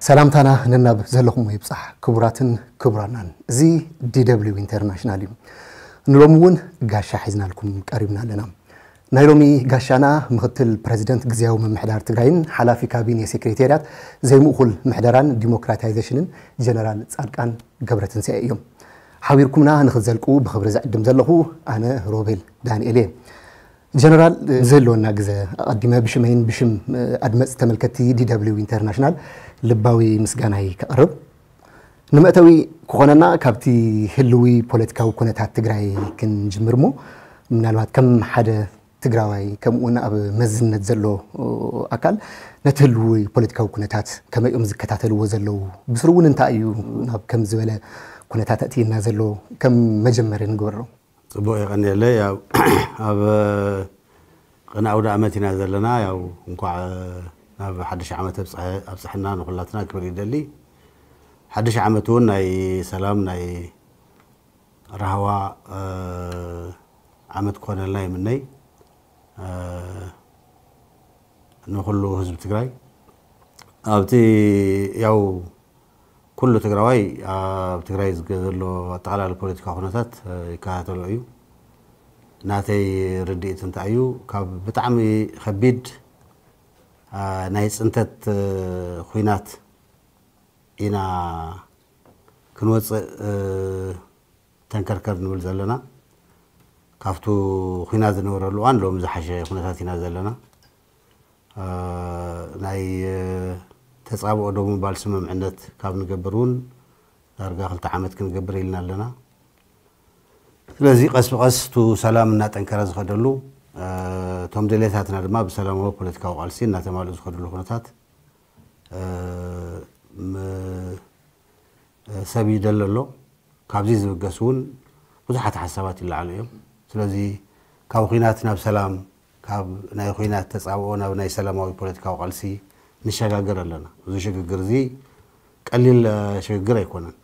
ሰላምታና ነናብ ዘለኹሞ ይብጻሕ፣ ክቡራትን ክቡራናን። እዚ ዲ ደብሊው ኢንተርናሽናል እዩ። ንሎሚ እውን ጋሻ ሒዝናልኩም ቀሪብና ኣለና። ናይ ሎሚ ጋሻና ምኽትል ፕረዚደንት ግዝያዊ ምምሕዳር ትግራይን ሓላፊ ካቢኔ ሴክሬታርያት ዘይምእኹል ምሕደራን ዲሞክራታይዜሽንን ጀነራል ጻድቃን ገብረትንሳኤ እዮም። ሓቢርኩምና ንኽትዘልቁ ብኽብሪ ዝዕድም ዘለኹ ኣነ ሮቤል ዳንኤል እየ። ጀነራል፣ ዘለወና ግዘ ኣቐዲመ ብሽመይን ብሽም ኣድመፅቲ ተመልከትቲ ዲ ደብሊው ኢንተርናሽናል ልባዊ ምስጋናይ ከቕርብ። ንመእተዊ ክኾነና ካብቲ ህልዊ ፖለቲካዊ ኩነታት ትግራይ ክንጅምር እሞ፣ ምናልባት ከም ሓደ ትግራዋይ ከምኡ እውን ኣብ መዝነት ዘሎ ኣካል ነቲ ህልዊ ፖለቲካዊ ኩነታት ከመይ እዮም ዝከታተልዎ ዘለዉ? ብስሩ እውን እንታይ እዩ ናብ ከም ዝበለ ኩነታት ኣእትየና ዘሎ? ከም መጀመሪ ንግበሮ። ጽቡቕ የቐንየለይ። ያው ኣብ ቅነ ኣውደ ዓመት ኢና ዘለና። ያው እንኳዕ ናብ ሓድሽ ዓመት ኣብጽሐ-፣ ኣብጽሐና ንኹላትና ክብል ይደሊ። ሓድሽ ዓመት እውን ናይ ሰላም፣ ናይ ራህዋ፣ እ፣ ዓመት ክኾነልና ይምነይ፣ እ፣ ንኹሉ ህዝቢ ትግራይ። ኣብቲ ያው ኩሉ ትግራዋይ ኣብ ትግራይ ዝገ-፣ ዘሎ ኣጠቓላሊ ፖለቲካ ኩነታት፣ እ፣ ይከታተሎ እዩ። ናተይ ርድኢት እንታይ እዩ? ካብ ብጣዕሚ ከቢድ፣ እ፣ ናይ ጽንተት፣ እ፣ ኹናት ኢና ክንወጽእ፣ እ፣ ተንከርከር ንብል ዘለና። ካብቱ ኹናት ዝነበረሉ እዋን ሎም ዝሓሸ ኩነታት ኢና ዘለና። እ፣ ናይ፣ እ፣ ተጻብኦ ደው ምባል ስምምዕነት ካብ ንገብር እውን ዳርጋ ክልተ ዓመት ክንገብር ኢልና ኣለና። ስለዚ ቀስ ብቐስ እቱ ሰላም እናጠንከረ ዝኸደሉ፣ እ፣ እቶም ድሌታትና ድማ ብሰላማዊ ፖለቲካዊ ቃልሲ እናተማልኡ ዝኸድሉ ኩነታት፣ እ፣ ም-፣ እ፣ ሰብ ይደሊ ኣሎ። ካብዚ ዝብገስ እውን ብዙሓት ሓሳባት ይለዓሉ እዮም። ስለዚ ካብ ኹናት ናብ ሰላም፣ ካብ ናይ ኹናት ተጻብኦ ናብ ናይ ሰላማዊ ፖለቲካዊ ቃልሲ ንሸጋገር ኣለና። እዚ ሽግግር እዚ ቀሊል፣ እ፣ ሽግግር ኣይኮነን።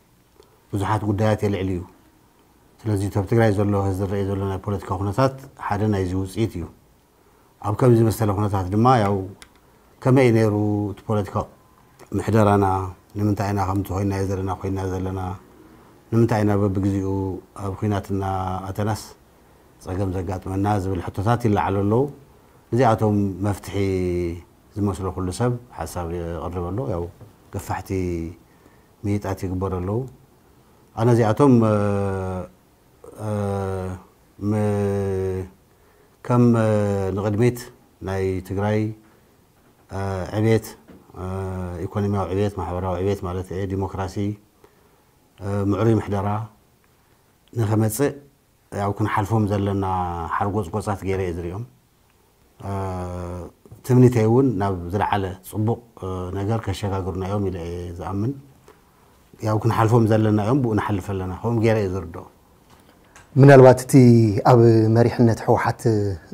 ብዙሓት ጉዳያት የልዕል እዩ። ስለዚ፣ እቲ ኣብ ትግራይ ዘሎ፣ ዝረኣይ ዘሎ ናይ ፖለቲካ ኩነታት ሓደ ናይዚ ውጽኢት እዩ። ኣብ ከምዚ መሰለ ኩነታት ድማ፣ ያው፣ ከመይ እዩ ነይሩ እቲ ፖለቲካ ምሕደራና? ንምንታይ ኢና ከምቲ ኮይናዮ ዘለና ኮይና ዘለና? ንምንታይ ኢና በብግዜኡ ኣብ ኹናት እናኣተናስ ጸገም ዘጋጥመና? ዝብል ሕቶታት ይለዓሉ ኣለዉ። እዚኣቶም መፍትሒ ዝመስሎ ኩሉ ሰብ ሓሳብ የቕርብ ኣሎ። ያው፣ ገፋሕቲ ምይጣት ይግበሩ ኣለዉ። ኣነ እዚኣቶም፣ እ፣ እ፣ ም-፣ ከም፣ እ፣ ንቕድሚት ናይ ትግራይ፣ እ፣ ዕቤት፣ እ፣ ኢኮኖሚያዊ ዕቤት፣ ማሕበራዊ ዕቤት ማለት እየ፣ ዲሞክራሲ፣ እ፣ ምዕሩይ ምሕደራ ንኸመጽእ፣ ያው ክንሓልፎም ዘለና ሓርጎጽጎጻት ገይረ እየ ዝሪኦም። እ፣ ትምኒተይ እውን ናብ ዝለዓለ ጽቡቕ፣ እ፣ ነገር ከሸጋግሩና እዮም ኢለ እየ ዝኣምን። ያው ክንሓልፎም ዘለና እዮም፣ ብኡ ንሓልፍ ኣለና። ከምኡ ገይረ እየ ዝርድኦ። ምናልባት እቲ ኣብ መሪሕነት ህወሓት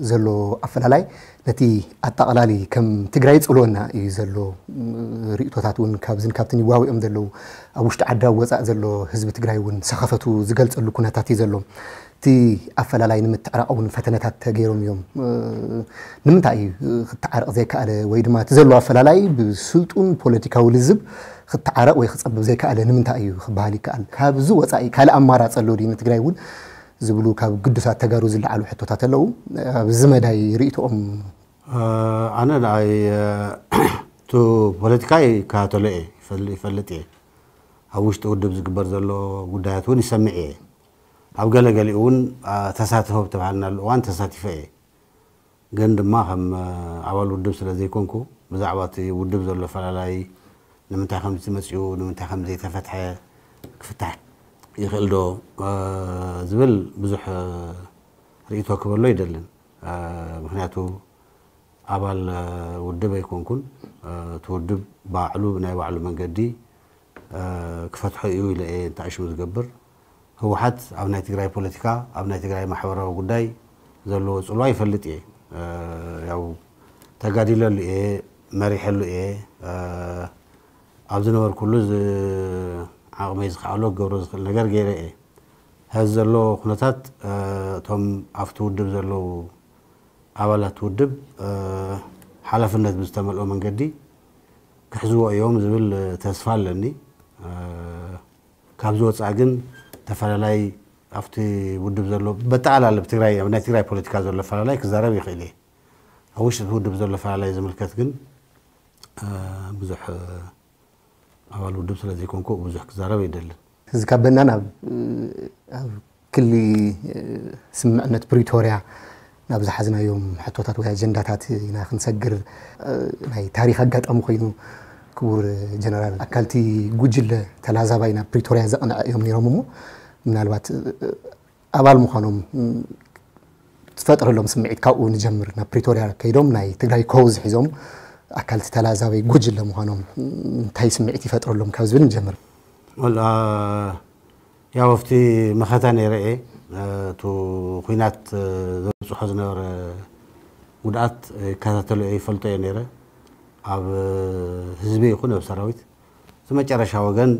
ዘሎ ኣፈላላይ ነቲ ኣጠቓላሊ ከም ትግራይ ይጽልወና እዩ ዘሎ፣ ም፣ ርእይቶታት እውን ካብዝን ካብትን ይዋውኦም ዘለዉ፣ ኣብ ውሽጢ ዓዲ ኣብ ወጻእ ዘሎ ህዝቢ ትግራይ እውን ሰኸፈቱ ዝገልጸሉ ኩነታት እዩ ዘሎ። እቲ ኣፈላላይ ንምትዕራቕ እውን ፈተነታት ተገይሮም እዮም። እ፣ ንምንታይ እዩ ክትዓረቕ ዘይከኣለ? ወይ ድማ እቲ ዘሎ ኣፈላላይ ብስልጡን ፖለቲካዊ ልዝብ ክትዓረቕ ወይ ክጸብብ ዘይከኣለ ንምንታይ እዩ ክበሃል ይከኣል? ካብዚ ወጻኢ ካልእ ኣማራጺ ኣሎ ድዩ? ንትግራይ እውን ዝብሉ ካብ ግዱሳት ተጋሩ ዝለዓሉ ሕቶታት ኣለዉ። ኣብዚ መዳይ ርእይቶኦም? እ፣ ኣነ ንኣይ፣ እ፣ እቲ ፖለቲካ ይከታተሎ እየ፣ ይፈል-፣ ይፈልጥ እየ። ኣብ ውሽጢ ውድብ ዝግበር ዘሎ ጉዳያት እውን ይሰምዕ እየ። ኣብ ገለ ገሊኡ እውን፣ እ፣ ተሳትፎ ብተባሃልናሉ እዋን ተሳቲፈ እየ። ግን ድማ ከም፣ እ፣ ኣባል ውድብ ስለ ዘይኮንኩ፣ ብዛዕባ እቲ ውድብ ዘሎ ፈላላይ፣ ንምንታይ ከምዚ መጺኡ፣ ንምንታይ ከም ዘይተፈትሐ፣ ክፍታሕ ይኽእል ዶ፣ እ፣ ዝብል ብዙሕ፣ እ፣ ርእይቶ ክበሎ ኣይደልን። እ፣ ምኽንያቱ ኣባል፣ እ፣ ውድብ ኣይኮንኩን። እ፣ እቲ ውድብ ባዕሉ ብናይ ባዕሉ መንገዲ፣ እ፣ ክፈትሖ እዩ ኢለ እየ እንተኣሽሙ ዝገብር። ህወሓት ኣብ ናይ ትግራይ ፖለቲካ፣ ኣብ ናይ ትግራይ ማሕበራዊ ጉዳይ ዘለዎ ጽልዋ ይፈልጥ እየ። እ፣ ያው ተጋዲለሉ እየ፣ መሪሐሉ እየ። እ፣ ኣብ ዝነበርኩሉ ዝ-፣ ዓቕመይ ዝኸኣሎ ክገብሮ ዝኽእል ነገር ገይረ እየ። ሐዚ ዘሎ ኩነታት፣ እ፣ እቶም ኣብቲ ውድብ ዘለዉ ኣባላት ውድብ፣ እ፣ ሓላፍነት ብዝተመልኦ መንገዲ ክሕዝዎ እዮም ዝብል ተስፋ ኣለኒ። ካብዚ ወፃኢ ግን ተፈላለይ ኣብቲ ውድብ ዘሎ በጠቓላላ ብትግራይ ኣብ ናይ ትግራይ ፖለቲካ ዘሎ ፈላላይ ክዛረብ ይኽእል እየ። ኣብ ውሽጢ ውድብ ዘሎ ፈላላይ ዝምልከት ግን ብዙሕ ኣባል ውድብ ስለ ዘይኮንኩ ብዙሕ ክዛረብ ኣይደልን። እዚ ካብ በናን ኣብ ኣብ ክሊ ስምምዕነት ፕሪቶርያ ናብ ዝሓዝናዮም ሕቶታት ወይ ኣጀንዳታት ኢና ክንሰግር። ናይ ታሪክ ኣጋጣሚ ኮይኑ ክቡር ጀነራል ኣካልቲ ጉጅለ ተላዛባይ ናብ ፕሪቶርያ ዘቕንዐ እዮም ነይሮም እሞ ምናልባት ኣባል ምዃኖም ትፈጥረሎም ስምዒት ካብኡ ንጀምር። ናብ ፕሪቶርያ ከይዶም ናይ ትግራይ ኮዝ ሒዞም ኣካልቲ ተላዛባይ ጉጅለ ምዃኖም እንታይ ስምዒት ይፈጥረሎም ካብ ዝብል ንጀምር። ያው ኣብቲ መኸታ ነይረ እየ። እቲ ኩናት ዘብፅሖ ዝነበረ ጉድኣት ይከታተሎ እየ፣ ይፈልጦ እየ ነይረ። ኣብ ህዝቢ ይኹን ኣብ ሰራዊት እቲ መጨረሻ ወገን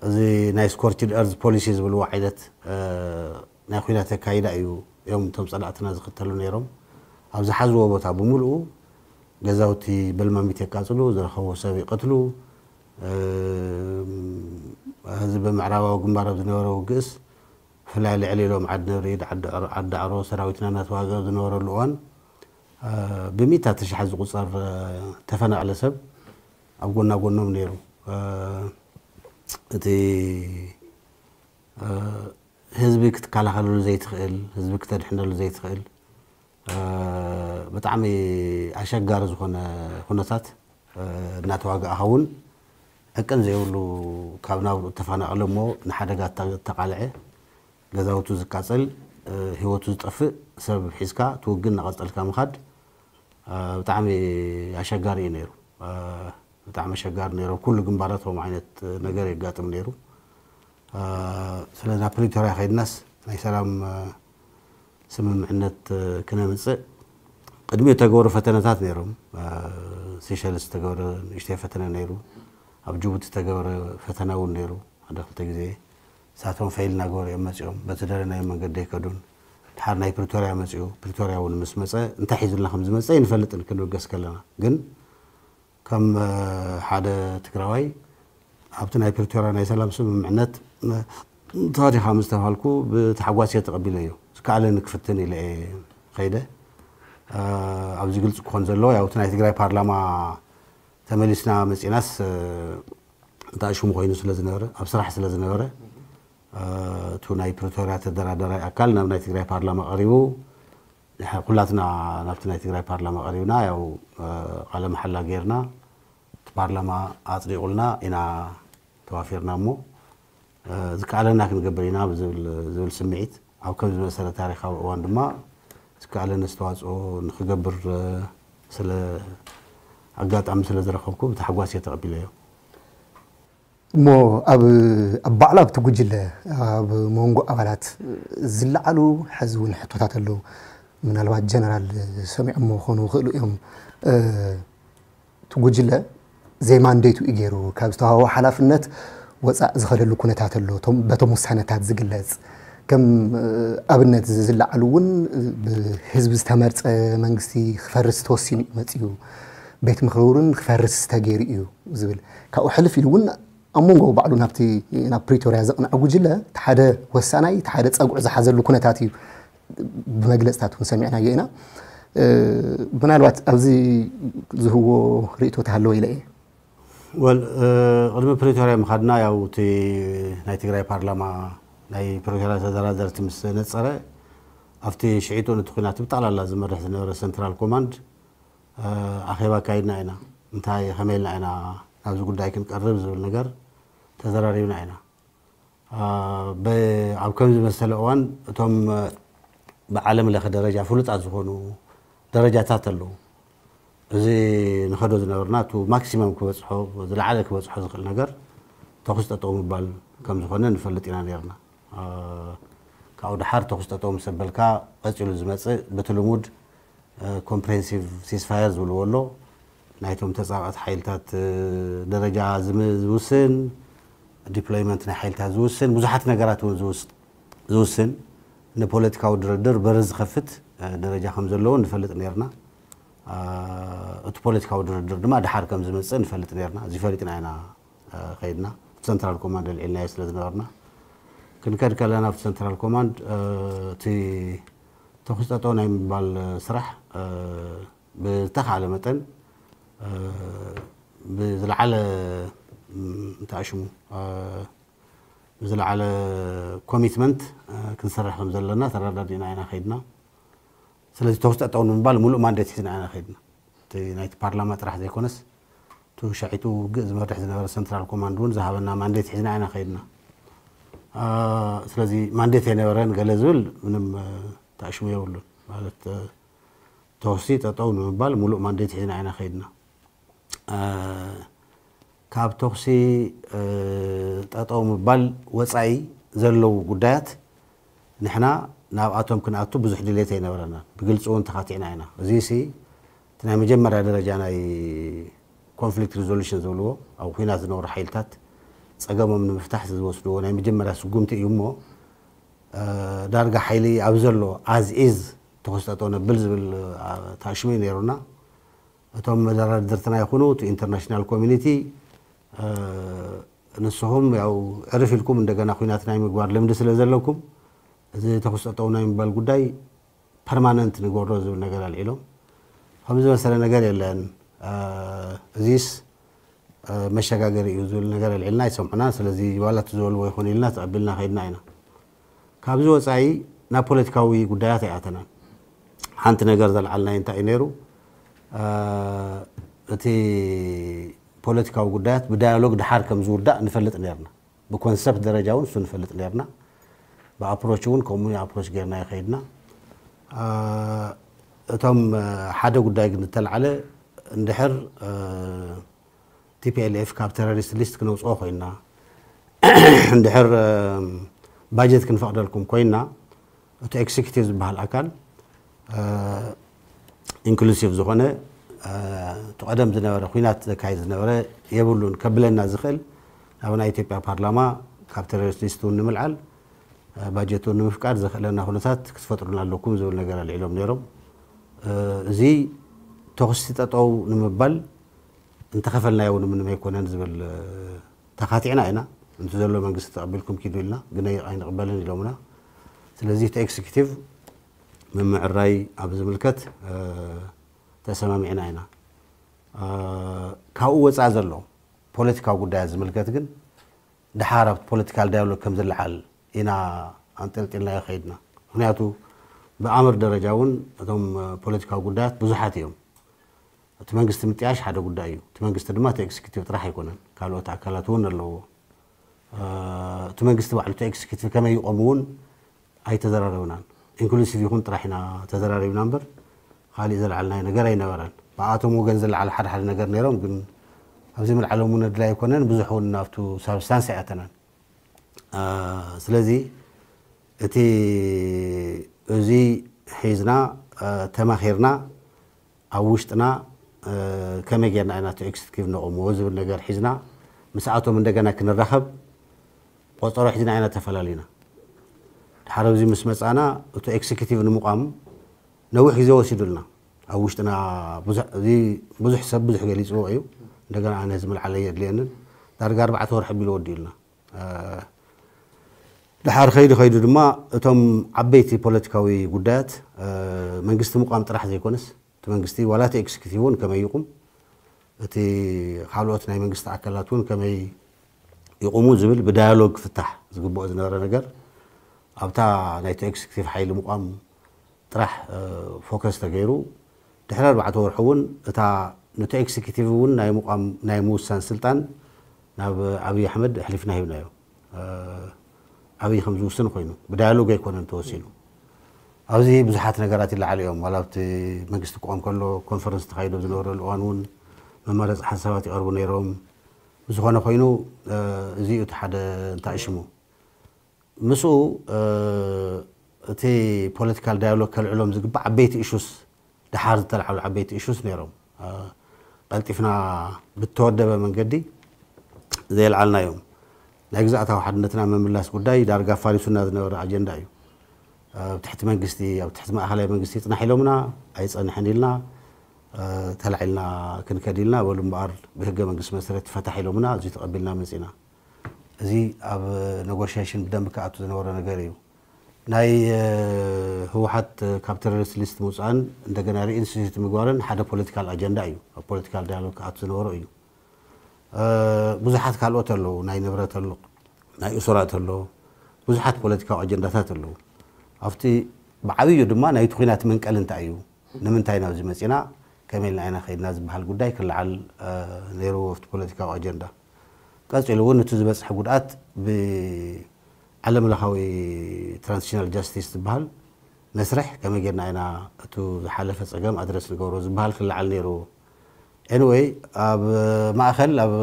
እዚ ናይ ስኮርችድ ኤርዝ ፖሊሲ ዝብልዎ ዓይነት ናይ ኩናት ኣካይዳ እዩ እዮም እቶም ፀላእትና ዝኽተሉ ነይሮም። ኣብ ዝሓዝዎ ቦታ ብምልኡ ገዛውቲ በልማሚት የቃፅሉ፣ ዝረኸብዎ ሰብ ይቐትሉ። እዚ ብምዕራባዊ ግንባር ኣብ ዝነበረ ውግእስ ብፍላይ ልዕሊ ኢሎም ዓዲ ነብሪድ፣ ዓዲ ዳዕሮ ሰራዊትና እናተዋግእ ኣብ ዝነበረሉ እዋን ብሚእታት ሽሓት ዝቁፀር ተፈናቐለ ሰብ ኣብ ጎና ጎኖም ነይሩ። እቲ ህዝቢ ክትከላኸለሉ ዘይትኽእል፣ ህዝቢ ክተድሕነሉ ዘይትኽእል ብጣዕሚ ኣሸጋሪ ዝኾነ ኩነታት እናተዋጋእኻ እውን ዕቅን ዘይብሉ ካብ ናብርኡ እተፈናቐለ እሞ ንሓደጋ እተቃልዐ፣ ገዛውቱ ዝቃፀል፣ ህይወቱ ዝጠፍእ ሰብ ሒዝካ ትውግን እናቐፀልካ ምኻድ ብጣዕሚ ኣሸጋሪ እዩ ነይሩ። ብጣዕሚ ኣሸጋሪ ነይሩ። ኩሉ ግንባራት ከምኡ ዓይነት ነገር የጋጥም ነይሩ። ስለዚ ናብ ፕሪቶርያ ከይድናስ ናይ ሰላም ስምምዕነት ክነምፅእ ቅድሚኡ ዝተገበሩ ፈተነታት ነይሮም። ሲሸልስ ዝተገበረ ንእሽተይ ፈተነ ነይሩ። ኣብ ጅቡቲ ዝተገበረ ፈተነ እውን ነይሩ። ሓደ ክልተ ግዜ ንሳቶም ፈይል እናገበሩ እዮም መፂኦም። በቲ ደለናዮ መንገዲ ኣይከዱን። ድሓር ናይ ፕሪቶርያ መፂኡ። ፕሪቶርያ እውን ምስ መፀ እንታይ ሒዙልና ከም ዝመፀ ኣይንፈልጥን ክንብገስ ከለና። ግን ከም ሓደ ትግራዋይ ኣብቲ ናይ ፕሪቶርያ ናይ ሰላም ስምምዕነት ተዋዲኻ ምስ ተባሃልኩ ብታሕጓስ እየ ተቐቢለዮ። ዝከኣለኒ ክፍትን ኢለ እየ ከይደ። ኣብዚ ግልፂ ክኾን ዘለዎ ያው እቲ ናይ ትግራይ ፓርላማ ተመሊስና መፂናስ እንታይ ሽሙ ኮይኑ ስለ ዝነበረ ኣብ ስራሕ ስለ ዝነበረ እቱ ናይ ፕሪቶርያ ተደራደራይ ኣካል ናብ ናይ ትግራይ ፓርላማ ቀሪቡ ኩላትና ናብቲ ናይ ትግራይ ፓርላማ ቀሪብና ያው ቃለ መሓላ ጌርና እቲ ፓርላማ ኣፅዲቑልና ኢና ተዋፊርና እሞ ዝከኣለና ክንገብር ኢና ዝብል ስምዒት ኣብ ከም ዝመሰለ ታሪካዊ እዋን ድማ ዝከኣለኒ ኣስተዋፅኦ ንክገብር ስለ ኣጋጣሚ ስለ ዝረከብኩ ብታሕጓስ እየ ተቐቢለዮ። እሞ ኣብ ኣብ ባዕሉ ኣብቲ ጉጅለ ኣብ መንጎ ኣባላት ዝለዓሉ ሕዚ እውን ሕቶታት ኣለዉ። ምናልባት ጀነራል ሰሚዖሞ ክኾኑ ይኽእሉ እዮም። እቲ ጉጅለ ዘይማንዴቱ እዩ ገይሩ ካብ ዝተዋህቦ ሓላፍነት ወፃእ ዝኸደሉ ኩነታት ኣሎ። በቶም ውሳነታት ዝግለፅ ከም ኣብነት ዝለዓሉ እውን ብህዝቢ ዝተመርፀ መንግስቲ ክፈርስ ተወሲኑ እዩ መፅኡ። ቤት ምኽሪ እውን ክፈርስ ተገይሩ እዩ ዝብል ካብኡ ሕልፍ ኢሉ እውን ኣብ መንጎ ባዕሉ ናብቲ ናብ ፕሪቶርያ ዘቕንዐ ጉጅለ እቲ ሓደ ወሳናይ እቲ ሓደ ፀጉዒ ዝሓዘሉ ኩነታት እዩ ብመግለፅታት እውን ሰሚዕናዮ ኢና። ምናልባት ኣብዚ ዝህዎ ርእቶ ተሃለወ ኢለ እየ። ወል ቅድሚ ፕሪቶርያ ምኻድና ያው እቲ ናይ ትግራይ ፓርላማ ናይ ፕሪቶርያ ተደራደርቲ ምስ ነፀረ ኣብቲ ሽዒቱ ነቲ ኩናት ብጠቕላላ ዝመርሕ ዝነበረ ሰንትራል ኮማንድ ኣኼባ ኣካይድና ኢና። እንታይ ከመይ ኢልና ኢና ናብዚ ጉዳይ ክንቀርብ ዝብል ነገር ተዘራሪብና ኢና። ኣብ ከምዚ መሰለ እዋን እቶም ብዓለም ለኸ ደረጃ ፍሉጣት ዝኾኑ ደረጃታት ኣለዉ። እዚ ንኸዶ ዝነበርና እቲ ማክሲመም ክበፅሖ ዝለዓለ ክበፅሖ ዝኽእል ነገር ተኹስ ጠጠው ምባል ከም ዝኾነ ንፈልጥ ኢና ነርና። ካብኡ ድሓር ተኹስ ጠጠው ምስ ኣበልካ ቀፂሉ ዝመፅእ በቲ ልሙድ ኮምፕሬንሲቭ ሲስፋየር ዝብልዎ ኣሎ። ናይቶም ተፃባእቲ ሓይልታት ደረጃ ዝውስን፣ ዲፕሎይመንት ናይ ሓይልታት ዝውስን፣ ብዙሓት ነገራት እውን ዝውስን፣ ንፖለቲካዊ ድርድር በሪ ዝኸፍት ደረጃ ከም ዘለዎ ንፈልጥ ነርና። እቲ ፖለቲካዊ ድርድር ድማ ድሓር ከም ዝመፅእ ንፈልጥ ነርና። እዚ ፈሊጥና ኢና ከይድና። እቲ ሰንትራል ኮማንድ ኣልዒልናዮ ስለ ዝነበርና፣ ክንከድ ከለና ኣብቲ ሰንትራል ኮማንድ እቲ ተኹስ ጠጠው ናይ ምባል ስራሕ ብዝተኻለ መጠን ብዝለዓለ እንታይ ሽሙ ብዝለዓለ ኮሚትመንት ክንሰርሕ ከም ዘለና ተረዳዲእና ኢና ከይድና። ስለዚ ተኹስ ጠጠው ንምባል ሙሉእ ማንዴት ሒዝና ኢና ከይድና። እቲ ናይቲ ፓርላማ ጥራሕ ዘይኮነስ፣ እቲ ሸዒቱ ውግእ ዝመርሕ ዝነበረ ሰንትራል ኮማንድ እውን ዝሃበና ማንዴት ሒዝና ኢና ከይድና። ስለዚ ማንዴት ኣይነበረን ገለ ዝብል ምንም ተኣሽሙ የብሉን። ማለት ተኹሲ ጠጠው ንምባል ሙሉእ ማንዴት ሒዝና ኢና ከይድና። ካብ ተኹሲ ጠጠው ምባል ወፃኢ ዘለዉ ጉዳያት ንሕና ናብኣቶም ክንኣቱ ብዙሕ ድሌት ኣይነበረናን። ብግልፂ እውን ተኻቲዕና ኢና። እዚ ሲ እቲ ናይ መጀመርያ ደረጃ ናይ ኮንፍሊክት ሪዞሉሽን ዝብልዎ፣ ኣብ ኩናት ዝነብሩ ሓይልታት ፀገሞም ንምፍታሕ ዝወስድዎ ናይ መጀመርያ ስጉምቲ እዩ እሞ፣ ዳርጋ ሓይሊ ኣብ ዘሎ ኣዝ ኢዝ ተኹሲ ጠጠው ነብል ዝብል ተኣሽሙ እዩ ነይሩና። እቶም መደራድርትና ይኹኑ እቲ ኢንተርናሽናል ኮሚኒቲ ንስኹም ያው ዕርፍ ኢልኩም እንደገና ኩናት ናይ ምግባር ልምዲ ስለ ዘለኩም፣ እዚ ተኹስ ጠጠው ናይ ምባል ጉዳይ ፐርማነንት ንገብሮ ዝብል ነገር ኣልዒሎም። ከም ዝመሰለ ነገር የለን፣ እዚስ መሸጋገሪ እዩ ዝብል ነገር ኣልዒልና ኣይሰምዑናን። ስለዚ ዋላ እቲ ዝበልዎ ይኹን ኢልና ተቐቢልና ከይድና ኢና። ካብዚ ወፃኢ ናብ ፖለቲካዊ ጉዳያት ኣይኣተናን። ሓንቲ ነገር ዘልዓልናይ እንታይ እዩ ነይሩ? እቲ ፖለቲካዊ ጉዳያት ብዳያሎግ ድሓር ከም ዝውዳእ ንፈልጥ ነርና። ብኮንሰፕት ደረጃ እውን እሱ ንፈልጥ ነርና። ብኣፕሮች እውን ከምኡ ኣፕሮች ጌርና ይኸይድና። እቶም ሓደ ጉዳይ ግን ዝተልዓለ፣ እንድሕር ቲፒኤልኤፍ ካብ ቴሮሪስት ሊስት ክነውፅኦ ኮይና፣ እንድሕር ባጀት ክንፈቕደልኩም ኮይና፣ እቲ ኤክሲኪቲቭ ዝበሃል ኣካል ኢንክሉሲቭ ዝኾነ እቲ ቀደም ዝነበረ ኩናት ዘካይድ ዝነበረ የብሉን ከብለና ዝኽእል፣ ናብ ናይ ኢትዮጵያ ፓርላማ ካብ ቴሮሪስት ሊስት እውን ንምልዓል ባጀት እውን ንምፍቃድ ዘኽእለና ኩነታት ክትፈጥሩና ኣለኩም ዝብል ነገር ኣልዒሎም ነይሮም። እዚ ተኹሲ ጠጠው ንምባል እንተኸፈልናዮ እውን ምንም ኣይኮነን ዝብል ተኻቲዕና ኢና። እንት ዘሎ መንግስቲ ተቐቢልኩም ኪዱ ኢልና፣ ግን ኣይንቕበልን ኢሎምና። ስለዚ እቲ ኤክስኪቲቭ ምምዕራይ ኣብ ዝምልከት ተሰማሚዕና ኢና። ካብኡ ወፃኢ ዘሎ ፖለቲካዊ ጉዳያት ዝምልከት ግን ድሓር ኣብቲ ፖለቲካል ዳያሎግ ከም ዝለዓል ኢና ኣንጠልጢልናዮ ከይድና። ምክንያቱ ብኣምር ደረጃ እውን እቶም ፖለቲካዊ ጉዳያት ብዙሓት እዮም። እቲ መንግስቲ ምጥያሽ ሓደ ጉዳይ እዩ። እቲ መንግስቲ ድማ እቲ ኤክስኪቲቭ ጥራሕ ኣይኮነን፣ ካልኦት ኣካላት እውን ኣለዎ። እቲ መንግስቲ ባዕሉ እቲ ኤክስኪቲቭ ከመይ ይቆም እውን ኣይተዘራረብናን። ኢንክሉሲቭ ይኹን ጥራሕ ኢና ተዘራሪብና እምበር፣ ካሊእ ዘለዓልናዮ ነገር ኣይነበረን። ብኣቶም ወገን ዘለዓለ ሓደ ሓደ ነገር ነይሮም፣ ግን ኣብዚ ምልዓሎም እውን ኣድላይ ኣይኮነን። ብዙሕ እውን ናብቱ ሳብስታንስ ኣይኣተናን። ስለዚ እቲ እዚ ሒዝና ተማኺርና ኣብ ውሽጥና ከመይ ጌርና ኢና እቲ ኤክስኪቲቭ ነቑምዎ ዝብል ነገር ሒዝና ምስኣቶም እንደገና ክንራኸብ ቆፀሮ ሒዝና ኢና ተፈላሊና። ድሓር ኣብዚ ምስ መፃና እቲ ኤክስኪቲቭ ንምቋም ነዊሕ ግዜ ወሲዱልና። ኣብ ውሽጥና ብዙሕ ሰብ ብዙሕ ገሊፅዎ እዩ። እንደገና ኣነ እዚ ምልዓለይ የድልየንን ዳርጋ ኣርባዕተ ወርሒ ኣቢሉ ወዲኡልና። ድሓር ከይዱ ከይዱ ድማ እቶም ዓበይቲ ፖለቲካዊ ጉዳያት መንግስቲ ምቋም ጥራሕ ዘይኮነስ፣ እቲ መንግስቲ ዋላ እቲ ኤክስኪቲቭ እውን ከመይ ይቁም፣ እቲ ካልኦት ናይ መንግስቲ ኣካላት እውን ከመይ ይቁሙ ዝብል ብዳያሎግ ክፍታሕ ዝግብኦ ዝነበረ ነገር ኣብታ ናይቲ ኤክስኪቲቭ ሓይሊ ምቋም ጥራሕ ፎከስ ተገይሩ። ድሕሪ ኣርባዕተ ወርሒ እውን እታ ነቲ ኤክስኪቲቭ እውን ናይ ምቋም ናይ ምውሳን ስልጣን ናብ ኣብይ ኣሕመድ ኣሕሊፍና ሂብናዮ። ኣብይ ከም ዝውስን ኮይኑ ብዳያሎግ ኣይኮነን ተወሲኑ። ኣብዚ ብዙሓት ነገራት ይለዓሉ እዮም። ዋላ ኣብቲ መንግስቲ ክቆም ከሎ ኮንፈረንስ ተኻይዶ ዝነበረሉ እዋን እውን መመረፂ ሓሳባት ይቐርቡ ነይሮም። ብዝኾነ ኮይኑ እዚኡ እቲ ሓደ እንታይ ሽሙ ምስኡ እቲ ፖለቲካል ዳያሎግ ከልዕሎም ዝግባእ ዓበይቲ ኢሹስ፣ ድሓር ዝተልዓሉ ዓበይቲ ኢሹስ ነይሮም። ቀልጢፍና ብተወደበ መንገዲ ዘየልዓልናዮም። ናይ ግዝኣታዊ ሓድነትና ምምላስ ጉዳይ ዳርጋ ፋሪሱና ዝነበረ ኣጀንዳ እዩ። ኣብ ትሕቲ መንግስቲ፣ ኣብ ትሕቲ ማእኸላይ መንግስቲ ይፅናሕ ኢሎምና፣ ኣይፀንሕን ኢልና። ተላዒልና ክንከድ ኢልና በሉ እምበኣር ብህገ መንግስቲ መሰረት ትፈታሕ ኢሎምና፣ እዚ ተቐቢልና መፂና። እዚ ኣብ ኔጎሽዬሽን ብደንቢ ክኣቱ ዝነበሮ ነገር እዩ። ናይ ህወሓት ካብ ቴሮሪስት ሊስት ምውፃእን እንደገና ሪኢንስቲትዩት ምግባርን ሓደ ፖለቲካል ኣጀንዳ እዩ። ኣብ ፖለቲካል ዳያሎግ ክኣቱ ዝነበሮ እዩ። ብዙሓት ካልኦት ኣለዉ። ናይ ንብረት ኣሎ፣ ናይ እሱራት ኣሎ፣ ብዙሓት ፖለቲካዊ ኣጀንዳታት ኣለዉ። ኣብቲ ብዓብዩ ድማ ናይቲ ኲናት መንቀሊ እንታይ እዩ፣ ንምንታይ ናብዚ መፂና፣ ከመይ ኢልና ኢና ከይድና ዝበሃል ጉዳይ ክለዓል ነይርዎ ኣብቲ ፖለቲካዊ ኣጀንዳ። ቀፂሉ እውን እቲ ዝበፅሐ ጉድኣት ብዓለም ለኻዊ ትራንዚሽናል ጃስቲስ ዝበሃል መስርሕ ከመይ ጌርና ኢና እቱ ዝሓለፈ ፀገም ኣድረስ ንገብሮ ዝበሃል ክለዓል ነይርዎ። ኤኒወይ ኣብ ማእኸል ኣብ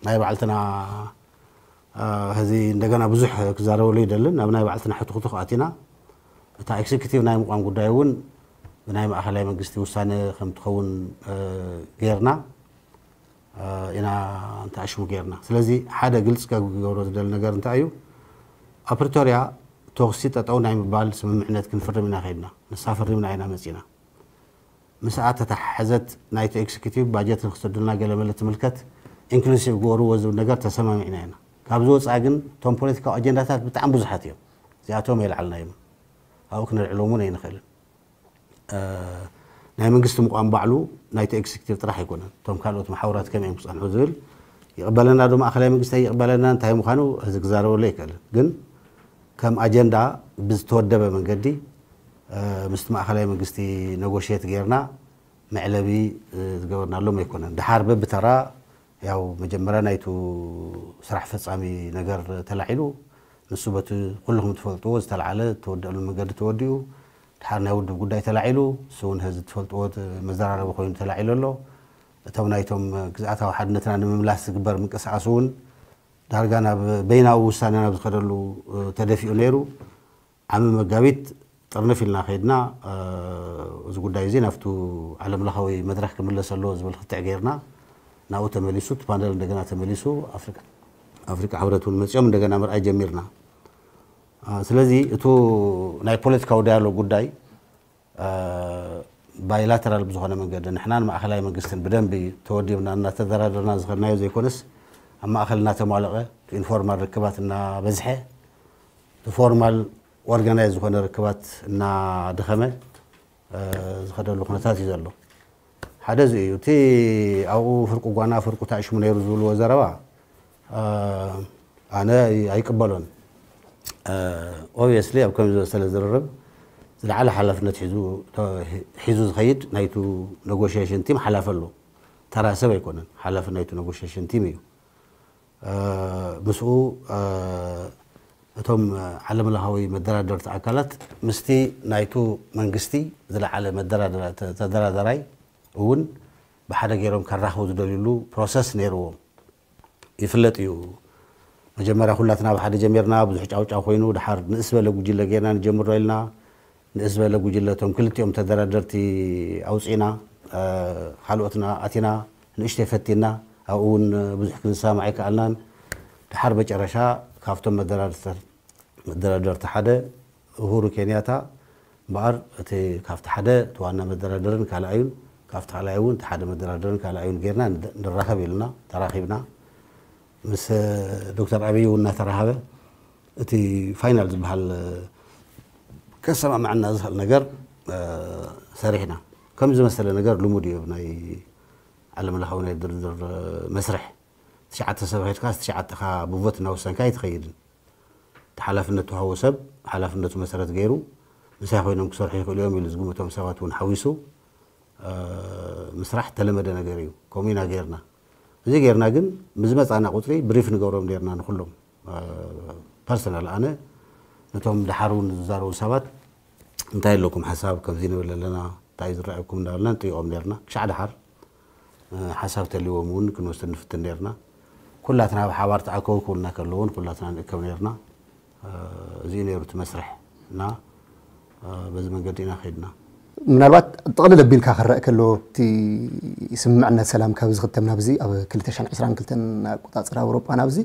ናይ ባዕልትና ሕዚ እንደገና ብዙሕ ክዛረበሉ ይደልን ኣብ ናይ ባዕልትና ሕትኹትኽ ኣቲና እታ ኤክዚኪቲቭ ናይ ምቋም ጉዳይ እውን ብናይ ማእኸላይ መንግስቲ ውሳነ ከም ትኸውን ጌርና ኢና እንተኣሽሙ ጌርና። ስለዚ ሓደ ግልፂ ክገብሮ ዝደሊ ነገር እንታይ እዩ? ኣብ ፕሪቶርያ ተኹሲ ጠጠው ናይ ምባል ስምምዕነት ክንፍርም ኢና ከይድና። ንሳ ፈሪምና ኢና መፂና። ምስኣ ተተሓሓዘት ናይቲ ኤክዚኪቲቭ ባጀት ንክሰዱልና ገለመለ ትምልከት ኢንክሉሲቭ ግበርዎ ዝብል ነገር ተሰማሚዕና ኢና። ካብዚ ወፃኢ ግን እቶም ፖለቲካዊ ኣጀንዳታት ብጣዕሚ ብዙሓት እዮም። እዚኣቶም የልዓልናዮም። ኣብኡ ክነልዕሎም እውን ኣይንኽእልን። ናይ መንግስቲ ምቋም ባዕሉ ናይቲ ኤክዚኪቲቭ ጥራሕ ኣይኮነን። እቶም ካልኦት መሓውራት ከመይ እዮም ክፀንሑ ዝብል ይቕበለና ዶ ማእኸላይ መንግስቲ ኣይቕበለና እንታይ ምዃኑ እዚ ክዛረበሉ ኣይክእልን። ግን ከም ኣጀንዳ ብዝተወደበ መንገዲ ምስቲ ማእኸላይ መንግስቲ ነጎሽየት ጌርና መዕለቢ ዝገበርናሎም ኣይኮነን። ድሓር በብተራ ያው መጀመርያ ናይቱ ስራሕ ፈፃሚ ነገር ተላዒሉ ንሱ በቲ ኩልኹም ትፈልጥዎ ዝተለዓለ ተወደአሉ መንገዲ ተወዲኡ ድሓር ናይ ውድብ ጉዳይ ተላዒሉ እሱ እውን ህዚ ትፈልጥዎ መዘራረቢ ኮይኑ ተላዒሉ ኣሎ። እቶም ናይቶም ግዝኣታዊ ሓድነትና ንምምላስ ዝግበር ምንቅስቃስ እውን ዳርጋ ናብ በይናዊ ውሳነ ናብ ዝኸደሉ ተደፊኡ ነይሩ። ዓሚ መጋቢት ጥርንፍ ኢልና ከይድና እዚ ጉዳይ እዚ ናብቱ ዓለም ለኻዊ መድረክ ክምለስ ኣለዎ ዝብል ክትዕ ጌርና ናብኡ ተመሊሱ እቲ ፓነል እንደገና ተመሊሱ ኣፍሪካ ሕብረት እውን መፂኦም እንደገና ምርኣይ ጀሚርና። ስለዚ እቱ ናይ ፖለቲካዊ ዳያሎግ ጉዳይ ባይላተራል ብዝኾነ መንገዲ ንሕናን ማእኸላይ መንግስትን ብደንቢ ተወዲብና እናተደራደርና ዝኸድናዮ ዘይኮነስ ኣብ ማእኸል እናተሟለቐ ኢንፎርማል ርክባት እናበዝሐ ፎርማል ኦርጋናይዝ ዝኾነ ርክባት እናደኸመ ዝኸደሉ ኩነታት እዩ ዘሎ። ሓደ እዚ እዩ። እቲ ኣብኡ ፍርቁ ጓና ፍርቁ ታእሽሙ ነይሩ ዝብልዎ ዘረባ ኣነ ኣይቅበሎን። ኦብቪየስሊ ኣብ ከምዚ ዝበሰለ ዝርርብ ዝለዓለ ሓላፍነት ሒዙ ዝኸይድ ናይቱ ኔጎሽዬሽን ቲም ሓላፊ ኣሎ። ተራ ሰብ ኣይኮነን፣ ሓላፊ ናይቱ ኔጎሽዬሽን ቲም እዩ። ምስኡ እቶም ዓለም ለኻዊ መደራደርቲ ኣካላት ምስቲ ናይቱ መንግስቲ ዝለዓለ ተደራዳራይ እውን ብሓደ ገይሮም ከራኽቡ ዝደልዩሉ ፕሮሰስ ነይርዎም። ይፍለጥ እዩ። መጀመርያ ኩላትና ብሓደ ጀሚርና ብዙሕ ጫውጫው ኮይኑ ድሓር ንእስ በለ ጉጅለ ጌርና ንጀምሮ ኢልና ንእስ በለ ጉጅለ እቶም ክልቲኦም ተደራደርቲ ኣውፂና ካልኦትና ኣቲና ንእሽተይ ፈቲና ኣብኡ እውን ብዙሕ ክንሰማማዕ ኣይከኣልናን። ድሓር መጨረሻ ካብቶም መደራደርቲ ሓደ ኡሁሩ ኬንያታ እምበኣር እቲ ካብቲ ሓደ እቲ ዋና መደራደርን ካልኣዩን ካብቲ ካልኣይ እውን እቲ ሓደ መደራደርን ካልኣዩን ጌርና ንራኸብ ኢልና ተራኺብና። ምስ ዶክተር ኣብይ እውን እናተራኸበ እቲ ፋይናል ዝበሃል ከሰማምዐና ዝኽእል ነገር ሰሪሕና። ከም ዝመሰለ ነገር ልሙድ እዩ ናይ ዓለም ለኻዊ ናይ ድርድር መስርሕ። ትሽዓተ ሰብ ሄድካ ትሽዓተኻ ብቮት እናወሰንካ ኣይትኸይድን። እቲ ሓላፍነት ተዋህቦ ሰብ ሓላፍነቱ መሰረት ገይሩ ምሳይ ኮይኖም ክሰርሑ ይኽእሉ እዮም ኢሉ ዝግምቶም ሰባት እውን ሓዊሱ ምስራሕ ተለመደ ነገር እዩ። ከምኡ ኢና ገይርና። እዚ ገይርና ግን ብዝመፃና ቁፅሪ ብሪፍ ንገብሮም ነርና ንኩሎም ፐርሰናል ኣነ ነቶም ድሓር እውን ዝዛረቡ ሰባት እንታይ ኣለኩም ሓሳብ ከምዚ ንብል ኣለና እንታይ ዝረኣየኩም እንዳበልና ንጥይቆም ነርና ክሻዕ ድሓር ሓሳብ ተልዎም እውን ክንወስድ ንፍትን ነርና። ኩላትና ብሓባር ተኣከቡ ክብሉና ከለውን ኩላትና ንእከብ ነርና። እዚ ነይሩ እቲ መስርሕ እና በዚ መንገዲ ኢና ከይድና። ምናልባት ጥቕልል ኣቢልካ ክረአ ከሎ እቲ ስምምዕነት ሰላም ካብ ዝኽተም ናብዚ ኣብ ክልተ ሽሕን ዕስራን ክልተን ኣቆፃፅራ ኣውሮጳ ናብዚ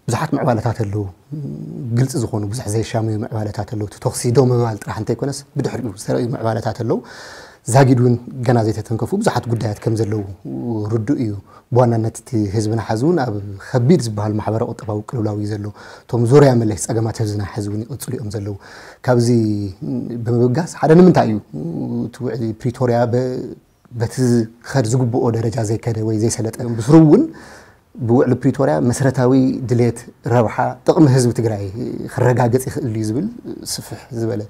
ብዙሓት ምዕባለታት ኣለዉ። ግልፂ ዝኾኑ ብዙሕ ዘይሻመዩ ምዕባለታት ኣለዉ። እቲ ተኹሲ ደው ምባል ጥራሕ እንተይኮነስ ብድሕሪኡ ዝተረእዩ ምዕባለታት ኣለዉ። ዛጊድ እውን ገና ዘይተተንከፉ ብዙሓት ጉዳያት ከም ዘለዉ ርዱእ እዩ። ብዋናነት እቲ ህዝብና ሓዚ እውን ኣብ ከቢድ ዝበሃል ማሕበረ ቁጠባዊ ቅልውላው እዩ ዘሎ። እቶም ዙርያ መለስ ጸገማት ህዝብና ሓዚ እውን ይቕጽሉ እዮም ዘለዉ። ካብዚ ብምብጋስ ሓደ ንምንታይ እዩ እቲ ውዕሊ ፕሪቶርያ በ- በቲ ዝኸድ ዝግብኦ ደረጃ ዘይከደ ወይ ዘይሰለጠ? ብስሩ እውን ብውዕሊ ፕሪቶርያ መሰረታዊ ድሌት፣ ረብሓ፣ ጥቕሚ ህዝቢ ትግራይ ክረጋገጽ ይኽእል እዩ ዝብል ስፍሕ ዝበለ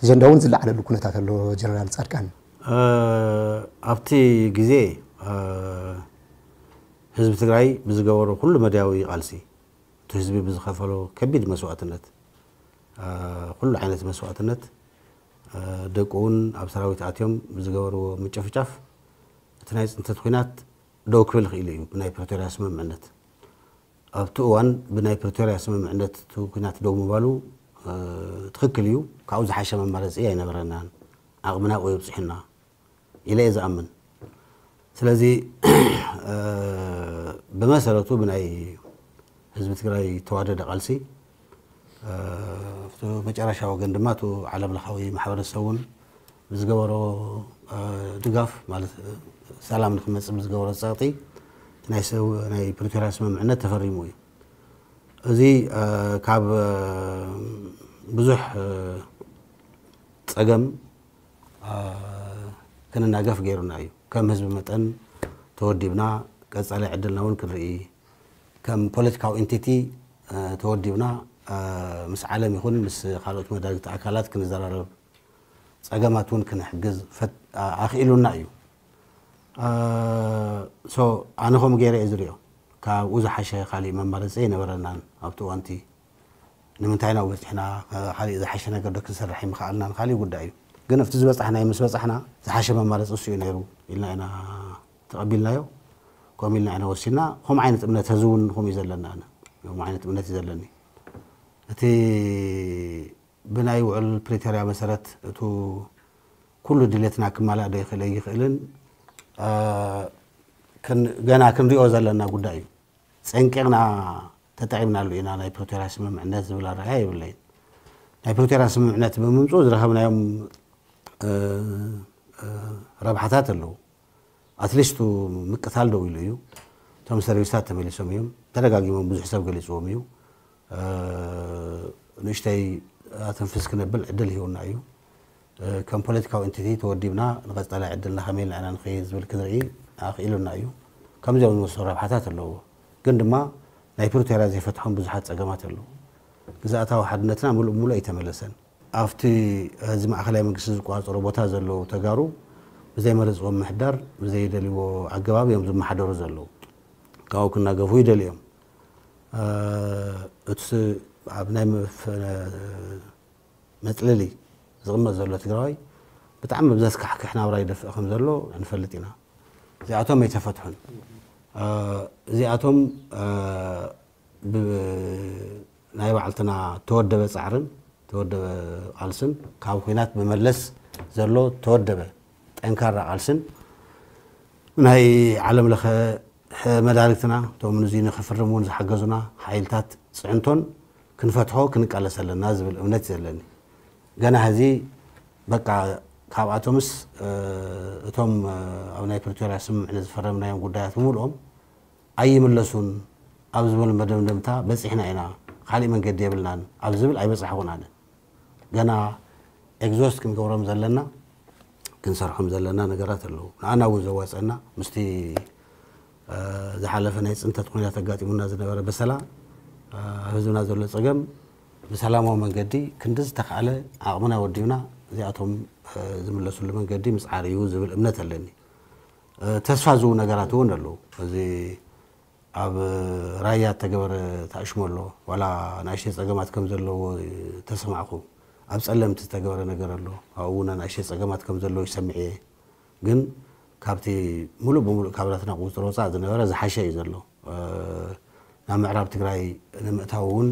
ኣጀንዳ እውን ዝለዓለሉ ኩነታት ኣሎ። ጀነራል ጻድቃን፣ ኣብቲ ግዜ ህዝቢ ትግራይ ብዝገበሮ ኩሉ መዳያዊ ቃልሲ፣ እቲ ህዝቢ ብዝኸፈሎ ከቢድ መስዋእትነት፣ ኩሉ ዓይነት መስዋእትነት፣ ደቁ እውን ኣብ ሰራዊት ኣትዮም ብዝገበርዎ ምጭፍጫፍ፣ እቲ ናይ ፅንተት ኲናት ደው ክብል ክኢሉ እዩ ብናይ ፕሪቶርያ ስምምዕነት። ኣብቲ እዋን ብናይ ፕሪቶርያ ስምምዕነት እቲ ኲናት ደው ምባሉ ትኽክል እዩ። ካብኡ ዝሓሸ መማረፂ ኣይነበረናን፣ ዓቕምና ኣብኡ የብፅሑና ኢለ እየ ዝኣምን። ስለዚ ብመሰረቱ ብናይ ህዝቢ ትግራይ ተዋደደ ቃልሲ፣ ኣብቲ መጨረሻ ወገን ድማ እቲ ዓለም ለኻዊ ማሕበረሰብ እውን ብዝገበሮ ድጋፍ፣ ማለት ሰላም ንክመፅእ ብዝገበሮ ፀቕጢ፣ ናይ ሰው ናይ ፕሪቶርያ ስምምዕነት ተፈሪሙ እዩ። እዚ ካብ ብዙሕ ፀገም ክንናገፍ ገይሩና እዩ። ከም ህዝቢ መጠን ተወዲብና፣ ቀፃሊ ዕድልና እውን ክንርኢ፣ ከም ፖለቲካዊ ኤንቲቲ ተወዲብና፣ ምስ ዓለም ይኹን ምስ ካልኦት መዳርግቲ ኣካላት ክንዘራረብ፣ ፀገማት እውን ክንሕግዝ ኣኽኢሉና እዩ። ኣነ ከምኡ ገይረ እየ ዝሪኦ። ካብኡ ዝሓሸ ካሊእ መማረፂ ኣይነበረናን ኣብቲ እዋንቲ። ንምንታይ ናብኡ በፂሕና? ካሊእ ዝሓሸ ነገር ዶ ክንሰርሕ ኣይምኸኣልናን? ካሊእ ጉዳይ እዩ። ግን ኣብቲ ዝበፃሕናዮ ምስ በፃሕና፣ ዝሓሸ መማረፂ እሱ እዩ ነይሩ ኢልና ኢና ተቐቢልናዮ። ከምኡ ኢልና ኢና ወሲንና። ከምኡ ዓይነት እምነት ሕዚ እውን ከምኡ እዩ ዘለና። ኣነ ከምኡ ዓይነት እምነት እዩ ዘለኒ። እቲ ብናይ ውዕል ፕሪቶርያ መሰረት እቱ ኩሉ ድሌትና ክማላእ ዶ ይኽእል ኣይኽእልን፣ ገና ክንሪኦ ዘለና ጉዳይ እዩ። ፀንቂቕና ተጠቒምናሉ ኢና ናይ ፕሪቶርያ ስምምዕነት ዝብል ኣረኣእያ የብለይን። ናይ ፕሪቶርያ ስምምዕነት ብምምፅኡ ዝረኸብናዮም ረብሓታት ኣለዉ። ኣትሊስቱ ምቅታል ደው ኢሉ እዩ። እቶም ሰርቪሳት ተመሊሶም እዮም። ተደጋጊሞም ብዙሕ ሰብ ገሊፅዎም እዩ። ንእሽተይ ኣተንፍስ ክነብል ዕድል ሂቡና እዩ። ከም ፖለቲካዊ ኤንቲቲ ተወዲብና ንቐፃላይ ዕድልና ከመይ ኢልና ኢና ንኸይድ ዝብል ክንርኢ ኣኽኢሉና እዩ። ከምዚኦም ዝመሰሉ ረብሓታት ኣለዎ። ግን ድማ ናይ ፕሪቶርያ ዘይፈትሖም ብዙሓት ፀገማት ኣለዉ። ግዝኣታዊ ሓድነትና ምሉእ ብምሉእ ኣይተመለሰን። ኣብቲ እዚ ማእኸላይ መንግስቲ ዝቆፃፀሮ ቦታ ዘለዉ ተጋሩ ብዘይመረፅዎ ምምሕዳር ብዘይደልይዎ ኣገባብ እዮም ዝመሓደሩ ዘለዉ። ካብኡ ክናገፉ ይደልዩ እዮም። እቲ ኣብ ናይ መፅለሊ ዝቕመጥ ዘሎ ትግራዋይ ብጣዕሚ ኣብ ዘስካሕክሕ ናብራ ይደፍእ ከም ዘሎ ንፈልጥ ኢና። እዚኣቶም ኣይተፈትሑን። እዚኣቶም ብናይ ባዕልትና ተወደበ ፃዕርን ተወደበ ቃልስን ካብ ኲናት ብመለስ ዘሎ ተወደበ ጠንካራ ቃልስን ናይ ዓለም ለኸ መዳርግትና እቶም ንዚ ንክፍርም እውን ዝሓገዙና ሓይልታት ፅዕንቶን ክንፈትሖ ክንቃለስ ኣለና ዝብል እምነት እዩ ዘለኒ። ገና ሕዚ በቃ ካብኣቶምስ እቶም ኣብ ናይ ፕሪቶርያ ስምምዕነት ዝፈረምናዮም ጉዳያት ብምልኦም ኣይምለሱን ኣብ ዝብል መደምደምታ በፂሕና ኢና፣ ካሊእ መንገዲ የብልናን ኣብ ዝብል ኣይበፃሕኹን ኣነ። ገና ኤግዞስት ክንገብሮም ዘለና ክንሰርሖም ዘለና ነገራት ኣለዉ። ንኣና እውን ዘዋፀና ምስቲ ዝሓለፈ ናይ ፅንተት ኩነታት ኣጋጢሙና ዝነበረ በሰላ፣ ህዝብና ዘሎ ፀገም ብሰላማዊ መንገዲ ክንዲ ዝተኻእለ ዓቕምና ወዲብና እዚኣቶም ዝምለሱሉ መንገዲ ምፅዓር እዩ ዝብል እምነት ኣለኒ። ተስፋ ዝህቡ ነገራት እውን ኣለዉ። እዚ ኣብ ራያ እተገበረ ተኣሽሞ ኣሎ። ዋላ ንኣሽተይ ጸገማት ከም ዘለዎ ተሰማዕኩ። ኣብ ጸለምቲ ዝተገበረ ነገር ኣሎ። ኣብኡ እውን ንኣሽተይ ጸገማት ከም ዘለዎ ይሰምዕ እየ። ግን ካብቲ ሙሉእ ብሙሉእ ካብ ናትና ቁጽሪ ወጻእ ዝነበረ ዝሓሸ እዩ ዘሎ። ናብ ምዕራብ ትግራይ ንምእታው እውን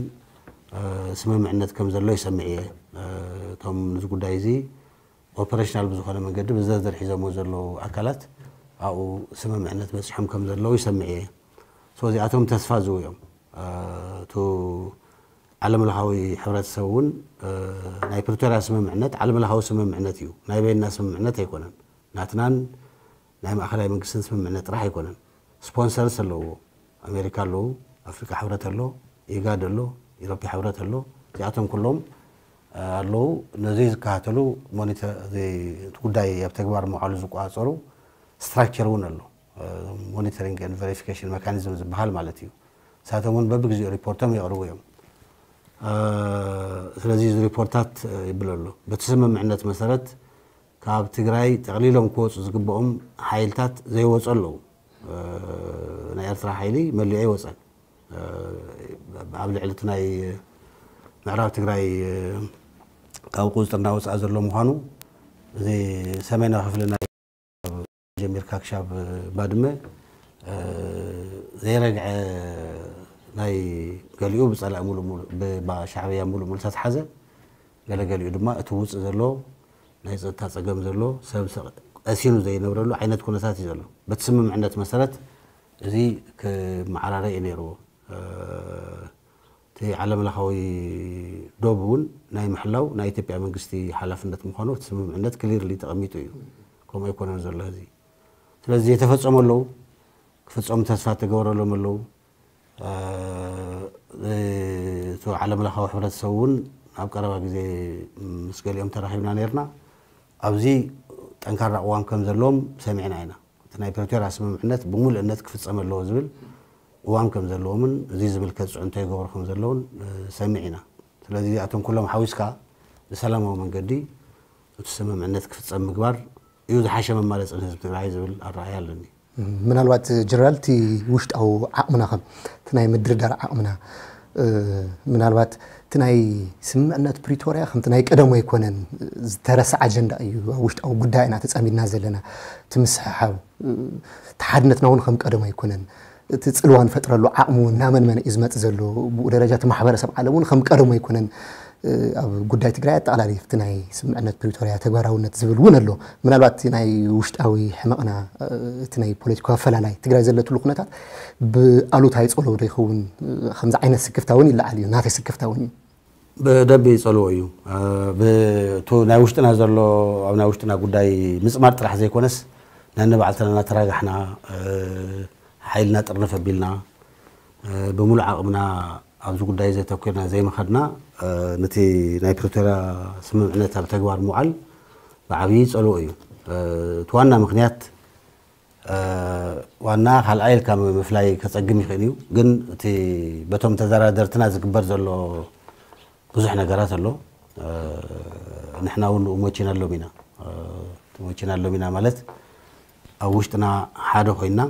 ስምምዕነት ከም ዘሎ ይሰምዕ እየ። እቶም ነዚ ጉዳይ እዚ ኦፐሬሽናል ብዝኾነ መንገዲ ብዝርዝር ሒዞሞ ዘለዉ ኣካላት ኣብኡ ስምምዕነት በፂሖም ከም ዘለዉ ይሰምዕ እየ። እዚኣቶም ተስፋ ዝህቡ እዮም። እቱ ዓለምለኻዊ ሕብረተሰብ እውን ናይ ፕሪቶርያ ስምምዕነት ዓለምለኻዊ ስምምዕነት እዩ፣ ናይ በይንና ስምምዕነት ኣይኮነን። ናትናን ናይ ማእኸላይ መንግስትን ስምምዕነት ጥራሕ ኣይኮነን። ስፖንሰርስ ኣለዎ። ኣሜሪካ ኣለዉ፣ ኣፍሪካ ሕብረት ኣሎ፣ ኢጋድ ኣሎ፣ ኢሮፓ ሕብረት ኣሎ። እዚኣቶም ኩሎም ኣለዉ። ነዚ ዝከታተሉ፣ እቲ ጉዳይ ኣብ ተግባር ምውዓሉ ዝቆፃፀሩ ስትራክቸር እውን ኣሎ። ሞኒተሪንግ ኤንድ ቨሪፊኬሽን መካኒዝም ዝበሃል ማለት እዩ። ንሳቶም እውን በብግዜኡ ሪፖርቶም የቕርቡ እዮም። ስለዚ እዚ ሪፖርታት ይብል ኣሎ። በቲ ስምምዕነት መሰረት ካብ ትግራይ ጠቕሊሎም ክወፁ ዝግብኦም ሓይልታት ዘይወፁ ኣለዉ። ናይ ኤርትራ ሓይሊ መሊዑ ኣይወፀን። ኣብ ልዕሊ እቲ ናይ ምዕራብ ትግራይ ካብ ቁፅፅር እናወፅኣ ዘሎ ምዃኑ፣ እዚ ሰሜናዊ ክፍሊ ናይ ጀሚርካ ክሻብ ባድመ ዘይረግዐ፣ ናይ ገሊኡ ብፀላኢ ሙሉእ ሙሉእ ብሻዕብያ ሙሉእ ሙሉእ ዝተትሓዘ፣ ገለ ገሊኡ ድማ እቲ ውፅእ ዘሎ ናይ ፀጥታ ፀገም ዘሎ ሰብ ቀሲኑ ዘይነብረሉ ዓይነት ኩነታት እዩ ዘሎ። በቲ ስምምዕነት መሰረት እዚ ክመዓራረ እዩ ነይርዎ። እቲ ዓለም ለኻዊ ዶብ እውን ናይ ምሕላው ናይ ኢትዮጵያ መንግስቲ ሓላፍነት ምዃኑ እቲ ስምምዕነት ክሊርሊ ተቐሚጡ እዩ። ከምኡ ኣይኮነን ዘሎ ሕዚ። ስለዚ የተፈጸሙ ኣለዉ፣ ክፍጸሙ ተስፋ ተገበረሎም ኣለዉ። እቲ ዓለም ለኻዊ ሕብረተሰብ እውን ኣብ ቀረባ ግዜ ምስ ገሊኦም ተራኺብና ነርና። ኣብዚ ጠንካራ ቅዋም ከም ዘለዎም ሰሚዕና ኢና። እቲ ናይ ፕሪቶርያ ስምምዕነት ብምሉእነት ክፍጸም ኣለዎ ዝብል ቅዋም ከም ዘለዎምን እዚ ዝምልከት ፅዕንቶ ይገብሩ ከም ዘለውን ሰሚዕ ኢና። ስለዚ እዚኣቶም ኩሎም ሓዊስካ ብሰላማዊ መንገዲ እቲ ስምምዕነት ክፍጸም ምግባር እዩ ዝሓሸ መማረፂ ንህዝቢ ትግራይ ዝብል ኣረኣያ ኣለኒ። ምናልባት ጀነራል፣ እቲ ውሽጣዊ ዓቕምና፣ ከም እቲ ናይ ምድርዳር ዓቕምና፣ ምናልባት እቲ ናይ ስምምዕነት ፕሪቶርያ ከምቲ ናይ ቀደሙ ኣይኮነን፣ ዝተረሳ ኣጀንዳ እዩ። ኣብ ውሽጣዊ ጉዳይ ኢና ተጸሚድና ዘለና። እቲ ምስሕሓብ፣ እቲ ሓድነትና እውን ከም ቀደሙ ኣይኮነን። እቲ ጽልዋ ንፈጥረሉ ዓቕሚ እውን እናመንመነ እዩ ዝመጽእ ዘሎ። ብኡ ደረጃ እቲ ማሕበረሰብ ዓለም እውን ከም ቀደሙ ኣይኮነን። ኣብ ጉዳይ ትግራይ ኣጠቓላሊ እቲ ናይ ስምምዕነት ፕሪቶርያ ተግባራውነት ዝብል እውን ኣሎ። ምናልባት እቲ ናይ ውሽጣዊ ሕመቕና፣ እቲ ናይ ፖለቲካዊ ኣፈላላይ ትግራይ ዘለትሉ ኩነታት ብኣሉታ ይጸልዎ ዶ ይኸውን? ከምዚ ዓይነት ስክፍታ እውን ይለዓል እዩ፣ ናተይ ስክፍታ እውን እዩ። ብደንቢ ይጸልዎ እዩ። ብእቱ ናይ ውሽጥና ዘሎ፣ ኣብ ናይ ውሽጥና ጉዳይ ምጽማር ጥራሕ ዘይኮነስ፣ ነንባዕልትና እናተራጋሕና፣ ሓይልና ጥርንፍ ኣቢልና፣ ብምሉእ ዓቕምና ኣብዚ ጉዳይ ዘተኮርና ዘይምኸድና፣ ነቲ ናይ ፕሪቶርያ ስምምዕነት ኣብ ተግባር ምውዓል ብዓብዪ ይጸልዎ እዩ። እቲ ዋና ምኽንያት፣ ዋና ካልኣይ ኢልካ ምፍላይ ከጸግም ይኽእል እዩ። ግን እቲ በቶም ተደራደርትና ዝግበር ዘሎ ብዙሕ ነገራት ኣሎ። ንሕና እውን ንኡ መቺና ኣሎም ኢና። መቺና ኣሎም ኢና ማለት፣ ኣብ ውሽጥና ሓደ ኮይና፣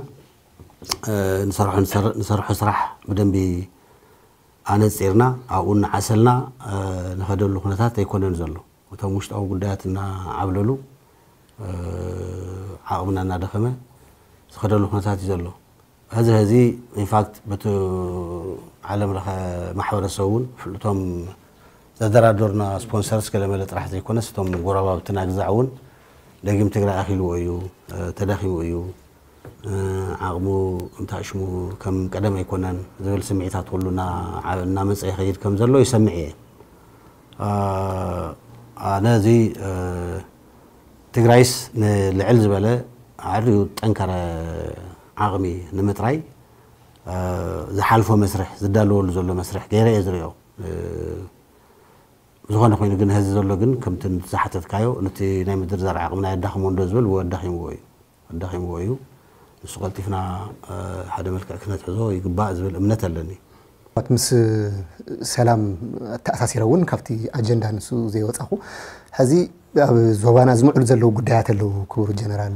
ንሰርሖ፣ ንሰርሖ ስራሕ ብደንቢ ኣነጺርና፣ ኣብኡ እናዓሰልና ንኸደሉ ኩነታት ኣይኮነን ዘሎ። እቶም ውሽጣዊ ጉዳያት እናዓብለሉ፣ ዓቕምና እናደኸመ ዝኸደሉ ኩነታት እዩ ዘሎ። ሕዚ ሕዚ ኢንፋክት በቲ ዓለም ለኸ ማሕበረሰብ እውን፣ እቶም ዘደራደሩና ስፖንሰርስ ገለመለ ጥራሕ ዘይኮነስ፣ እቶም ጎረባብትና ግዛዕ እውን ደጊም ትግራይ ኣኺልዎ እዩ፣ ተዳኺሙ እዩ፣ ዓቕሙ እንታሽሙ ከም ቀደም ኣይኮነን ዝብል ስምዒታት ኩሉ እናመፀ ይኸይድ ከም ዘሎ ይሰምዕ እየ። ኣነ እዚ ትግራይስ ንልዕል ዝበለ ዓርዩ ጠንከረ ዓቕሚ ንምጥራይ ዝሓልፎ መስርሕ፣ ዝዳለወሉ ዘሎ መስርሕ ገይረ እየ ዝሪኦ። ዝኾነ ኮይኑ ግን፣ ሕዚ ዘሎ ግን ከምቲ ዝሓተትካዮ፣ ነቲ ናይ ምድርዳር ዓቕምና የዳኽሞ እንዶ ዝብል፣ ኣዳኺምዎ እዩ፣ ኣዳኺምዎ እዩ። ንሱ ቀልጢፍና ሓደ መልክዕ ክነትሕዞ ይግባእ ዝብል እምነት ኣለኒ። ምስ ሰላም ኣተኣሳሲረ እውን ካብቲ ኣጀንዳ ንሱ ዘይወፃኹ፣ ሕዚ ኣብ ዞባና ዝምዕሉ ዘለዉ ጉዳያት ኣለዉ። ክቡር ጀነራል፣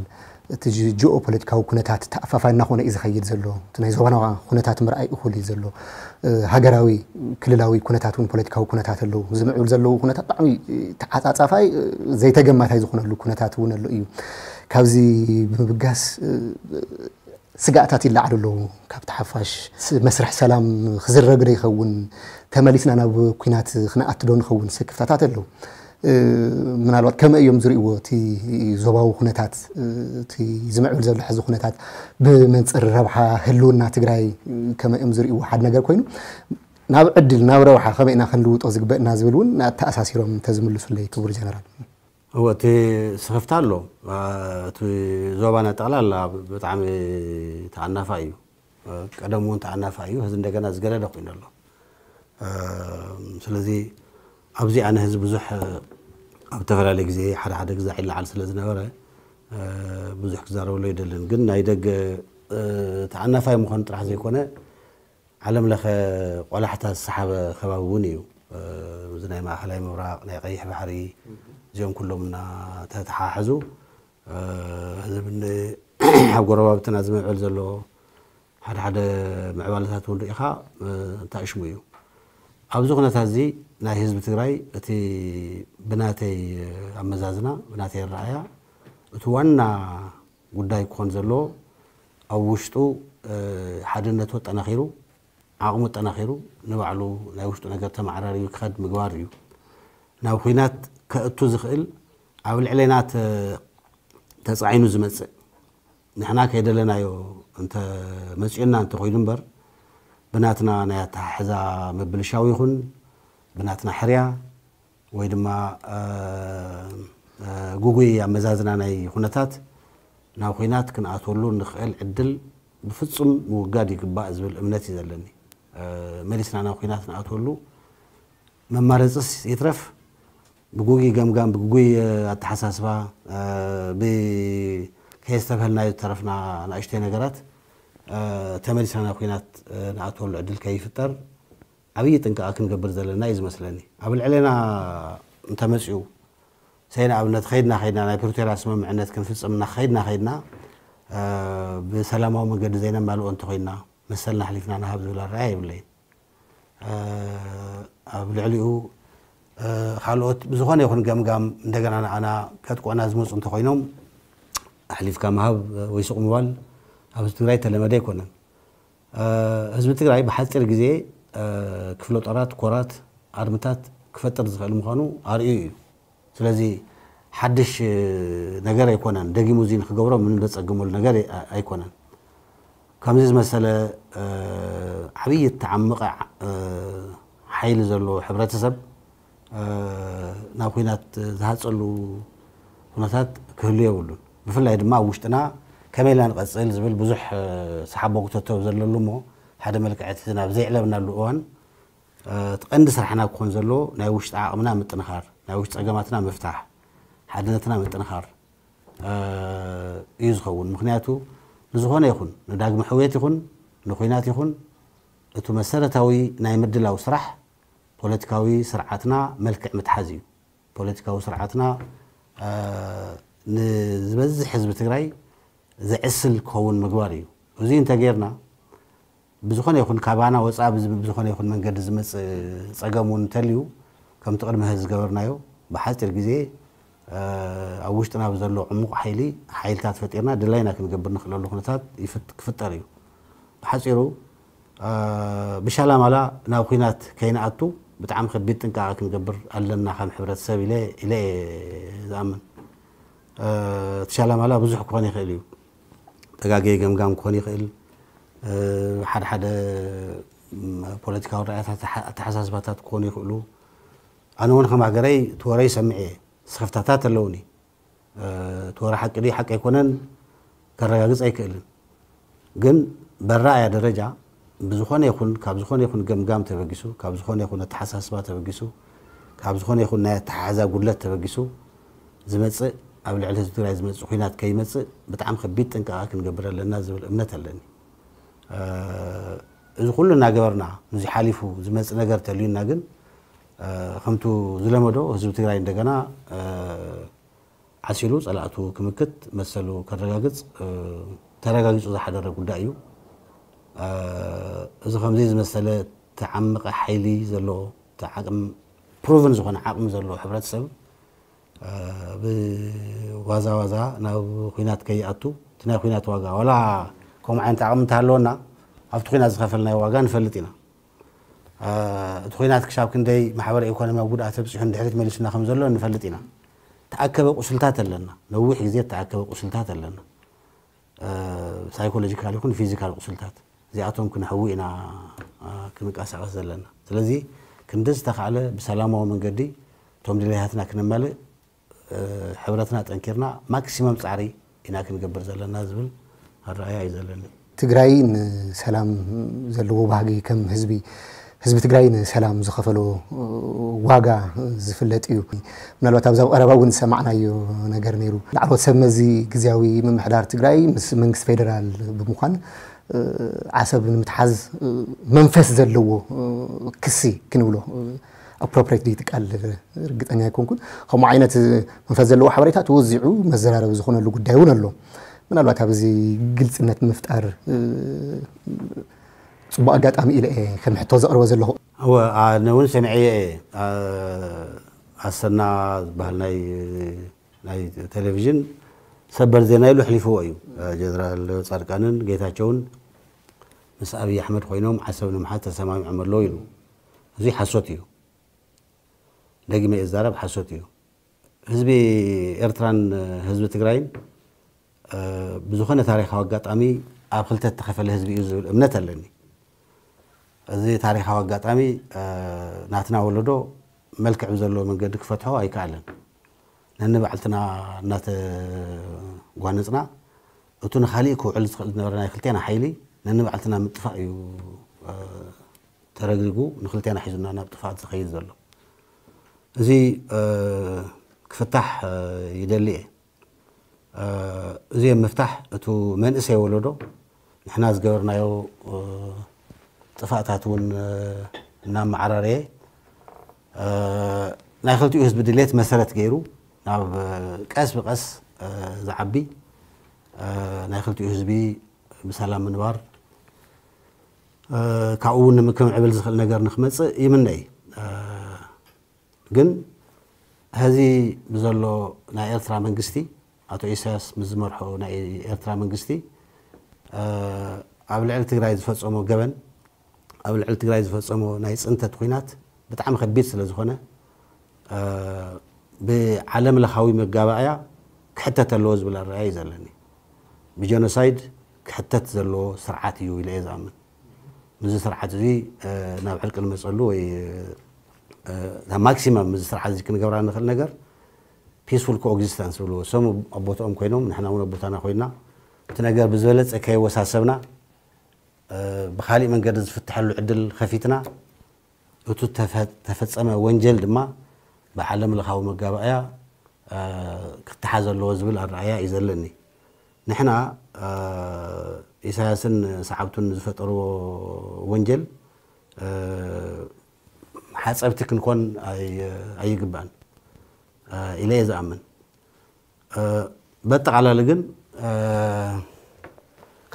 እቲ ጂ-፣ ጂኦ ፖለቲካዊ ኩነታት ተኣፋፋይ እናኾነ እዩ ዝኸይድ ዘሎ። እቲ ናይ ዞባና ኩነታት ምርኣይ እኹል እዩ ዘሎ። ሃገራዊ፣ ክልላዊ ኩነታት እውን፣ ፖለቲካዊ ኩነታት ኣለዉ። ዝምዕብሉ ዘለዉ ኩነታት ብጣዕሚ ተዓጻጻፋይ፣ ዘይተገማታይ ዝኾነሉ ኩነታት እውን ኣሎ እዩ። ካብዚ ብምብጋስ፣ ስጋእታት ይለዓሉ ኣለዉ። ካብቲ ሓፋሽ ስ-፣ መስርሕ ሰላም ክዝረግ ዶ ይኸውን? ተመሊስና ናብ ኲናት ክነኣቱ ዶ ንኸውን? ስክፍታታት ኣለዉ። ምናልባት ከመይ እዮም ዝርእይዎ እቲ ዞባዊ ኩነታት፣ እቲ ዝምዕብል ዘሎ ሕዚ ኩነታት ብመንጽር ረብሓ ህልውና ትግራይ ከመይ እዮም ዝርእይዎ? ሓደ ነገር ኮይኑ፣ ናብ ዕድል፣ ናብ ረብሓ ከመይ ኢና ክንልውጦ ዝግበእና ዝብል እውን ኣተኣሳሲሮም እንተዝምልሱለይ፣ ክቡር ጀነራል። እወ፣ እቲ ስኽፍታ ኣሎ። እቲ ዞባና ጠቕላላ ብጣዕሚ ተኣናፋ እዩ። ቀደም እውን ተኣናፋ እዩ። ሕዚ እንደገና ዝገደደ ኮይኑ ኣሎ። ስለዚ ኣብዚ ኣነ ሕዚ ብዙሕ ኣብ ዝተፈላለየ ግዜ ሓደ ሓደ ግዛዕ ይለዓል ስለ ዝነበረ ብዙሕ ክዛረበሉ ኣይደልን። ግን ናይ ደገ ተኣናፋይ ምዃኑ ጥራሕ ዘይኮነ ዓለም ለኸ ቆላሕታ ዝሰሓበ ከባቢ እውን እዩ። እዚ ናይ ማእኸላይ ምብራቕ፣ ናይ ቀይሕ ባሕሪ፣ እዚኦም ኩሎም እናተተሓሓዙ፣ እዚ ብን-፣ ኣብ ጎረባብትና ዝምዕብል ዘሎ ሓደ ሓደ ምዕባለታት እውን ርኢኻ፣ እንታይ ሽሙ እዩ። ኣብዚ ኩነታት እዚ ናይ ህዝቢ ትግራይ እቲ ብናተይ ኣመዛዝና፣ ብናተይ ኣረኣእያ፣ እቲ ዋና ጉዳይ ክኾን ዘለዎ ኣብ ውሽጡ፣ ሓድነቱ ኣጠናኺሩ፣ ዓቕሙ ኣጠናኺሩ፣ ንባዕሉ ናይ ውሽጡ ነገር ተመዓራርዩ ክኸድ ምግባር እዩ። ናብ ኲናት ከእቱ ዝኽእል ኣብ ልዕሌና ተ-፣ ተጻዒኑ ዝመጽእ፣ ንሕና ከይደለናዮ እንተ መጺኡና እንተ ኾይኑ እምበር፣ ብናትና ናይ ኣተሓሕዛ ምብልሻው ይኹን፣ ብናትና ሕርያ ወይ ድማ፣ እ፣ እ፣ ጉጉይ ኣመዛዝና ናይ ኩነታት ናብ ኲናት ክንኣትወሉ ንኽእል ዕድል ብፍጹም ምውጋድ ይግባእ ዝብል እምነት እዩ ዘለኒ። እ፣ መሊስና ናብ ኲናት ንኣትወሉ መማረጽስ ይትረፍ፣ ብጉጉይ ገምጋም፣ ብጉጉይ፣ እ፣ ኣተሓሳስባ፣ እ፣ ብ-፣ ከየስተብሀልናዮ ዝተረፍና ንኣሽተይ ነገራት፣ እ፣ ተመሊስና ናብ ኲናት፣ እ፣ ንኣትወሉ ዕድል ከይፍጠር ዓብዪ ጥንቃቐ ክንገብር ዘለና እዩ ዝመስለኒ። ኣብ ልዕሌና እንተመጺኡ፣ ሰይ ንኣብነት ኸይድና ኸይድና ናይ ፕሪቶርያ ስምምዕነት ክንፍጽም እና ኸይድና ኸይድና፣ እ፣ ብሰላማዊ መንገዲ ዘይነማልኦ እንተኾይንና፣ መሰልና ኣሕሊፍና ንሃብ ዝብል ኣረኣእያ የብለይን። እ፣ ኣብ ልዕሊኡ፣ እ፣ ካልኦት ብዝኾነ ይኹን ገምጋም እንደገና ንዓና ከጥቅዑና ዝመጹ እንተኾይኖም፣ ኣሕሊፍካ ምሃብ ወይ ስቕ ምባል ኣብ ህዝቢ ትግራይ ተለመደ ኣይኮነን። እ፣ ህዝቢ ትግራይ ብሓፂር ግዜ፣ እ፣ ክፍለ ጦራት፣ ኮራት፣ ኣርምታት ክፈጥር ዝኽእል ምዃኑ ኣርእዩ እዩ። ስለዚ ሓድሽ፣ እ፣ ነገር ኣይኮነን። ደጊሙ እዚ ንክገብሮ ምንም ዘፀግመሉ ነገር ኣይ-፣ ኣይኮነን። ከምዚ ዝመሰለ፣ እ፣ ዓብዪ እተዓመቐ፣ እ፣ ሓይሊ ዘለዎ ሕብረተሰብ፣ እ፣ ናብ ኲናት ዝሃፀሉ ኩነታት ክህሉ የብሉን። ብፍላይ ድማ ኣብ ውሽጥና ከመይ ኢልና ንቐጽል ዝብል ብዙሕ፣ እ፣ ሰሓቦ ክተተው ዘለሉ እሞ ሓደ መልክዕ እቲ ናብ ዘይዕለብናሉ እዋን፣ እ፣ እቲ ቀንዲ ስራሕና ክኾን ዘለዎ ናይ ውሽጢ ዓቕምና ምጥንኻር፣ ናይ ውሽጢ ጸገማትና ምፍታሕ፣ ሓድነትና ምጥንኻር፣ እ፣ እዩ ዝኸውን። ምኽንያቱ ንዝኾነ ይኹን፣ ንዳግመ ሕውየት ይኹን፣ ንኹናት ይኹን፣ እቲ መሰረታዊ ናይ ምድላው ስራሕ ፖለቲካዊ ስርዓትና መልክዕ ምትሓዝ እዩ። ፖለቲካዊ ስርዓትና፣ እ፣ ንዝበዝሕ ህዝቢ ትግራይ ዘዕስል ክኸውን ምግባር እዩ። እዚ እንተጌርና፣ ብዝኾነ ይኹን ካባና ወፃእ ብዝ-፣ ብዝኾነ ይኹን መንገዲ ዝመፅእ ፀገም እውን እንተልዩ፣ ከምቲ ቅድሚ ሕዚ ዝገበርናዮ ብሓፂር ግዜ፣ እ፣ ኣብ ውሽጥና ብዘሎ ዕሙቕ ሓይሊ፣ ሓይልታት ፈጢርና ድላይና ክንገብር ንኽእለሉ ኩነታት ይፍት-፣ ክፍጠር እዩ። ብሓፂሩ፣ እ፣ ብሻላማላ ናብ ኲናት ከይንኣቱ ብጣዕሚ ከቢድ ጥንቃቐ ክንገብር ኣለና ከም ሕብረተሰብ ኢለ፣ ኢለ እየ ዝኣምን። እ፣ እቲ ሻላማላ ብዙሕ ክኾን ይኽእል እዩ። ተጋገየ ገምጋም ክኾን ይኽእል። እ፣ ሓደ ሓደ፣ ም፣ ፖለቲካዊ ራእያታት፣ ኣተሓ-፣ ኣተሓሳስባታት ክኾኑ ይኽእሉ። ኣነ እውን ከም ሃገረይ እቲ ወረ ይሰምዕ እየ። ስኽፍታታት ኣለውኒ። እ፣ እቲ ወረ ሓቂ ድዩ ሓቂ ኣይኮነን ከረጋግጽ ኣይክእልን። ግን በራእያ ደረጃ ብዝኾነ ይኹን፣ ካብ ዝኾነ ይኹን ገምጋም ተበጊሱ፣ ካብ ዝኾነ ይኹን ኣተሓሳስባ ተበጊሱ፣ ካብ ዝኾነ ይኹን ናይ ኣተሓሕዛ ጉድለት ተበጊሱ ዝመጽእ፣ ኣብ ልዕሊ ህዝቢ ትግራይ ዝመጽእ ኲናት ከይመጽእ ብጣዕሚ ከቢድ ጥንቃቐ ክንገብር ኣለና ዝብል እምነት ኣለኒ። እ፣ እዚ ኩሉ እናገበርና፣ ነዚ ሓሊፉ ዝመጽእ ነገር ተልዩና ግን፣ እ፣ ከምቱ ዝለመዶ ህዝቢ ትግራይ እንደገና፣ እ፣ ዓሲሉ ጸላእቱ ክምክት፣ መሰሉ ከረጋግጽ፣ እ፣ ተረጋጊጹ ዝሓደረ ጉዳይ እዩ። እ፣ እዚ ከምዚ ዝመሰለ ተዓመቐ ሓይሊ ዘለዎ፣ እቲ ዓቕም፣ ፕሩቭን ዝኾነ ዓቕሚ ዘለዎ ሕብረተሰብ፣ እ፣ ብዋዛ ዋዛ ናብ ኲናት ከይኣቱ፣ እቲ ናይ ኲናት ዋጋ፣ ዋላ ከምኡ ዓይነት ዓቕሚ እንተሃለወና፣ ኣብቲ ኲናት ዝኸፈልናዮ ዋጋ ንፈልጥ ኢና። እ፣ እቲ ኲናት ክሻብ ክንደይ ማሕበረ ኢኮኖሚያዊ ጉድኣት ኣብፂሑ ንድሕሪት መሊሱና ከም ዘሎ ንፈልጥ ኢና። ተኣከበ ቁስልታት ኣለና፣ ነዊሕ ግዜ ተኣከበ ቁስልታት ኣለና። እ፣ ሳይኮሎጂካል ይኹን ፊዚካል ቁስልታት፣ እዚኣቶም ክነሕዊ ኢና፣ እ፣ ክንቀሳቐስ ዘለና። ስለዚ ክንዲ ዝተኻእለ ብሰላማዊ መንገዲ እቶም ድሌታትና ክነማልእ ሕብረትና ጠንኪርና ማክሲመም ፃዕሪ ኢና ክንገብር ዘለና ዝብል ኣረኣያ እዩ ዘለኒ። ትግራይ ንሰላም ዘለዎ ባህጊ ከም ህዝቢ ህዝቢ ትግራይ ንሰላም ዝኸፈሎ ዋጋ ዝፍለጥ እዩ። ምናልባት ኣብዛ ቀረባ እውን ዝሰማዕናዮ ነገር ነይሩ። ላዕለዎት ሰብ መዚ ግዝያዊ ምምሕዳር ትግራይ ምስ መንግስቲ ፌደራል ብምዃን ዓሰብ ንምትሓዝ መንፈስ ዘለዎ ክሲ ክንብሎ ኣፕሮፕሬት ድዩ ትቃል ርግጠኛ ኣይኮንኩን። ከምኡ ዓይነት መንፈስ ዘለዎ ሓበሬታ ተወዚዑ መዘራረቢ ዝኾነሉ ጉዳይ እውን ኣሎ። ምናልባት ኣብዚ ግልፅነት ምፍጣር ፅቡቅ ኣጋጣሚ ኢለ እየ ከም ሕቶ ዘቕርቦ ዘለኹ። እወ ኣነ እውን ሰሚዐ እየ። ኣሰና ዝበሃል ናይ ናይ ቴሌቪዥን ሰበር ዜና ኢሉ ኣሕሊፍዎ እዩ። ጀነራል ፃድቃንን ጌታቸውን ምስ ኣብይ ኣሕመድ ኮይኖም ዓሰብ ንምሓዝ ተሰማሚዖም ኣለዉ ኢሉ። እዚ ሓሶት እዩ። ደጊመ እየ ዝዛረብ፣ ሓሶት እዩ። ህዝቢ ኤርትራን ህዝቢ ትግራይን ብዝኾነ ታሪኻዊ ኣጋጣሚ ኣብ ክልተ እተኸፈለ ህዝቢ እዩ ዝብል እምነት ኣለኒ። እዚ ታሪኻዊ ኣጋጣሚ ናትና ወለዶ መልክዕ ብዘለዎ መንገዲ ክፈትሖ ኣይከኣለን። ነንባዕልትና እናተጓነፅና እቱ ንኻሊእ ክውዕል ዝኽእል ዝነበረ ናይ ክልቴና ሓይሊ ነንባዕልትና ምጥፋእ እዩ ተረግሪጉ ንክልቴና ሒዙና ናብ ጥፍኣት ዝኸይድ ዘሎ። እዚ ክፍታሕ ይደሊ እየ። እዚ ምፍታሕ እቱ መንእሰይ ወለዶ ንሕና ዝገበርናዮ ጥፋእታት እውን እናመዓራረየ ናይ ክልቲኡ ህዝቢ ድሌት መሰረት ገይሩ ናብ ቀስ ብቀስ ዝዓቢ ናይ ክልቲኡ ህዝቢ ብሰላም ምንባር ካብኡ እውን ንምክምዕብል ዝኽእል ነገር ንክመፅእ ይምነይ። ግን ሕዚ ብዘሎ ናይ ኤርትራ መንግስቲ ኣቶ ኢሳያስ ምስ ዝመርሖ ናይ ኤርትራ መንግስቲ ኣብ ልዕሊ ትግራይ ዝፈፀሞ ገበን ኣብ ልዕሊ ትግራይ ዝፈፀሞ ናይ ፅንተት ኩናት ብጣዕሚ ከቢድ ስለ ዝኾነ ብዓለም ለኻዊ መጋባእያ ክሕተት ኣለዎ ዝብል ኣረኣያ እዩ ዘለኒ። ብጀኖሳይድ ክሕተት ዘለዎ ስርዓት እዩ ኢለ እየ ዝኣምን። ምስዚ ስርዓት እዚ ናብ ዕርቂ ንመፀሉ ወይ ናብ ማክሲመም ምስዚ ስርዓት እዚ ክንገብራ ንኽእል ነገር ፒስፉል ኮኤግዚስተንስ ዝብልዎ እሶም ኣብ ቦትኦም ኮይኖም ንሕና እውን ኣብ ቦታና ኮይንና እቲ ነገር ብዝበለፀ ከየወሳሰብና ብካሊእ መንገዲ ዝፍትሐሉ ዕድል ከፊትና እቱ ተፈፀመ ወንጀል ድማ ብዓለም ለኻዊ መጋባእያ ክተሓዝ ኣለዎ ዝብል ኣረኣያ እዩ ዘለኒ። ንሕና ኢሳያስን ሰዓብቱን ዝፈጠርዎ ወንጀል ሓፀብቲ ክንኮን ኣይግባእን ኢለ እየ ዝኣምን። በጠቓላሊ ግን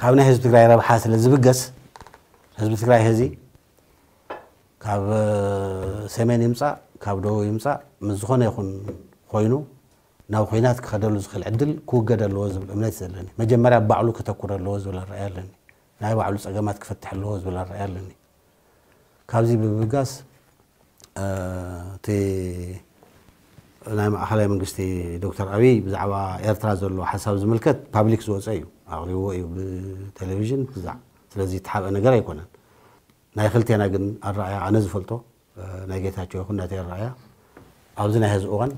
ካብ ናይ ህዝቢ ትግራይ ረብሓ ስለ ዝብገስ ህዝቢ ትግራይ ሕዚ ካብ ሰሜን ይምፃእ ካብ ደቡብ ይምፃእ ምስ ዝኾነ ይኹን ኮይኑ ናብ ኹናት ክኸደሉ ዝኽእል ዕድል ክውገድ ኣለዎ ዝብል እምነት እዩ ዘለኒ። መጀመርያ ባዕሉ ከተኩር ኣለዎ ዝብል ኣረኣያ ኣለኒ። ናይ ባዕሉ ፀገማት ክፈትሕ ኣለዎ ዝብል ኣረኣያ ኣለኒ። ካብዚ ብምብጋስ እቲ ናይ ማእኸላይ መንግስቲ ዶክተር ኣብይ ብዛዕባ ኤርትራ ዘሎ ሓሳብ ዝምልከት ፓብሊክ ዝወፀ እዩ፣ ኣቕሪብዎ እዩ ብቴሌቪዥን ብዛዕ ስለዚ የተሓብአ ነገር ኣይኮነን። ናይ ክልቴና ግን ኣረኣያ ኣነ ዝፈልጦ ናይ ጌታቸው ይኹን ናተይ ኣረኣያ ኣብዚ ናይ ሕዚ እዋን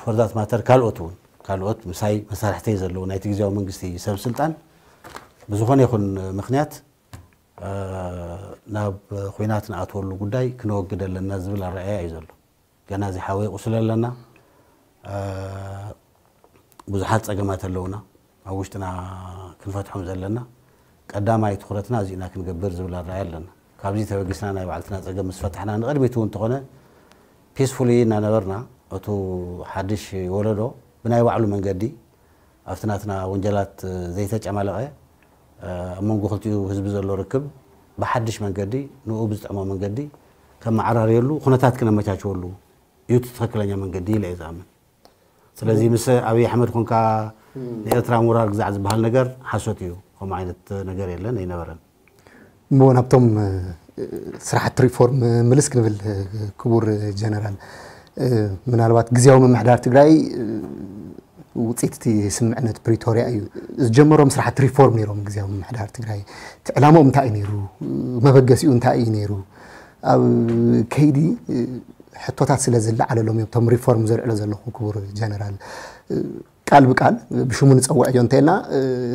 for that matter ካልኦት እውን ካልኦት ምሳይ መሳርሕተይ ዘለዉ ናይቲ ግዜያዊ መንግስቲ ሰብ ስልጣን ብዝኾነ ይኹን ምኽንያት ናብ ኹናት ንኣትወሉ ጉዳይ ክነወግድ ኣለና ዝብል ኣረኣያ እዩ ዘሎ። ገና እዚ ሓወይ ቁስል ኣለና። ብዙሓት ፀገማት ኣለውና ኣብ ውሽጥና ክንፈትሖም ዘለና ቀዳማይ ትኹረትና እዚእና ክንገብር ዝብል ኣረኣያ ኣለና። ካብዚ ተበጊስና ናይ ባዕልትና ፀገም ምስ ፈታሕና ንቕድሚት እውን እንተኾነ ፒስፉሊ እናነበርና እቱ ሓድሽ ወለዶ ብናይ ባዕሉ መንገዲ ኣብቲ ናትና ወንጀላት ዘይተጨማለቐ ኣብ መንጎ ክልቲኡ ህዝቢ ዘሎ ርክብ ብሓድሽ መንገዲ ንኡ ብዝጥዕሞ መንገዲ ከመዓራርየሉ ኩነታት ክነመቻችወሉ እዩ እቲ ትኽክለኛ መንገዲ ኢለ እየ ዝኣምን። ስለዚ ምስ ኣብይ ኣሕመድ ኮንካ ንኤርትራ ምውራር ግዛዕ ዝበሃል ነገር ሓሶት እዩ። ከምኡ ዓይነት ነገር የለን ኣይነበረን። እሞ ናብቶም ስራሕቲ ሪፎርም ምልስ ክንብል ክቡር ጀነራል፣ ምናልባት ግዜያዊ ምምሕዳር ትግራይ ውፅኢት እቲ ስምምዕነት ፕሪቶርያ እዩ። ዝጀመሮም ስራሕቲ ሪፎርም ነይሮም ግዜያዊ ምምሕዳር ትግራይ። እቲ ዕላምኦም እንታይ እዩ ነይሩ? መበገሲኡ እንታይ እዩ ነይሩ? ኣብ ከይዲ ሕቶታት ስለ ዝለዓለሎም እዮም እቶም ሪፎርም ዘልዕሎ ዘለኹ ክቡር ጀነራል። ቃል ብቃል ብሽሙ ንጸውዕ እዮ እንተና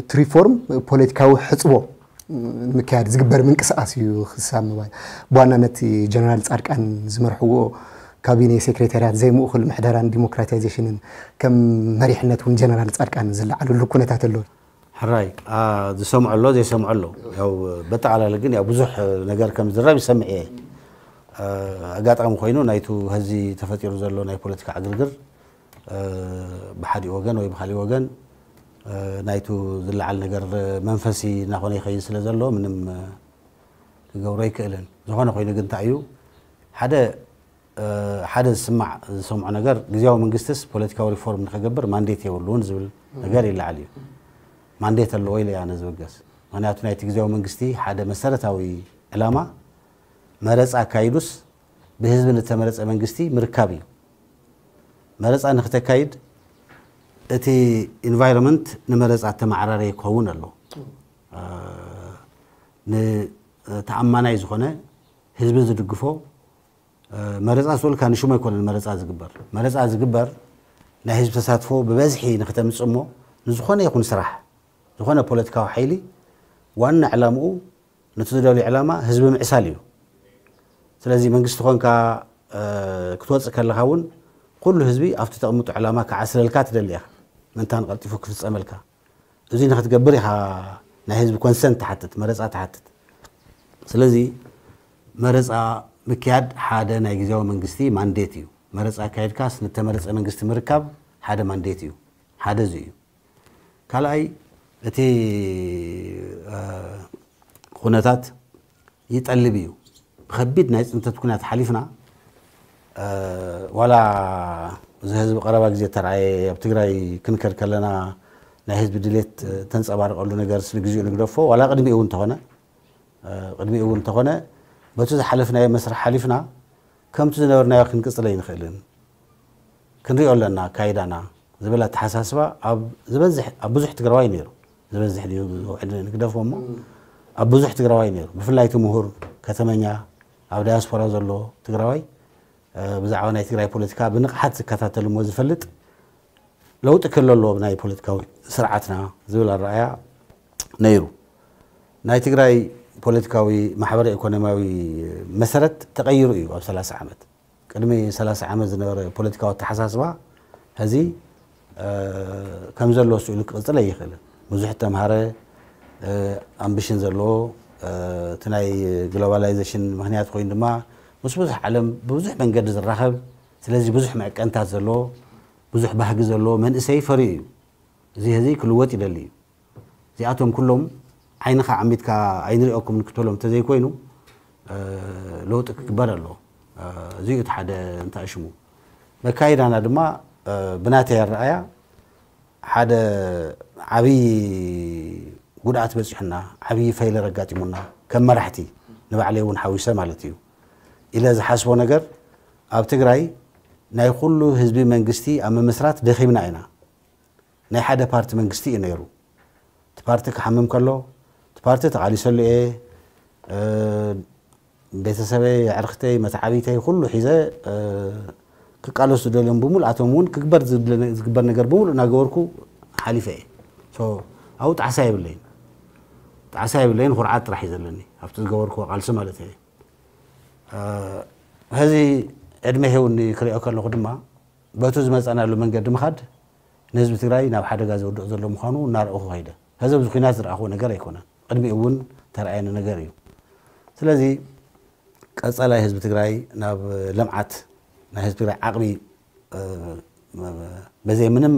እቲ ሪፎርም ፖለቲካዊ ሕጽቦ ንምክያድ ዝግበር ምንቅስቃስ እዩ ክሳብ ምባል። ብዋናነት ጀነራል ጻድቃን ዝመርሕዎ ካቢኔ ሴክሬታርያት ዘይምእኩል ምሕደራን ዲሞክራታይዜሽንን ከም መሪሕነት እውን ጀነራል ጻድቃን ዝለዓለሉ ኩነታት ኣሎ። ሕራይ ዝሰምዖ ኣሎ ዘይሰምዖ ኣሎ። ያው በጠቓላሊ ግን ያው ብዙሕ ነገር ከም ዝረብ ይሰምዕ እየ። ኣጋጣሚ ኮይኑ ናይቱ ሀዚ ተፈጢሩ ዘሎ ናይ ፖለቲካ ዕግርግር ብሓዲ ወገን ወይ ብካሊእ ወገን ናይቱ ዝለዓል ነገር መንፈሲ እናኾነ ይኸይድ ስለ ዘሎ ምንም ክገብሮ ኣይክእልን። ዝኾነ ኮይኑ ግን እንታይ እዩ ሓደ ሓደ ዝስማዕ ዝሰምዖ ነገር ግዜያዊ መንግስትስ ፖለቲካዊ ሪፎርም ንኸገብር ማንዴት የብሉን ዝብል ነገር ይለዓል እዩ። ማንዴት ኣለዎ ኢለ ኣነ ዝብገስ። ምክንያቱ ናይቲ ግዜያዊ መንግስቲ ሓደ መሰረታዊ ዕላማ መረፃ ኣካይዱስ ብህዝቢ ንተመረፀ መንግስቲ ምርካብ እዩ። መረፃ ንክተካይድ እቲ ኢንቫይሮንመንት ንመረፃ ተመዓራረየ ክኸውን ኣለዎ። ንተኣማናይ ዝኾነ ህዝቢ ዝድግፎ መረፃ ዝብልካ ንሽሙ ኣይኮነን መረፃ ዝግበር። መረፃ ዝግበር ናይ ህዝቢ ተሳትፎ ብበዝሒ ንክተምፅእ እሞ ንዝኾነ ይኹን ስራሕ ዝኾነ ፖለቲካዊ ሓይሊ ዋና ዕላምኡ ነቲ ዝደልዮ ዕላማ ህዝቢ ምዕሳል እዩ። ስለዚ መንግስቲ ኮንካ ክትወፅእ ከለካ እውን ኩሉ ህዝቢ ኣብቲ ተቕምጦ ዕላማ ክዓስለልካ ትደሊ ኢኻ። ምእንታን ቀልጢፉ ክፍፀመልካ እዚ ንክትገብር ኢኻ ናይ ህዝቢ ኮንሰንት ትሓትት፣ መረፃ ትሓትት። ስለዚ መረፃ ምክያድ ሓደ ናይ ግዜያዊ መንግስቲ ማንዴት እዩ። መረፃ ኣካይድካስ ንተመረፀ መንግስቲ ምርካብ ሓደ ማንዴት እዩ። ሓደ እዚ እዩ። ካልኣይ እቲ ኩነታት ይጠልብ እዩ። ብከቢድ ናይ ፅንተት ኩናት ሓሊፍና ዋላ እዚ ህዝቢ ቀረባ ግዜ ተረኣየ ኣብ ትግራይ ክንከድ ከለና ናይ ህዝቢ ድሌት ተንፀባርቀሉ ነገር ንግዚኡ ንግደፎ ዋላ ቅድሚኡ እውን እንተኾነ ቅድሚኡ እውን እንተኾነ በቲ ዝሓለፍናዮ መስርሕ ሓሊፍና ከምቲ ዝነበርናዮ ክንቅፅለ ይንኽእልን ክንሪኦ ኣለና ኣካይዳና ዝብል ኣተሓሳስባ ኣብ ዝበዝሕ ኣብ ብዙሕ ትግራዋይ ነይሩ። ዝበዝሕ ድዩ ዝውዕል ንግደፎ እሞ ኣብ ብዙሕ ትግራዋይ ነይሩ። ብፍላይ እቲ ምሁር ከተመኛ ኣብ ዳያስፖራ ዘሎ ትግራዋይ ብዛዕባ ናይ ትግራይ ፖለቲካ ብንቕሓት ዝከታተል እሞ ዝፈልጥ ለውጢ ክህሉ ኣለዎ ብናይ ፖለቲካዊ ስርዓትና ዝብል ኣረኣያ ነይሩ። ናይ ትግራይ ፖለቲካዊ ማሕበረ ኢኮኖሚያዊ መሰረት ተቐይሩ እዩ ኣብ ሰላሳ ዓመት። ቅድሚ ሰላሳ ዓመት ዝነበረ ፖለቲካዊ ኣተሓሳስባ ሕዚ ከም ዘሎ ስኢሉ ክቕፅል ኣይኽእልን። ብዙሕ ተምሃረ ኣምቢሽን ዘለዎ እቲ ናይ ግሎባላይዜሽን ምክንያት ኮይኑ ድማ ምስ ብዙሕ ዓለም ብብዙሕ መንገዲ ዝራኸብ ስለዚ ብዙሕ መዕቀንታት ዘለዎ ብዙሕ ባህጊ ዘለዎ መንእሰይ ፈርዩ እዩ። እዚ ሕዚ ክልወጥ ይደሊ እዩ። እዚኣቶም ኩሎም ዓይንኻ ዓሚትካ ኣይንሪኦኩም ንክትበሎም እንተዘይኮይኑ ለውጢ ክግበር ኣለዎ። እዚ እዩ እቲ ሓደ እንታይ ሽሙ መካይዳና ድማ ብናተይ ኣረኣያ ሓደ ዓብዪ ጉድኣት በፂሑና ዓብዪ ፈይለር ኣጋጢሙና ከም መራሕቲ ንባዕለይ እውን ሓዊሰ ማለት እዩ ኢለ ዝሓስቦ ነገር ኣብ ትግራይ ናይ ኩሉ ህዝቢ መንግስቲ ኣብ ምምስራት ደኺምና ኢና። ናይ ሓደ ፓርቲ መንግስቲ እዩ ነይሩ። እቲ ፓርቲ ክሓምም ከሎ እቲ ፓርቲ ተቓሊሰሉ እየ። ቤተሰበይ፣ ኣዕርኽተይ፣ መተዓቢተይ ኩሉ ሒዘ ክቃለሱ ዝደልዮም ብምሉኣቶም እውን ክግበር ዝግበር ነገር ብምሉእ እናገበርኩ ሓሊፈ እየ። ኣብኡ ጣዕሳ የብለይን። ጣዕሳ የብለይን፣ ኩርዓት ጥራሕ እዩ ዘለኒ ኣብቲ ዝገበርኩዎ ቃልሲ ማለት እየ። ሕዚ ዕድመ ሄውኒ ክሪኦ ከለኹ ድማ በቱ ዝመፀናሉ መንገዲ ምኻድ ንህዝቢ ትግራይ ናብ ሓደጋ ዘውድቕ ዘሎ ምዃኑ እናረእኹ ከይደ። ሕዚ ኣብዚ ኩናት ዝረኣኽዎ ነገር ኣይኮነን። ቅድሚኡ እውን ተረኣየኒ ነገር እዩ። ስለዚ ቀፃላይ ህዝቢ ትግራይ ናብ ልምዓት ናይ ህዝቢ ትግራይ ዓቕሚ በዘይ ምንም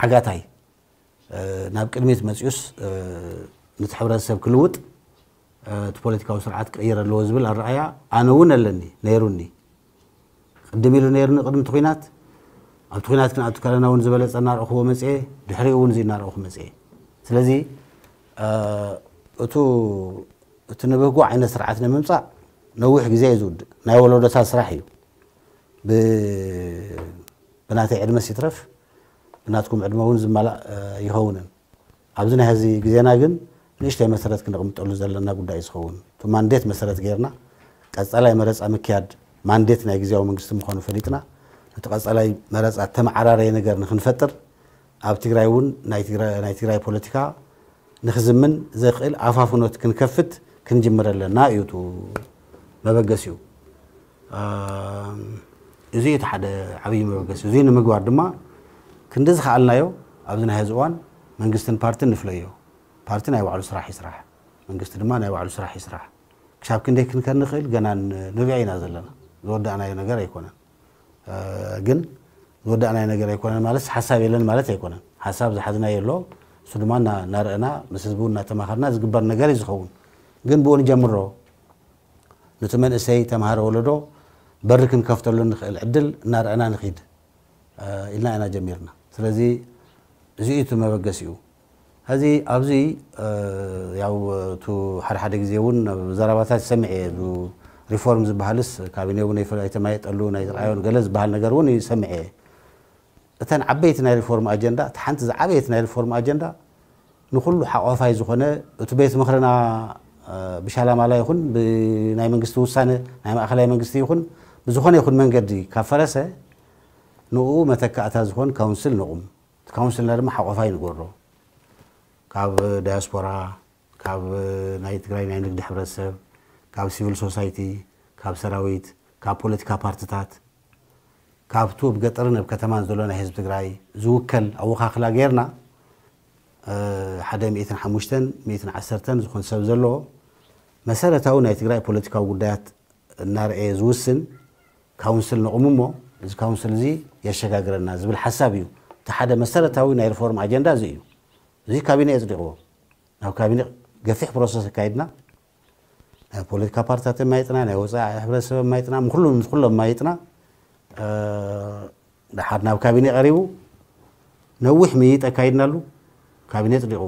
ዓጋታይ ናብ ቅድሚት መፅዩስ ነቲ ሕብረተሰብ ክልውጥ እቲ ፖለቲካዊ ስርዓት ክቕየር ኣለዎ ዝብል ኣረኣያ ኣነ እውን ኣለኒ ነይሩኒ። ቅድም ኢሉ ነይሩኒ ቅድሚ እቲ ኩናት ኣብቲ ኩናት ክንኣቱ ከለና እውን ዝበለፀ እናረእኽዎ መፅየ። ድሕሪኡ እውን እዚ እናረእኹ መፅየ። ስለዚ እቱ እቲ ንብህጎ ዓይነት ስርዓት ንምምፃእ ነዊሕ ግዜ እዩ ዝውድእ። ናይ ወለዶታት ስራሕ እዩ። ብናተይ ዕድመስ ይትረፍ ብናትኩም ዕድመ እውን ዝመላእ ይኸውንን። ኣብዚ ናይ ሕዚ ግዜና ግን ንእሽተይ መሰረት ክንቕምጠሉ ዘለና ጉዳይ ዝኸውን እቲ ማንዴት መሰረት ጌርና ቀፃላይ መረፃ ምክያድ ማንዴት ናይ ግዜያዊ መንግስቲ ምዃኑ ፈሊጥና፣ እቲ ቀጻላይ መረጻ ተመዓራረየ ነገር ንኽንፈጥር፣ ኣብ ትግራይ እውን ናይ ትግራይ ፖለቲካ ንኽዝምን ዘኽእል ኣፋፍኖት ክንከፍት ክንጅምር ኣለና እዩ እቲ መበገሲኡ። እዚ እቲ ሓደ ዓብዪ መበገሲ። እዚ ንምግባር ድማ ክንዲ ዝኸኣልናዮ ኣብዚ ናይ ሕዚ እዋን መንግስትን ፓርትን ንፍለዮ። ፓርቲ ናይ ባዕሉ ስራሕ ይስራሕ፣ መንግስቲ ድማ ናይ ባዕሉ ስራሕ ይስራሕ። ክሳብ ክንደይ ክንከን ንኽእል ገና ንሪኦ ኢና ዘለና። ዝወዳእናዮ ነገር ኣይኮነን። ግን ዝወዳእናዮ ነገር ኣይኮነን ማለት ሓሳብ የለን ማለት ኣይኮነን። ሓሳብ ዝሓዝናዮ ኣሎ፣ እሱ ድማ እናረእና ምስ ህዝቡ እናተማኸርና ዝግበር ነገር እዩ ዝኸውን። ግን ብኡ ንጀምሮ፣ ነቲ መንእሰይ ተምሃረ ወለዶ በሪ ክንከፍተሉ ንኽእል ዕድል እናረእና ንኺድ ኢልና ኢና ጀሚርና። ስለዚ እዚ እዩ እቲ መበገሲኡ። ሕዚ ኣብዚ ያው እቲ ሓደ ሓደ ግዜ እውን ኣብ ዘረባታት ይሰምዕ እየ። እዚ ሪፎርም ዝበሃልስ ካቢኔ እውን ኣይተማየጠሉ ናይ ዝረኣዮን ገለ ዝበሃል ነገር እውን ይሰምዕ እየ። እተን ዓበይቲ ናይ ሪፎርም ኣጀንዳ፣ እቲ ሓንቲ ዝዓበየት ናይ ሪፎርም ኣጀንዳ ንኹሉ ሓቋፋይ ዝኾነ እቲ ቤት ምኽርና ብሻላማላ ይኹን ብናይ መንግስቲ ውሳነ ናይ ማእኸላይ መንግስቲ ይኹን ብዝኾነ ይኹን መንገዲ ካብ ፈረሰ ንኡ መተካእታ ዝኾን ካውንስል ንቑም። እቲ ካውንስልና ድማ ሓቋፋይ ንገሮ። ካብ ዳያስፖራ፣ ካብ ናይ ትግራይ ናይ ንግዲ ሕብረተሰብ፣ ካብ ሲቪል ሶሳይቲ፣ ካብ ሰራዊት፣ ካብ ፖለቲካ ፓርትታት፣ ካብቱ ኣብ ገጠርን ኣብ ከተማን ዘሎ ናይ ህዝቢ ትግራይ ዝውከል ኣወኻኽላ ጌርና ሓደ ሚእትን ሓሙሽተን ሚእትን ዓሰርተን ዝኾን ሰብ ዘለዎ መሰረታዊ ናይ ትግራይ ፖለቲካዊ ጉዳያት እናረኣየ ዝውስን ካውንስል ነቑም እሞ እዚ ካውንስል እዚ የሸጋግረና ዝብል ሓሳብ እዩ። እቲ ሓደ መሰረታዊ ናይ ሪፎርም ኣጀንዳ እዚ እዩ። እዚ ካቢኔ የፅዲቕዎ። ናብ ካቢኔ ገፊሕ ፕሮሰስ ኣካይድና፣ ናይ ፖለቲካ ፓርቲታት የማይጥና፣ ናይ ወፃኢ ሕብረተሰብ የማይጥና፣ ምስ ኩሎም ምስ ኩሎም የማይጥና። ድሓር ናብ ካቢኔ ቀሪቡ ነዊሕ ምይይጥ ኣካይድናሉ። ካቢኔ ኣፅዲቕዎ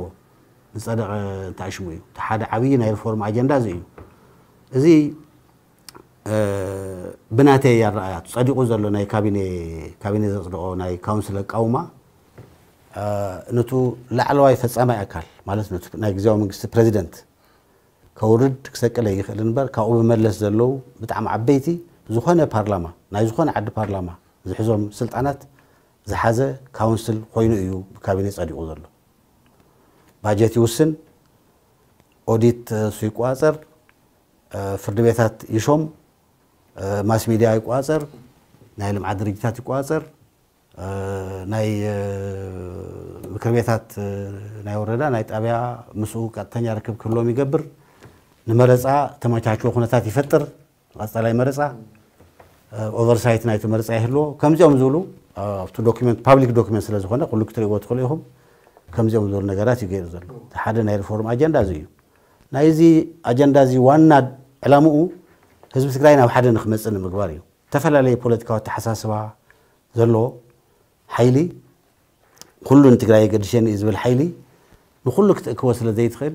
ዝፀደቐ እንታይ ሽሙ እዩ። እቲ ሓደ ዓብዪ ናይ ሪፎርም ኣጀንዳ እዚ እዩ። እዚ ብናተይ ኣረኣያ ጸዲቑ ዘሎ ናይ ካቢኔ ካቢኔ ዘጽደቖ ናይ ካውንስል ኣቃውማ ነቱ ላዕለዋይ ፈጻማይ ኣካል ማለት ነቱ ናይ ግዜያዊ መንግስቲ ፕሬዚደንት ከውርድ ክሰቅል ይኽእል እምበር ካብኡ ብመለስ ዘለዉ ብጣዕሚ ዓበይቲ ዝኾነ ፓርላማ ናይ ዝኾነ ዓዲ ፓርላማ ዝሕዞም ስልጣናት ዝሓዘ ካውንስል ኮይኑ እዩ ብካቢኔ ጸዲቑ ዘሎ። ባጀት ይውስን፣ ኦዲት እሱ ይቆጻጸር፣ ፍርዲ ቤታት ይሾም፣ ማስ ሚድያ ይቆጻጸር፣ ናይ ልምዓት ድርጅታት ይቆጻጸር፣ ናይ ምክር ቤታት ናይ ወረዳ ናይ ጣብያ ምስኡ ቀጥተኛ ርክብ ክህልዎም ይገብር፣ ንመረፃ ተመቻችዎ ኩነታት ይፈጥር፣ ቀፃላይ መረፃ ኦቨርሳይት ናይቲ መረፃ ይህልዎ። ከምዚኦም ዝብሉ ኣብቲ ዶክመንት ፓብሊክ ዶክመንት ስለ ዝኾነ ኩሉ ክትርእይዎ ትኽእሉ ኢኹም። ከምዚኦም ዝብሉ ነገራት እዩ ገይሩ ዘሎ። እቲ ሓደ ናይ ሪፎርም ኣጀንዳ እዚ እዩ። ናይዚ ኣጀንዳ እዚ ዋና ዕላምኡ ህዝቢ ትግራይ ናብ ሓደ ንክመፅእ ንምግባር እዩ። ዝተፈላለየ ፖለቲካዊ ኣተሓሳስባ ዘለዎ ሓይሊ ኩሉ ንትግራይ የገድሸኒ እዩ ዝብል ሓይሊ ንኩሉ ክትእክቦ ስለ ዘይትኽእል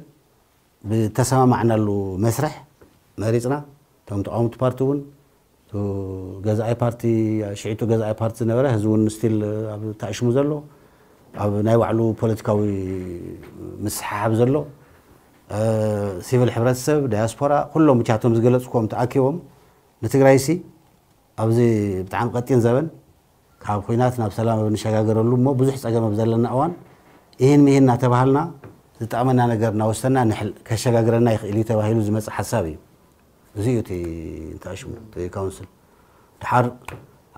ብተሰማማዕናሉ መስርሕ መሪፅና እቶም ተቃወምቲ ፓርቲ እውን ገዛኢ ፓርቲ ሽዒቱ ገዛኢ ፓርቲ ዝነበረ ህዚ እውን ስቲል ኣብ ተኣሽሙ ዘሎ ኣብ ናይ ባዕሉ ፖለቲካዊ ምስሓሓብ ዘሎ ሲቪል ሕብረተሰብ ዳያስፖራ ኩሎም ብቻቶም ዝገለፅኮም ተኣኪቦም ንትግራይ ሲ ኣብዚ ብጣዕሚ ቀጢን ዘበን ካብ ኹናት ናብ ሰላም ኣብ ንሸጋገረሉ እሞ ብዙሕ ፀገም ኣብ ዘለና እዋን ይህን ምሂን እናተባሃልና ዝጠቕመና ነገር እናወሰና ከሸጋግረና ይኽእል እዩ ተባሂሉ ዝመፅእ ሓሳብ እዩ። እዚ እዩ እቲ እንታይ ሽሙ እቲ ካውንስል ድሓር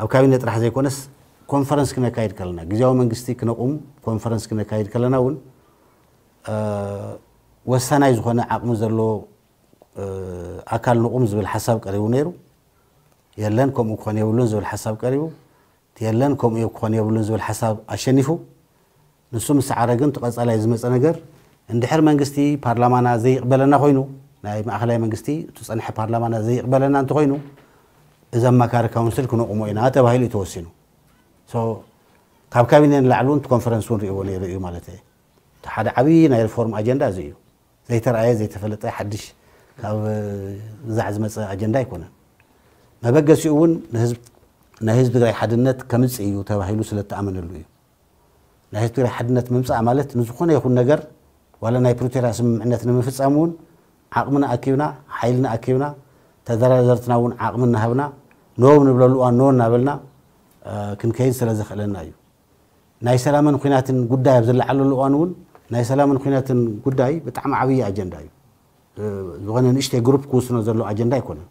ኣብ ካቢነ ጥራሕ ዘይኮነስ ኮንፈረንስ ክነካይድ ከለና ግዜያዊ መንግስቲ ክነቁም ኮንፈረንስ ክነካይድ ከለና እውን ወሳናይ ዝኾነ ዓቕሚ ዘለዎ ኣካል ንቑም ዝብል ሓሳብ ቀሪቡ ነይሩ። የለን ከምኡ ክኾን የብሉን ዝብል ሓሳብ ቀሪቡ። የለን ከምኡ ክኾን የብሉን ዝብል ሓሳብ ኣሸኒፉ። ንሱ ምስ ሰዓረ ግን እቲ ቀፃላይ ዝመፀ ነገር እንድሕር መንግስቲ ፓርላማና ዘይቕበለና ኮይኑ ናይ ማእኸላይ መንግስቲ እቲ ፀንሐ ፓርላማና ዘይቕበለና እንተኮይኑ እዚ ኣማካሪ ካውንስል ክነቑሞ ኢና ተባሂሉ እዩ ተወሲኑ። ካብ ካቢነ ንላዕሊ እውን ኮንፈረንስ እውን ሪእዎ ነይሩ እዩ ማለት እዩ። እቲ ሓደ ዓብዪ ናይ ሪፎርም ኣጀንዳ እዚ እዩ። ዘይተረኣየ ዘይተፈለጠ ሓድሽ ካብ ብዛዕ ዝመፀ ኣጀንዳ ኣይኮነን። መበገሲኡ እውን ናይ ህዝቢ ትግራይ ሓድነት ከምፅእ እዩ ተባሂሉ ስለተኣመነሉ እዩ። ናይ ህዝቢ ትግራይ ሓድነት ምምፃእ ማለት ንዝኾነ ይኹን ነገር ዋላ ናይ ፕሪቶርያ ስምምዕነት ንምፍፃም እውን ዓቕምና ኣኪብና ሓይልና ኣኪብና ተደራደርትና እውን ዓቕሚ እናሃብና ኖ ንብለሉ እዋን ኖ እናበልና ክንከይድ ስለ ዘኽእለና እዩ። ናይ ሰላምን ኲናትን ጉዳይ ኣብ ዝለዓለሉ እዋን እውን ናይ ሰላምን ኲናትን ጉዳይ ብጣዕሚ ዓብዪ ኣጀንዳ እዩ። ዝኾነ ንእሽተይ ግሩፕ ክውስኖ ዘሎ ኣጀንዳ ኣይኮነን።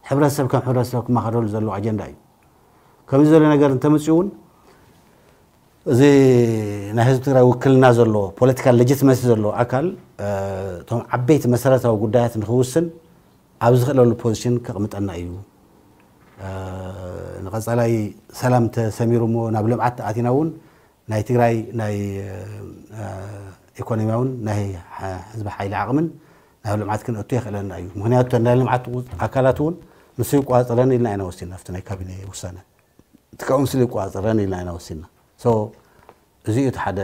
ሕብረተሰብ ከም ሕብረተሰብ ክመኻረሉ ዘሎ ኣጀንዳ እዩ። ከምዚ ዘሎ ነገር እንተመፅኡ እውን እዚ ናይ ህዝቢ ትግራይ ውክልና ዘሎ ፖለቲካል ሌጂትመሲ ዘሎ ኣካል እቶም ዓበይቲ መሰረታዊ ጉዳያት ንክውስን ኣብ ዝኽእለሉ ፖዚሽን ከቕምጠና እዩ። ንቐፃላይ ሰላም ተሰሚሩ እሞ ናብ ልምዓት ኣቲና እውን ናይ ትግራይ ናይ ኢኮኖሚያውን ናይ ህዝቢ ሓይሊ ዓቕምን ናብ ልምዓት ክንእቱ የኽእለና እዩ። ምክንያቱ ናይ ልምዓት ኣካላት እውን ንሱ ይቋፀረን ኢልና ኢና ወሲና ኣብቲ ናይ ካቢኔ ውሳነ እቲ ካውንስል ይቋፀረን ኢልና ኢና ወሲና። እዚ እዩ እቲ ሓደ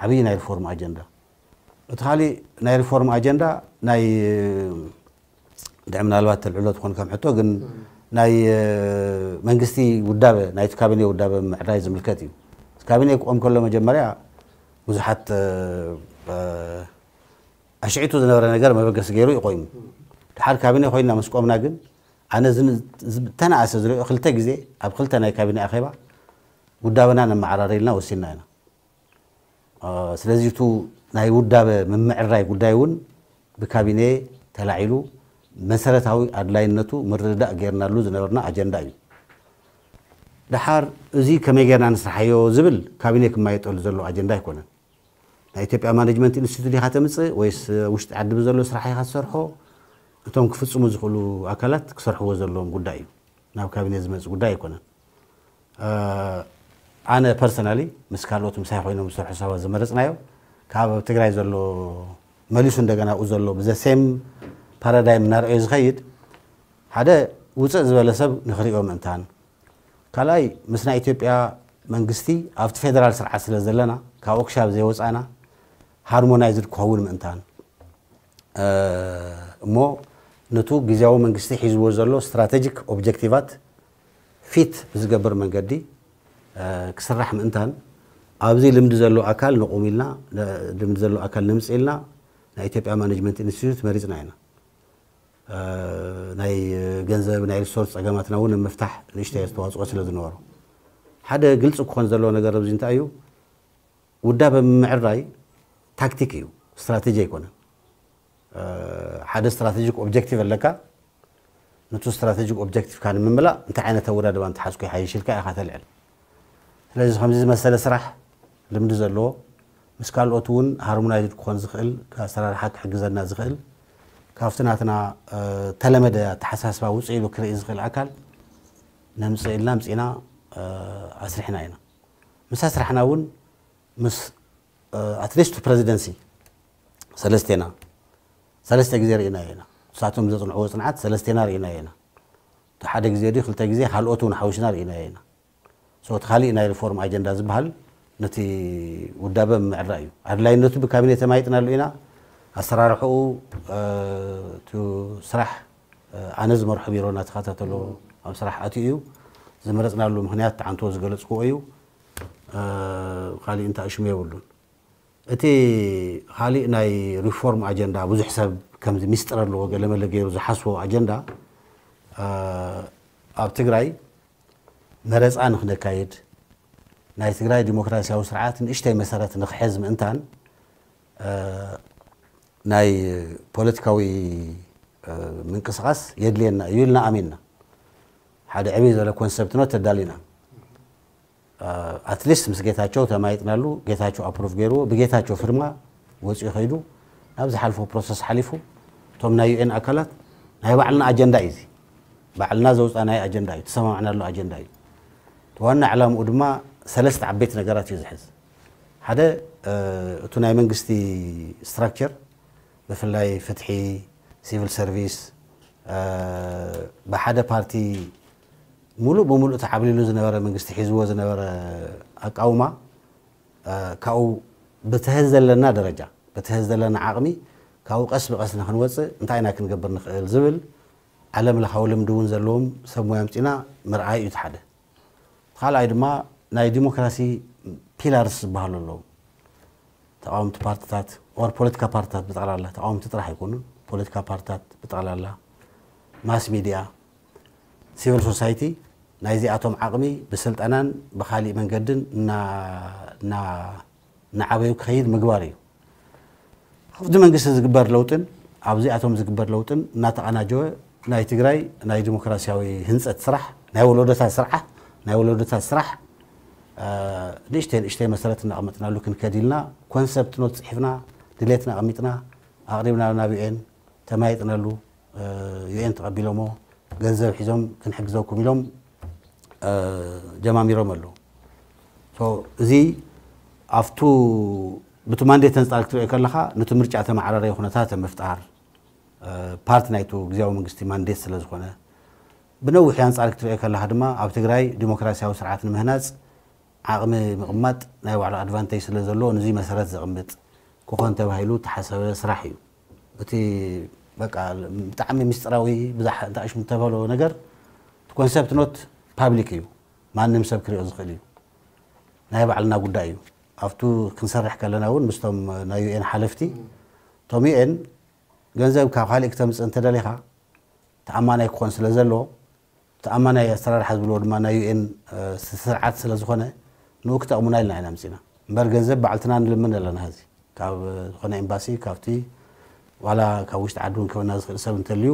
ዓብዪ ናይ ሪፎርም ኣጀንዳ። እቲ ካሊእ ናይ ሪፎርም ኣጀንዳ ናይ ድዕ ምናልባት ተልዕሎ ትኾን ከም ሕቶ ግን ናይ መንግስቲ ውዳበ ናይቲ ካቢኔ ውዳበ ምዕራይ ዝምልከት እዩ። ካቢኔ ክቆም ከሎ መጀመርያ ብዙሓት ኣሽዒቱ ዝነበረ ነገር መበገሲ ገይሩ እዩ ቆይሙ። ድሓር ካቢኔ ኮይና ምስ ቆምና ግን ኣነ ዝተነኣሰ ዝሪኦ ክልተ ግዜ ኣብ ክልተ ናይ ካቢኔ ኣኼባ ውዳበና ነመዓራሪ ኢልና ወሲንና ኢና። ስለዚ እቲ ናይ ውዳበ ምምዕራይ ጉዳይ እውን ብካቢኔ ተላዒሉ መሰረታዊ ኣድላይነቱ ምርድዳእ ገይርናሉ ዝነበርና ኣጀንዳ እዩ። ድሓር እዚ ከመይ ጌርና ንስርሓዮ ዝብል ካቢኔ ክማየጠሉ ዘሎ ኣጀንዳ ኣይኮነን። ናይ ኢትዮጵያ ማኔጅመንት ኢንስቲትዩት ዲኻ ተምፅእ ወይስ ውሽጢ ዓዲ ብዘሎ ስራሕ ኢኻ ትሰርሖ? እቶም ክፍፅሙ ዝኽእሉ ኣካላት ክሰርሕዎ ዘለዎም ጉዳይ እዩ። ናብ ካቢኔ ዝመፅእ ጉዳይ ኣይኮነን። ኣነ ፐርሰናሊ ምስ ካልኦት ምሳይ ኮይኖም ዝሰርሑ ሰባት ዝመረፅናዮ ካብ ኣብ ትግራይ ዘሎ መሊሱ እንደገና ኣብኡ ዘሎ ብዘ ሴም ፓራዳይም እናርኣዮ ዝኸይድ ሓደ ውፅእ ዝበለ ሰብ ንክሪኦ ምእንታን ካልኣይ ምስ ናይ ኢትዮጵያ መንግስቲ ኣብቲ ፌደራል ስርዓት ስለ ዘለና ካብኡ ክሻብ ዘይወፃእና ሃርሞናይዝድ ክኸውን ምእንታን እሞ ነቱ ግዜያዊ መንግስቲ ሒዝዎ ዘሎ ስትራቴጂክ ኦብጀክቲቫት ፊት ብዝገብር መንገዲ ክስራሕ ምእንታን ኣብዚ ልምዲ ዘሎ ኣካል ንቑም ኢልና ልምዲ ዘሎ ኣካል ንምፅ ኢልና ናይ ኢትዮጵያ ማኔጅመንት ኢንስቲትዩት መሪፅና ኢና። ናይ ገንዘብ ናይ ሪሶርስ ፀገማትና እውን ንምፍታሕ ንእሽተይ ኣስተዋፅኦ ስለ ዝነበሮ ሓደ ግልፂ ክኾን ዘለዎ ነገር ኣብዚ እንታይ እዩ ውዳበ ምምዕራይ ታክቲክ እዩ፣ ስትራቴጂ ኣይኮነን። ሓደ ስትራቴጂክ ኦብጀክቲቭ ኣለካ። ነቱ ስትራቴጂክ ኦብጀክቲቭካ ንምምላእ እንታይ ዓይነት ኣወዳድባ እንተሓዝኩ ይሓይሽ ኢልካ ኢኻ ተልዕል። ስለዚ ከምዚ ዝመሰለ ስራሕ ልምዲ ዘለዎ ምስ ካልኦት እውን ሃርሞናይዝድ ክኾን ዝኽእል ኣሰራርሓ ክሕግዘና ዝኽእል ካብቲ ናትና ተለመደ ኣተሓሳስባ ውፅእ ኢሉ ክርኢ ዝኽእል ኣካል ነምፅእ ኢልና ምፅና ኣስሪሕና ኢና። ምስ ኣስራሕና እውን ምስ ኣትሊስት ፕረዚደንሲ ሰለስቴና ሰለስተ ግዜ ርኢና ኢና። ንሳቶም ዘፅንዕዎ ፅንዓት ሰለስቴና ርኢና ኢና። እቲ ሓደ ግዜ ድዩ ክልተ ግዜ ካልኦት እውን ሓዊስና ርኢና ኢና። እቲ ካሊእ ናይ ሪፎርም ኣጀንዳ ዝበሃል ነቲ ውዳበ ምዕራይ እዩ። ኣድላይነቱ ብካቢኔ ተማይጥናሉ ኢና። ኣሰራርሕኡ እቲ ስራሕ ኣነ ዝመርሖ ቢሮ እናተኸታተሎ ኣብ ስራሕ ኣትዩ እዩ። ዝመረፅናሉ ምክንያት ተዓንቶ ዝገለፅክዎ እዩ። ካሊእ እንታይ ሽሙ የብሉን። እቲ ካሊእ ናይ ሪፎርም ኣጀንዳ ብዙሕ ሰብ ከምዚ ሚስጥር ኣለዎ ገለመለ ገይሩ ዝሓስቦ ኣጀንዳ ኣብ ትግራይ መረፃ ንክነካይድ ናይ ትግራይ ዲሞክራሲያዊ ስርዓት ንእሽተይ መሰረት ንክሕዝ ምእንታን ናይ ፖለቲካዊ ምንቅስቃስ የድልየና እዩ ኢልና ኣሚንና ሓደ ዕብይ ዝበለ ኮንሰፕት ነው ተዳሊና ኣትሊስት ምስ ጌታቸው ተማይጥናሉ ጌታቸው ኣፕሩቭ ገይርዎ ብጌታቸው ፍርማ ወፂኡ ከይዱ ናብ ዝሓልፎ ፕሮሰስ ሓሊፉ እቶም ናይ ዩኤን ኣካላት ናይ ባዕልና ኣጀንዳ እዩ እዚ ባዕልና ዘውፃናይ ኣጀንዳ እዩ ተሰማማዕናሉ ኣጀንዳ እዩ ዋና ዕላምኡ ድማ ሰለስተ ዓበይቲ ነገራት እዩ ዝሕዝ ሓደ እቱ ናይ መንግስቲ ስትራክቸር ብፍላይ ፍትሒ ሲቪል ሰርቪስ ብሓደ ፓርቲ ሙሉእ ብሙሉእ ተዓብሊሉ ዝነበረ መንግስቲ ሒዝዎ ዝነበረ ኣቃውማ ካብኡ ብትህዝ ዘለና ደረጃ ብትህዝ ዘለና ዓቕሚ ካብኡ ቀስ ብቐስ ንክንወፅእ እንታይ ኢና ክንገብር ንኽእል ዝብል ዓለም ለኻዊ ልምዲ እውን ዘለዎም ሰብ ሞያ ምፂና ምርኣይ እዩ ሓደ ካልኣይ ድማ ናይ ዲሞክራሲ ፒላርስ ዝበሃሉ ኣለዉ ተቃወምቲ ፓርትታት ኦር ፖለቲካ ፓርትታት ብጠቕላላ ተቃወምቲ ጥራሕ ኣይኮኑን ፖለቲካ ፓርትታት ብጠቕላላ ማስ ሚድያ ሲቪል ሶሳይቲ ናይዚኣቶም ዓቕሚ ብስልጠናን ብኻሊእ መንገድን እና- እና- እናዓበዩ ክኸይድ ምግባር እዩ። ኣብቲ መንግስቲ ዝግበር ለውጥን ኣብዚኣቶም ዝግበር ለውጥን እናተቐናጀወ ናይ ትግራይ ናይ ዲሞክራሲያዊ ህንፀት ስራሕ ናይ ወለዶታት ስራሕ ናይ ወለዶታት ስራሕ ንእሽተይ ንእሽተይ መሰረት እናቐመጥናሉ ክንከድ ኢልና ኮንሰፕት ኖት ፅሒፍና ድሌትና ኣቐሚጥና ኣቕሪብና ናብ ዩኤን ተማይጥነሉ ዩኤን ተቐቢሎሞ ገንዘብ ሒዞም ክንሕግዘኩም ኢሎም ጀማሚሮም ኣለዉ። እዚ ኣብቱ ብቲ ማንዴት ተንፃል ክትሪኦ ከለኻ ነቲ ምርጫ ተመዓራረየ ኩነታት ምፍጣር ፓርቲ ናይቱ ግዜያዊ መንግስቲ ማንዴት ስለ ዝኾነ ብነዊሕ ኣንፃር ክትሪኦ ከለኻ ድማ ኣብ ትግራይ ዲሞክራሲያዊ ስርዓት ንምህናፅ ዓቕሚ ምቕማጥ ናይ ባዕሉ ኣድቫንቴጅ ስለ ዘለዎ ንዚ መሰረት ዘቕምጥ ክኾን ተባሂሉ ተሓሰበ ስራሕ እዩ። እቲ በቃ ብጣዕሚ ምስጢራዊ ብዛሕ እንታሽሙ ተበሎ ነገር ኮንሰፕት ኖት ፓብሊክ እዩ። ማንም ሰብ ክሪኦ ዝኽእል እዩ። ናይ ባዕልና ጉዳይ እዩ። ኣብቱ ክንሰርሕ ከለና እውን ምስቶም ናይ ዩኤን ሓለፍቲ እቶም ዩኤን ገንዘብ ካብ ካልእ ክተምፅእ እንተደሊኻ ተኣማናይ ክኾን ስለ ዘለዎ ተኣማናይ ኣሰራርሓ ዝብልዎ ድማ ናይ ዩኤን ስርዓት ስለ ዝኾነ ንኡ ክጠቕሙና ኢልና ኢና ምፅና እምበር ገንዘብ ባዕልትና ንልምን ኣለና። ዚ ካብ ዝኾነ ኤምባሲ ካብቲ ዋላ ካብ ውሽጢ ዓዲ እውን ክበና ዝኽእል ሰብ እንተልዩ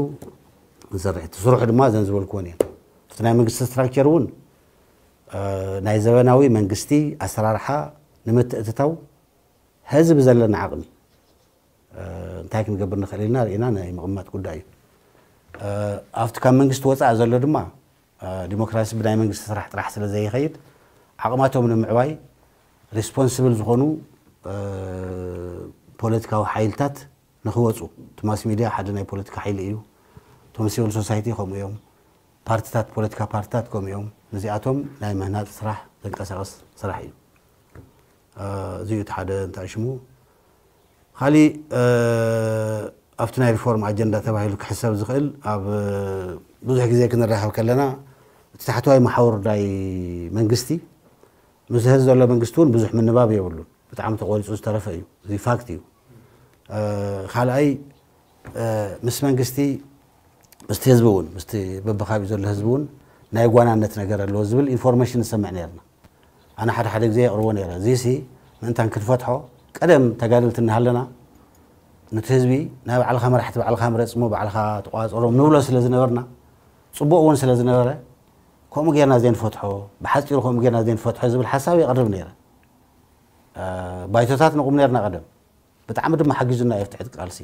ንሰርሕ እቲ ስርሑ ድማ ዘን ዝበልክዎን እየን እቲ ናይ መንግስቲ ስትራክቸር እውን ናይ ዘበናዊ መንግስቲ ኣሰራርሓ ንምትእትታው ህዝቢ ዘለና ዓቕሚ እንታይ ክንገብር ንኽእል ኢልና ርኢና ናይ ምቕማጥ ጉዳይ እዩ። ኣብቲ ካብ መንግስቲ ወፃእ ዘሎ ድማ ዲሞክራሲ ብናይ መንግስቲ ስራሕ ጥራሕ ስለ ዘይኸይድ ዓቕማቶም ንምዕባይ ሪስፖንስብል ዝኾኑ ፖለቲካዊ ሓይልታት ንኽወፁ እቲ ማስ ሚድያ ሓደ ናይ ፖለቲካ ሓይሊ እዩ። እቶም ሲቪል ሶሳይቲ ከምኡ እዮም። ፓርቲታት ፖለቲካ ፓርቲታት ከምኡ እዮም። ነዚኣቶም ናይ ምህናፅ ስራሕ ዘንቀሳቐስ ስራሕ እዩ። እዚ እዩ እቲ ሓደ እንታይ ሽሙ ካሊእ ኣብቲ ናይ ሪፎርም ኣጀንዳ ተባሂሉ ክሕሰብ ዝኽእል ኣብ ብዙሕ ግዜ ክንራኸብ ከለና እቲ ታሕተዋይ መሓውር ናይ መንግስቲ ምስ ህዝቢ ዘሎ መንግስቲ እውን ብዙሕ ምንባብ የብሉን። ብጣዕሚ ተቆሪፁ ዝተረፈ እዩ። እዚ ፋክት እዩ። ካልኣይ ምስ መንግስቲ ምስቲ ህዝቢ እውን ምስቲ በብካቢኡ ዘሎ ህዝቢ እውን ናይ ጓናነት ነገር ኣለዎ ዝብል ኢንፎርሜሽን ንሰምዕ ነርና። ኣነ ሓደ ሓደ ግዜ የቕርቦ ነረ። እዚሲ ምእንታን ክንፈትሖ ቀደም ተጋደልቲ እናሃለና ነቲ ህዝቢ ናይ ባዕልኻ መራሕቲ ባዕልኻ ምረፅሞ ባዕልኻ ተቋፀሮም ንብሎ ስለ ዝነበርና ፅቡቕ እውን ስለ ዝነበረ ከምኡ ጌርና ዘይንፈትሖ ብሓፂሩ ከምኡ ጌርና ዘይንፈትሖ ዝብል ሓሳብ የቕርብ ነረ። ባይቶታት ንቑም ነርና ቀደም ብጣዕሚ ድማ ሓጊዙና እዩ ትሕቲ ቃልሲ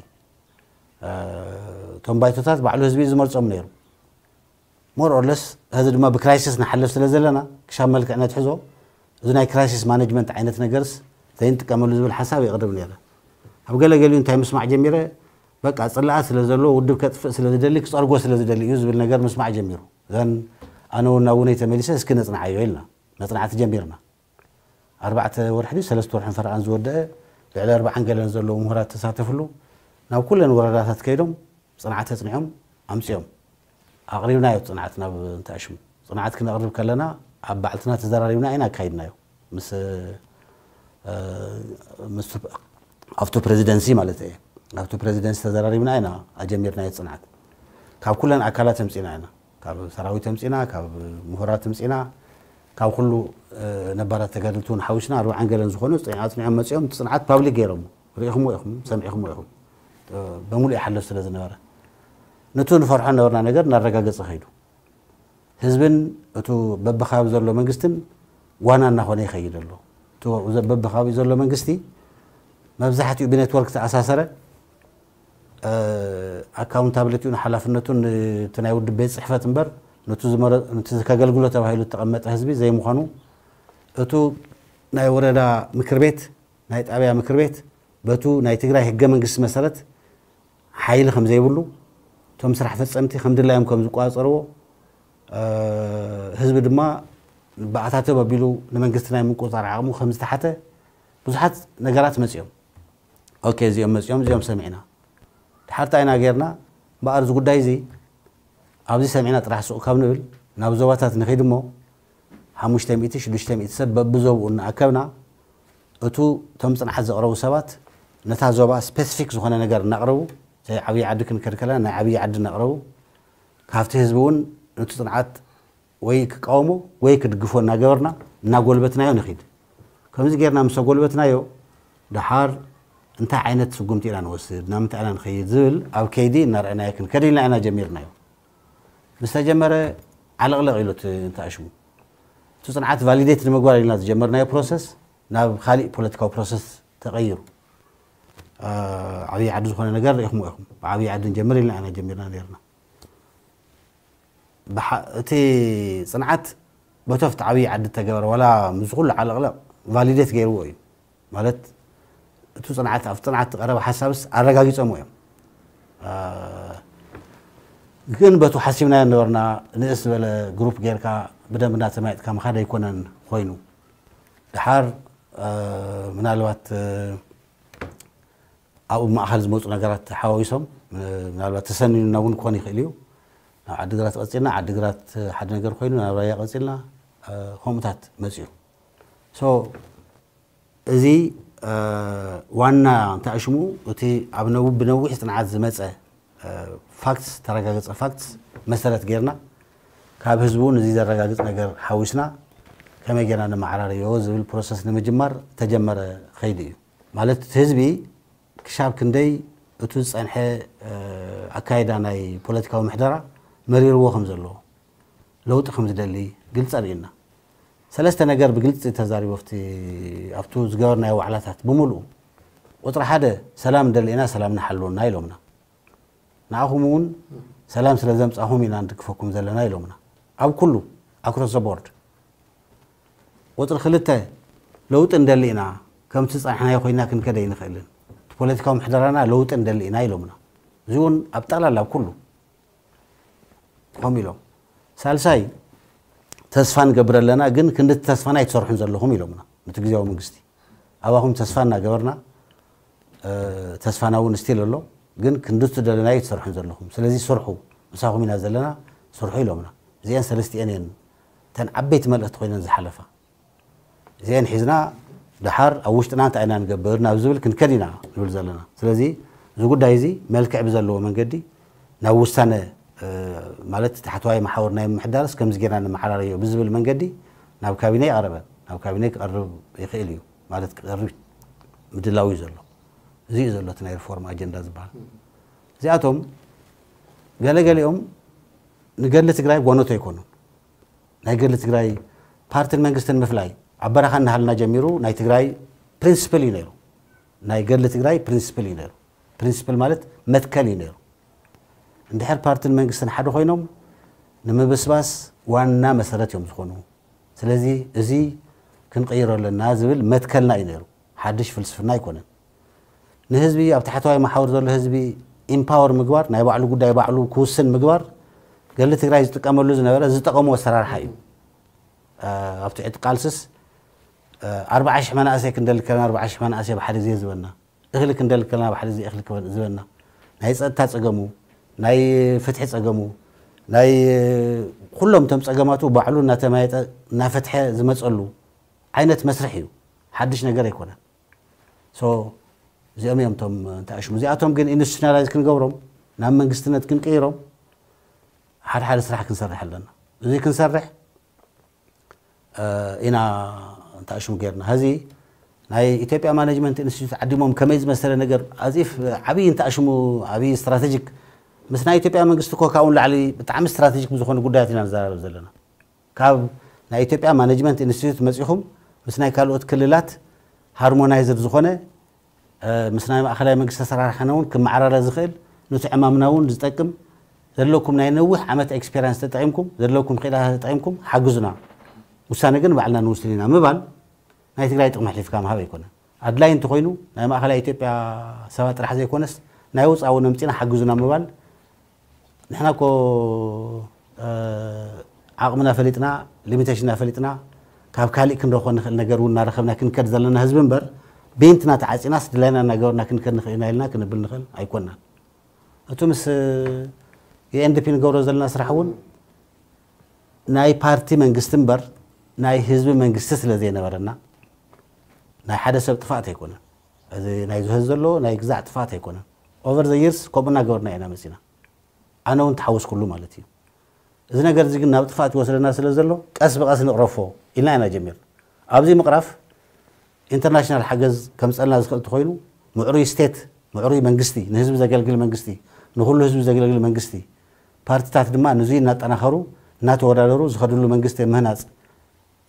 እቶም ባይቶታት ባዕሉ ህዝቢ ዝመርፆም ነይሩ። ሞር ኦርለስ ህዚ ድማ ብክራይሲስ ንሓልፍ ስለ ዘለና ክሻብ መልክዕ ነትሕዞ እዚ ናይ ክራይሲስ ማነጅመንት ዓይነት ነገርስ ዘይንጥቀመሉ ዝብል ሓሳብ የቕርብ ነይረ። ኣብ ገለገሊኡ እንታይ ምስማዕ ጀሚረ በቃ ፅላኣት ስለ ዘለዎ ውድብ ከጥፍእ ስለ ዝደሊ ክፀርጎ ስለ ዝደሊ እዩ ዝብል ነገር ምስማዕ ጀሚሩ። ዘን ኣነ እውን ናብ ውነይ ተመሊሰ እስኪ ነፅንዓዮ ኢልና መፅናዕቲ ጀሚርና። ኣርባዕተ ወርሒ ድዩ ሰለስተ ወርሕን ፈረቓን ዝወደአ ልዕሊ ኣርባዓን ገለን ዘለዉ ምሁራት ተሳተፍሉ ናብ ኩለን ወረዳታት ከይዶም ፅንዓት ኣፅኒዖም ኣምፅኦም ኣቕሪብናዮ ፅንዓት ናብ እንተኣሽሙ ፅንዓት ክነቕርብ ከለና ኣብ ባዕልትና ተዘራሪብና ኢና ኣካይድናዮ ምስ ምስ ኣብቱ ፕሬዚደንሲ ማለት እየ ኣብቱ ፕሬዚደንሲ ተዘራሪብና ኢና ኣጀሚርናዮ ፅንዓት ካብ ኩለን ኣካላት ኣምፂና ኢና ካብ ሰራዊት ኣምፂና ካብ ምሁራት ኣምፂና ካብ ኩሉ ነባራት ተጋደልቲ እውን ሓዊስና ኣርባዓን ገለን ዝኾኑ ኣፅኒዖም መፂኦም እቲ ፅንዓት ፓብሊክ ገይሮም ርኢኹምዎ ኢኹም ሰሚዕኹምዎ ኢኹም በሙሉ ይሓልፍ ስለ ዝነበረ ነቱ ንፈርሖ ነበርና ነገር እናረጋገፀ ከይዱ ህዝብን እቱ በብከባቢ ዘሎ መንግስትን ዋና እናኾነ ይኸይድ ኣሎ። በብከባቢኡ ዘሎ መንግስቲ መብዛሕትኡ ብኔትወርክ ተኣሳሰረ ኣካውንታብሊቲኡ ንሓላፍነቱ እቲ ናይ ውድብ ቤት ፅሕፈት እምበር ነቲ ከገልግሎ ተባሂሉ ዝተቐመጠ ህዝቢ ዘይምዃኑ እቱ ናይ ወረዳ ምክር ቤት ናይ ጣብያ ምክር ቤት በቱ ናይ ትግራይ ህገ መንግስቲ መሰረት ሓይሊ ከም ዘይብሉ እቶም ስራሕ ፈፀምቲ ከም ድላዮም ከም ዝቋፀርዎ ህዝቢ ድማ ብኣታተብ ኣቢሉ ንመንግስቲ ናይ ምቁፅፃር ዓቕሙ ከም ዝተሓተ ብዙሓት ነገራት መፂኦም። ኦኬ እዚኦም መፂኦም እዚኦም ሰሚዕና ድሓር እንታይ ኢና ጌርና? እምበኣር እዚ ጉዳይ እዚ ኣብዚ ሰሚዕና ጥራሕ ሱቕ ካብ ንብል ናብ ዞባታት ንኺድ እሞ ሓሙሽተ ሚእቲ ሽዱሽተ ሚእቲ ሰብ በብዞብኡ እናኣከብና እቱ እቶም ፅንዓት ዘቕረቡ ሰባት ነታ ዞባ ስፔሲፊክ ዝኾነ ነገር እናቕረቡ ናይ ዓብዪ ዓዲ ክንከድ ከለና ናይ ዓብዪ ዓዲ እናቕረቡ ካብቲ ህዝቢ እውን ነቲ ፅንዓት ወይ ክቃወሞ ወይ ክድግፎ እናገበርና እናጎልበትናዮ ንኺድ። ከምዚ ጌርና ምስ ኣጎልበትናዮ፣ ደሓር እንታይ ዓይነት ስጉምቲ ኢና ንወስድ፣ ናብ ምንታይ ኢና ንኸይድ ዝብል ኣብ ከይዲ እናረኣናዮ ክንከድ ኢልና ኢና ጀሚርናዮ። ምስ ተጀመረ ዓለቕለቕ ኢሉ እቲ እንተኣሽሙ፣ እቲ ፅንዓት ቫሊዴት ንምግባር ኢልና ዝጀመርናዮ ፕሮሰስ ናብ ካሊእ ፖለቲካዊ ፕሮሰስ ተቐይሩ። ዓብዪ ዓዲ ዝኾነ ነገር ርኢኹምዎ ኢኹም። ብዓብዪ ዓዲ ንጀምር ኢልና ኢና ጀሚርና ነርና። እቲ ፅንዓት በቶም ኣብቲ ዓብዪ ዓዲ እተገበረ ዋላ ምስ ኩሉ ዓለቕለቕ ቫሊዴት ገይርዎ እዩ። ማለት እቲ ፅንዓት ኣብቲ ፅንዓት ዝቐረበ ሓሳብስ ኣረጋጊፆምዎ እዮም። ግን በቱ ሓሲብናዮ ነበርና። ንእስ ዝበለ ግሩፕ ጌርካ ብደንብ እናተማየጥካ ምኻድ ኣይኮነን ኮይኑ። ደሓር ምናልባት ኣብኡ ማእኸል ዝመፁ ነገራት ሓዋዊሶም ምናልባት ተሰኒኑና እውን ክኾን ይኽእል እዩ። ናብ ዓዲግራት ቀፂልና፣ ዓዲግራት ሓደ ነገር ኮይኑ ናብ ራያ ቀፂልና፣ ከምኡታት መፅኡ። እዚ ዋና እንታይ ሽሙ እቲ ኣብ ነው ብነዊሕ ፅንዓት ዝመፀ ፋክትስ፣ ተረጋገፀ ፋክትስ መሰረት ጌርና ካብ ህዝቡ እውን እዚ ዘረጋግፅ ነገር ሓዊስና ከመይ ጌርና ነመዓራርዮ ዝብል ፕሮሰስ ንምጅማር ተጀመረ ከይዲ እዩ። ማለት እቲ ህዝቢ ክሻብ ክንደይ እቱ ዝፀንሐ ኣካይዳ ናይ ፖለቲካዊ ምሕደራ መሪርዎ ከም ዘለዎ፣ ለውጢ ከም ዝደሊ ግልፂ ኣርእዩና። ሰለስተ ነገር ብግልፂ ተዛሪቡ ኣብቲ ኣብቱ ዝገበርናዮ ዋዕላታት ብምሉኡ። ቁፅሪ ሓደ፣ ሰላም እንደሊ ኢና፣ ሰላም ንሓልወና ኢሎምና። ንኣኹም እውን ሰላም ስለ ዘምፃኹም ኢና ንድግፈኩም ዘለና ኢሎምና። ኣብ ኩሉ ኣክሮስ ዘ ቦርድ። ቁፅሪ ክልተ፣ ለውጢ እንደሊ ኢና፣ ከምቲ ዝፀናሕናዮ ኮይና ክንከደ ኣይንኽእልን። እቲ ፖለቲካዊ ምሕደራና ለውጢ እንደሊ ኢና ኢሎምና። እዚ እውን ኣብ ጠቕላላ ኣብ ኩሉ ከምኡ ኢሎም። ሳልሳይ፣ ተስፋ ንገብር ኣለና፣ ግን ክንድቲ ተስፋና ኣይትሰርሑን ዘለኹም ኢሎምና። ነቲ ግዜያዊ መንግስቲ ኣባኹም ተስፋ እናገበርና፣ ተስፋና እውን ስቲል ኣሎ፣ ግን ክንድቲ ደለናዮ ኣይትሰርሑን ዘለኹም። ስለዚ ስርሑ፣ ምሳኹም ኢና ዘለና፣ ስርሑ ኢሎምና። እዚአን ሰለስቲአን እየን እተን ዓበይቲ መልእኽቲ ኮይነን ዝሓለፋ። እዚአን ሒዝና ደሓር ኣብ ውሽጥና እንታይ ኢና ንገብር ናብ ዝብል ክንከድ ኢና ንብል ዘለና። ስለዚ እዚ ጉዳይ እዚ መልክዕ ብዘለዎ መንገዲ ናብ ውሳነ፣ ማለት ታሕተዋይ መሓውር ናይ ምምሕዳርስ ከምዚ ጌርና ንመዓራረዮ ብዝብል መንገዲ ናብ ካቢነ ይቐረበ። ናብ ካቢነ ክቐርብ ይኽእል እዩ፣ ማለት ክቐርብ ምድላው እዩ ዘሎ። እዚ እዩ ዘሎ እቲ ናይ ሪፎርም ኣጀንዳ ዝበሃል። እዚኣቶም ገለገሊኦም ንገድሊ ትግራይ ጓኖት ኣይኮኑን። ናይ ገድሊ ትግራይ ፓርትን መንግስትን ምፍላይ ኣብ በረኻ እናሃልና ጀሚሩ ናይ ትግራይ ፕሪንስፕል እዩ ነይሩ። ናይ ገድሊ ትግራይ ፕሪንስፕል እዩ ነይሩ። ፕሪንስፕል ማለት መትከል እዩ ነይሩ። እንድሕር ፓርትን መንግስትን ሓደ ኮይኖም ንምብስባስ ዋና መሰረት እዮም ዝኾኑ። ስለዚ እዚ ክንቕይሮ ኣለና ዝብል መትከልና እዩ ነይሩ። ሓድሽ ፍልስፍና ኣይኮነን። ንህዝቢ ኣብ ታሕተዋይ መሓውር ዘሎ ህዝቢ ኢምፓወር ምግባር፣ ናይ ባዕሉ ጉዳይ ባዕሉ ክውስን ምግባር ገድሊ ትግራይ ዝጥቀመሉ ዝነበረ ዝጠቐሙ ኣሰራርሓ እዩ። ኣብቲ ዕቲ ቃልስስ ኣርባዓ ሽሕ መናእሰይ ክንደሊ ከለና ኣርባዓ ሽሕ መናእሰይ ብሓደ ግዜ ዝበና፣ እኽሊ ክንደሊ ከለና ብሓደ ግዜ እኽሊ ዝበና፣ ናይ ፀጥታ ፀገሙ፣ ናይ ፍትሒ ፀገሙ፣ ናይ ኩሎም እቶም ፀገማቱ ባዕሉ እናተማየጠ እናፈትሐ ዝመፀሉ ዓይነት መስርሕ እዩ። ሓድሽ ነገር ኣይኮነን። ሶ እዚኦም እዮም እቶም እንተኣሽሙ። እዚኣቶም ግን ኢንስቲቱሽናላይዝ ክንገብሮም፣ ናብ መንግስትነት ክንቅይሮም ሓደ ሓደ ስራሕ ክንሰርሕ ኣለና። እዚ ክንሰርሕ ኢና እንተኣሽሙ ጌርና። ሕዚ ናይ ኢትዮጵያ ማኔጅመንት ኢንስቲትዩት ዓዲሞም ከመይ ዝመሰለ ነገር ኣዚፍ ዓብዪ እንተኣሽሙ ዓብዪ ስትራቴጂክ ምስ ናይ ኢትዮጵያ መንግስቲ እኮ ካብኡ ንላዕሊ ብጣዕሚ ስትራቴጂክ ብዝኾኑ ጉዳያት ኢና ንዘራረብ ዘለና። ካብ ናይ ኢትዮጵያ ማኔጅመንት ኢንስቲትዩት መፂኹም ምስ ናይ ካልኦት ክልላት ሃርሞናይዝድ ዝኾነ ምስ ናይ ማእኸላይ መንግስቲ ኣሰራርሓና እውን ክመዓራረ ዝኽእል ነቲ ዕማምና እውን ዝጠቅም ዘለኩም ናይ ነዊሕ ዓመት ኤክስፔሪንስ ተጠቂምኩም ዘለኩም ክኢላታት ተጠቂምኩም ሓግዙና። ውሳነ ግን ባዕልና ንውስን ኢና ምባል ናይ ትግራይ ጥቕሚ ኣሕሊፍካ ምሃብ ኣይኮነን። ኣድላይ እንተኾይኑ ናይ ማእኸላይ ኢትዮጵያ ሰባት ጥራሕ ዘይኮነስ ናይ ወፃኢ እውን ኣምፂና ሓግዙና ምባል ንሕና እኮ ዓቕምና ፈሊጥና ሊሚቴሽንና ፈሊጥና ካብ ካሊእ ክንረኽቦ ንኽእል ነገር እውን እናረኸብና ክንከድ ዘለና ህዝቢ እምበር ቤንትና ተዓፂናስ ድላይና እናገበርና ክንከድ ንኽእል ኢና ኢልና ክንብል ንኽእል ኣይኮንናን። እቲ ምስ ዩኤንዲፒ ንገብሮ ዘለና ስራሕ እውን ናይ ፓርቲ መንግስቲ እምበር ናይ ህዝቢ መንግስቲ ስለ ዘይነበረና ናይ ሓደ ሰብ ጥፋእት ኣይኮነን። እዚ ናይ ዝህዝ ዘሎ ናይ ግዛዕ ጥፋእት ኣይኮነን። ኦቨር ዘ ይርስ ከምኡ እናገበርና ኢና መፂና። ኣነ እውን ተሓወስኩሉ ማለት እዩ። እዚ ነገር እዚ ግን ናብ ጥፍኣት ይወስደና ስለ ዘሎ ቀስ ብቐስ ንቕረፎ ኢልና ኢና ጀሚር። ኣብዚ ምቕራፍ ኢንተርናሽናል ሓገዝ ከምፀልና ዝኽእል እንተኾይኑ፣ ምዕሩይ ስቴት፣ ምዕሩይ መንግስቲ፣ ንህዝቢ ዘገልግል መንግስቲ፣ ንኹሉ ህዝቢ ዘገልግል መንግስቲ፣ ፓርቲታት ድማ ንዙይ እናጠናኸሩ እናተወዳደሩ ዝኸድሉ መንግስቲ ምህናፅ፣